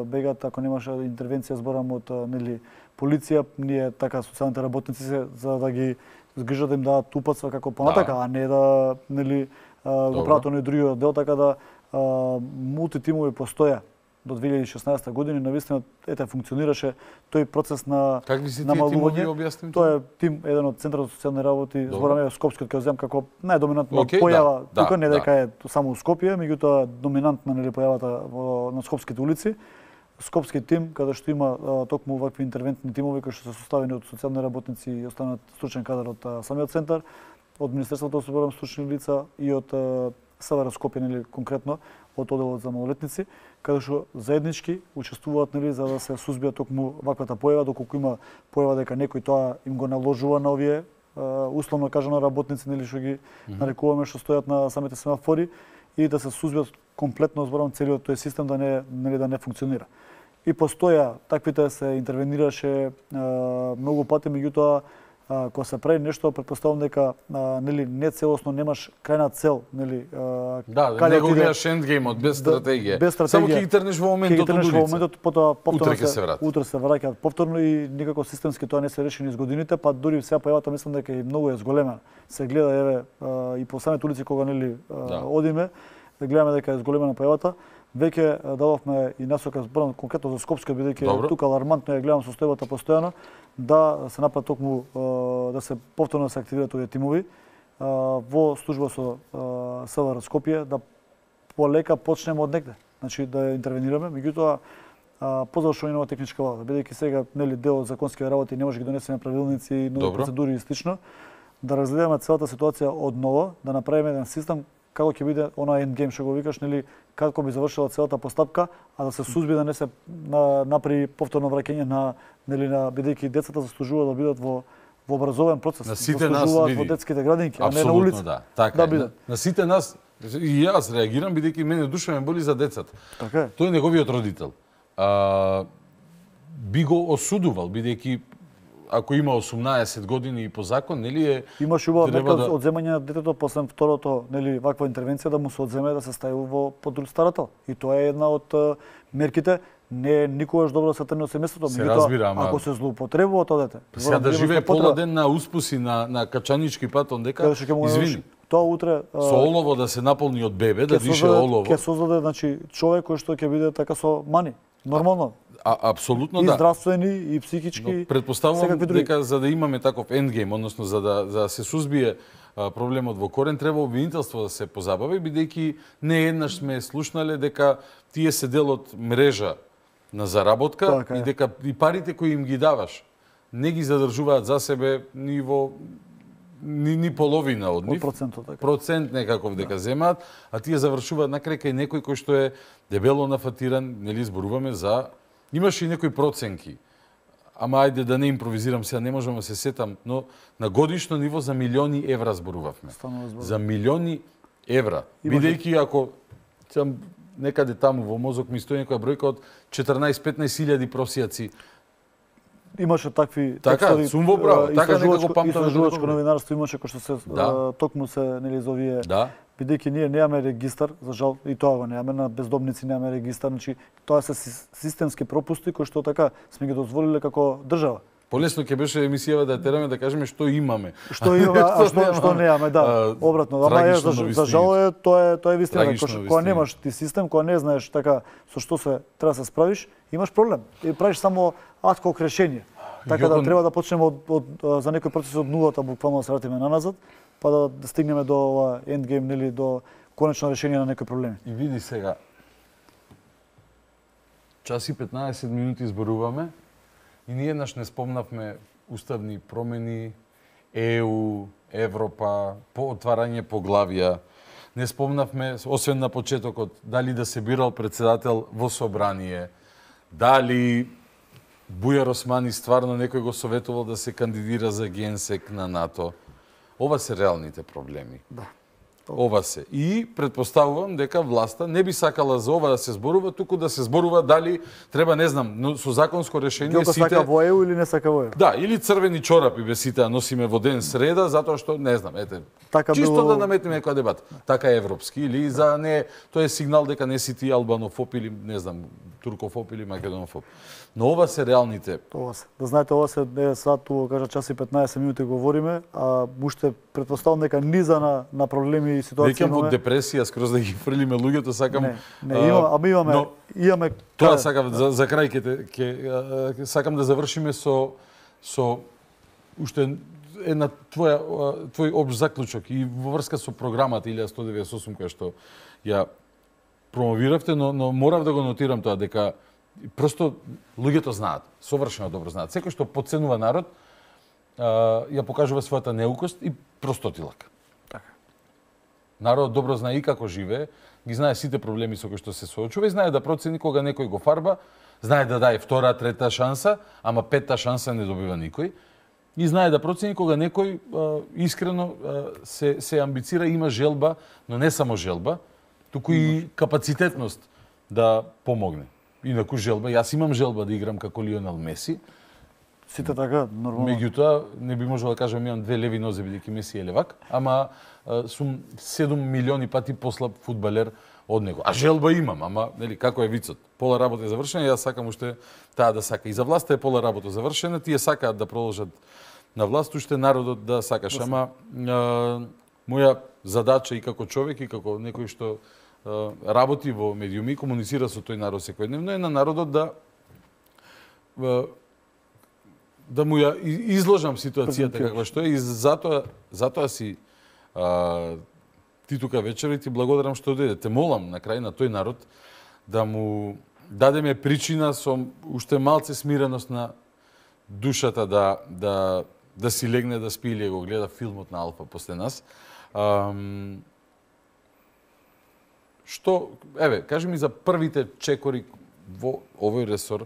бегат ако немаше интервенција зборам од нели полиција, ние така социјалните работници се за да ги згрижат да им дадат упатства како понатака, да. А не да нели го прават оној другиот дел, така да мултитимови постоја до две илјади и шеснаесета година, навистина ете функционираше тој процес на намалување. Тоа е тим еден од Центарот за социјални работи, збораме Скопскиот ќе земам како најдоминантна okay, појава, да, тука да, не дека да. Е само у Скопје, меѓутоа доминантна нели појавата во на скопските улици. Скопски тим, каде што има а, токму вакви интервентни тимови кои што се составени од социјални работници и останат стручен кадар од а, самиот центар, од Министерството за соборам стручни лица и од а, СВР Скопје, нели конкретно од одделот за малолетници, каде што заеднички учествуваат нели за да се сузбија токму ваквата појава, доколку има појава дека некој тоа им го наложува на овие а, условно кажано работници нели што ги mm -hmm. нарекуваме што стојат на самите семафори и да се сузбиат комплетно зборам целиот тој систем да не нели да не функционира. И постоја таквите се интервенираше а, многу пати, меѓутоа кога се прави нешто, претпоставувам дека а, нели не целосно немаш крајна цел, нели а, да, не го гледаш ендгеймот без стратегија. Без стратегија. Само ќе ги трнеш во моментот од улица. Во моментот, потоа повторно утре се враќаат. Утре се враќаат повторно и никако системски тоа не се реши низ годините, па дури сега појавата мислам дека и многу е зголемена. Се гледа еве а, и по самите улици кога нели а, да. Одиме, да гледаме дека е зголемена појавата. Веќе дадовме и насока зборам конкретно за Скопска, бидејќи тука алармантно ја гледам состојбата постојано, да се направи токму да се повторно да се активираат овие тимови во служба со СВР Скопје, да полека почнеме од негде, значи да интервенираме, меѓутоа по завршување на техничка влада, бидејќи сега нели дел од законски работи не може да ги донесеме правилници, нови процедури и слично, да разгледаме целата ситуација од ново, да направиме еден систем како ќе биде она ендгейм што го викаш, нели како би завршила целата постапка, а да се сузби да не се на, направи повторно враќање на нели на бидејќи децата заслужуваат да бидат во во образовен процес, на сите нас види во детските градинки, а не на улица. Да, така да бидат. На, на сите нас и јас реагирам бидејќи мене душа ме боли за децата. Така е. Тој е неговиот родител. А, би го осудувал бидејќи ако има осумнаесет години и по закон, нели е Имаш убава треба мерка да... одземање на детето после второто, нели, ваква интервенција да му се одземе да се стави во под друг старател. И тоа е една од а, мерките. Не е никогаш добро да се трне од семејството, Се разбира, ама ако се злоупотребува тоа дете. Сега да живее пола ден на успуси на на Качанички пат ондека, извини. Тоа утре со олово да се наполни од бебе, да дише создаде, олово. Ќе создаде, значи, човек кој што ќе биде така со мани. Нормално. А, апсолутно и да. И здравствени, и психички. Но предпоставувам дека за да имаме таков ендгейм, односно за да за да се сузбие а, проблемот во корен, треба обвинителство да се позабави, бидејќи не еднаш сме слушнале дека тие се дел од мрежа на заработка така и дека и парите кои им ги даваш не ги задржуваат за себе ни во ни, ни половина од нив. Процентот, така. Процент некаков дека да. земаат, а тие завршуваат на крај кај некој кој што е дебело нафатиран, нели зборуваме за имаше и некои проценки. Ама ајде да не импровизирам сега, не можам да се сетам, но на годишно ниво за милиони евра зборувавме. За милиони евра. Бидејќи ако сам некаде таму во мозок ми стои некоја бројка од четрнаесет-петнаесет илјади просијаци. Имаше такви така, текстови. Сум во право, така некако памтам. Истражувачко новинарство имаше кој што се да. токму се нели за овие. Да. Бидејќи ние немаме регистар, за жал и тоа го немаме, на бездомници немаме регистар, значи тоа се системски пропусти кои што така сме ги дозволиле како држава. Полесно ќе беше емисијава да тераме да кажеме што имаме. Што имаме, а што што немаме, да. Обратно, ама е за, за жал е тоа е тоа е вистина, кога немаш ти систем, кога не знаеш така со што се треба да се справиш, имаш проблем. И правиш само адхок решение. Така Јокон... да треба да почнеме од, од за некој процес од нулата, буквално да се вратиме наназад, па да, да стигнеме до ова ендгейм, нели, до конечно решение на некои проблеми. И види сега, час и петнаесет минути зборуваме и ние еднаш не спомнавме уставни промени, Е У, Европа, по отварање поглавија. Не спомнавме, освен на почетокот, дали да се бирал председател во собрание, дали Бујар Османи стварно некој го советувал да се кандидира за генсек на НАТО. Ова се реалните проблеми. Да. Ова се. И предпоставувам дека власта не би сакала за ова да се зборува, туку да се зборува дали треба, не знам, но со законско решение Гјоко сите... сака во Е У или не сака во Е У? Да, или црвени чорапи бе сите носиме во ден среда, затоа што, не знам, ете, така чисто било... да наметнеме некоја дебата. Така европски, или за не, тоа е сигнал дека не си ти албанофоб или, не знам, туркофоб или македонофоб. Но ова се реалните. Ова се. Да знаете, ова се е сад, тука кажа час и петнаесет минути говориме, а уште претпоставам дека низа на, на проблеми и ситуации имаме. Во депресија, скроз да ги фрлиме луѓето, сакам... Не, не има, ама имаме, но, имаме... Тоа сакам, за, за крај ќе, ќе, сакам да завршиме со, со уште една твоја, твој обш заклучок и во врска со програмата илјада сто деветдесет и осум која што ја промовиравте, но, но морав да го нотирам тоа, дека просто луѓето знаат, совршено добро знаат. Секој што потценува народ, ја покажува својата неукост и простотилак. Така. Народот добро знае и како живее, ги знае сите проблеми со кои што се соочува и знае да процени кога некој го фарба, знае да даде втора, трета шанса, ама петта шанса не добива никој. И знае да процени кога некој а, искрено а, се, се амбицира, има желба, но не само желба, туку и капацитетност да помогне. Инаку желба, јас имам желба да играм како Лионел Меси. Сите така, нормално. Меѓутоа, не би можел да кажам имам две леви нозе бидејќи Меси е левак, ама а, сум седум милиони пати послаб фудбалер од него. А желба имам, ама нели како е вицот? Пола работа е завршена, јас сакам уште таа да сака. И за власта е пола работа завршена, тие сакаат да продолжат на власт, уште народот да сакаш. Ама а, моја задача и како човек и како некој што а, работи во медиуми, комуницира со тој народ секојдневно, е на народот да а, да му ја изложам ситуацијата каква што е и затоа затоа си а, ти тука вечер и ти благодарам што дојде. Те молам на крај на тој народ да му дадеме причина со уште малце смиреност на душата да да да си легне да спи или го гледа филмот на Алфа после нас. Ам, што, еве, кажи ми за првите чекори во овој ресор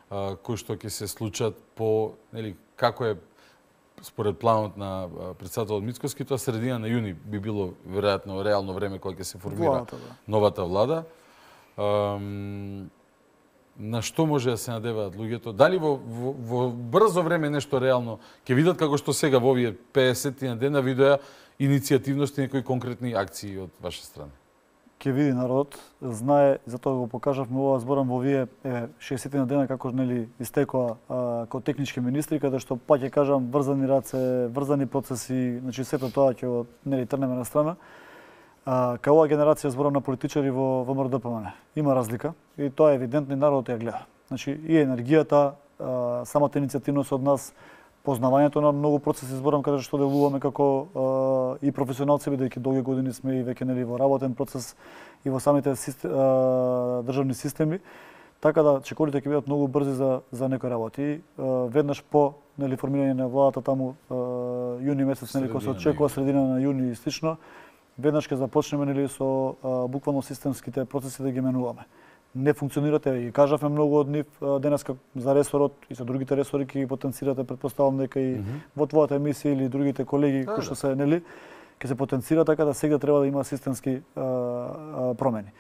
а, кои што ќе се случат по, нели, како е според планот на председателот Мицкоски, тоа средина на јуни би било веројатно реално време кога ќе се формира владата, да. новата влада. Ам, на што може да се надеваат луѓето? Дали во, во, во брзо време нешто реално ќе видат како што сега во овие педесет на дена видоа иницијативност и некои конкретни акции од ваша страна? Ќе види народот, знае, затоа го покажавме ова зборам во овие шеесет на дена како нели истекоа како технички министри, каде што пак ќе кажам врзани раце, врзани процеси, значи сето тоа ќе го нели трнеме на страна. А, кај оваа генерација зборам на политичари во ВМРО-ДПМН. Има разлика и тоа е евидентно и народот ја гледа. Значи и енергијата, а, самата иницијативност од нас, познавањето на многу процеси зборам каде што делуваме како а, и професионалци, бидејќи долги години сме и веќе нели во работен процес и во самите систем, а, државни системи, така да чекорите ќе бидат многу брзи за за некои работи. А, веднаш по нели формирање на владата таму а, јуни месец нели кој се очекува средина на јуни и слично, веднаш ќе започнеме нели со а, буквално системските процеси да ги менуваме. Не функционирате и кажавме многу од нив денеска за ресорот и за другите ресори ќе ги потенцирате, претпоставам дека и mm -hmm. во твојата емисија или другите колеги да, кои што се нели ќе се потенцира така да сега треба да има системски а, а, промени.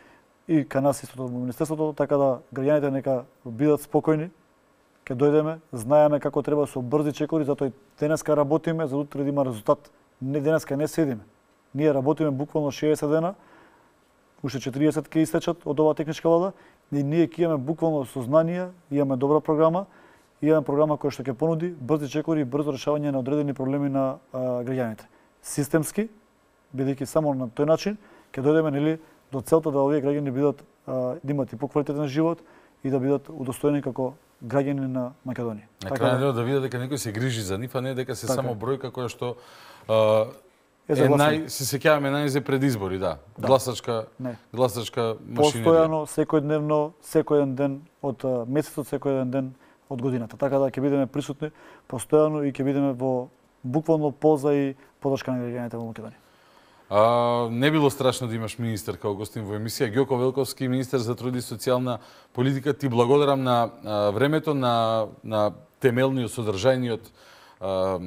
И кај нас истото во министерството, така да граѓаните нека бидат спокојни, ќе дојдеме, знаеме како треба со брзи чекори, затоа и денеска работиме за утре да има резултат. Не денеска не седиме. Ние работиме буквално шеесет дена, уште четириесет ќе истечат од оваа техничка влада и ние ќе имаме буквално сознание, имаме добра програма, имаме програма која што ќе понуди брзи чекори и брзо решавање на одредени проблеми на а, граѓаните. Системски, бидејќи само на тој начин ќе дојдеме нели до целта да овие граѓани бидат а, да имат и поквалитетен живот и да бидат удостоени како граѓани на Македонија. На крајот да видат дека некој се грижи за нив, а не дека се така само бројка која што а, Е, е нај, се сеќаваме најзе пред избори, да. да. Гласачка, не. гласачка машинерија. Постојано, секојдневно, секој еден ден од месецот, секој еден ден од годината. Така да ќе бидеме присутни постојано и ќе бидеме во буквално полза и подршка на граѓаните во Македонија. А, не било страшно да имаш министер као гостин во емисија. Ѓоко Велковски, министер за труд и социјална политика, ти благодарам на а, времето, на, на темелниот, содржајниот а,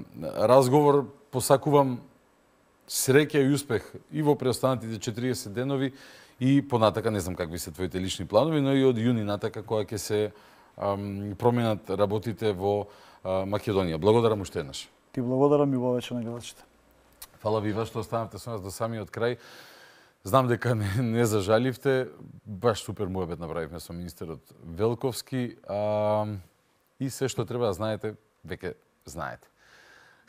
разговор. Посакувам среќа и успех и во преостанатите четириесет денови и понатака, не знам какви се твоите лични планови, но и од јуни натака кога ќе се ам, променат работите во а, Македонија. Благодарам уште еднаш. Ти благодарам и во вечер на гледачите. Фала ви што останавте со нас до самиот крај. Знам дека не, не зажаливте, баш супер муабет направивме со министерот Велковски а, и се што треба да знаете, веќе знаете.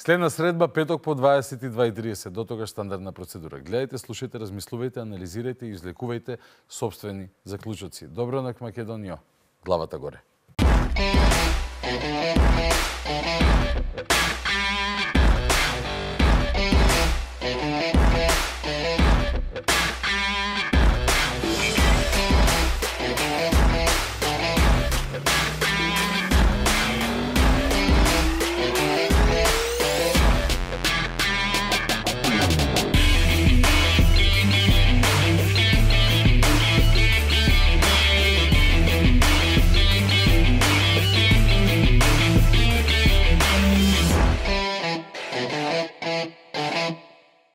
Следна средба, петок по дваесет и два и тридесет, до тогаш стандардна процедура. Гледајте, слушајте, размислувајте, анализирајте и излекувајте собствени заклучоци. Добро на Македонија, главата горе.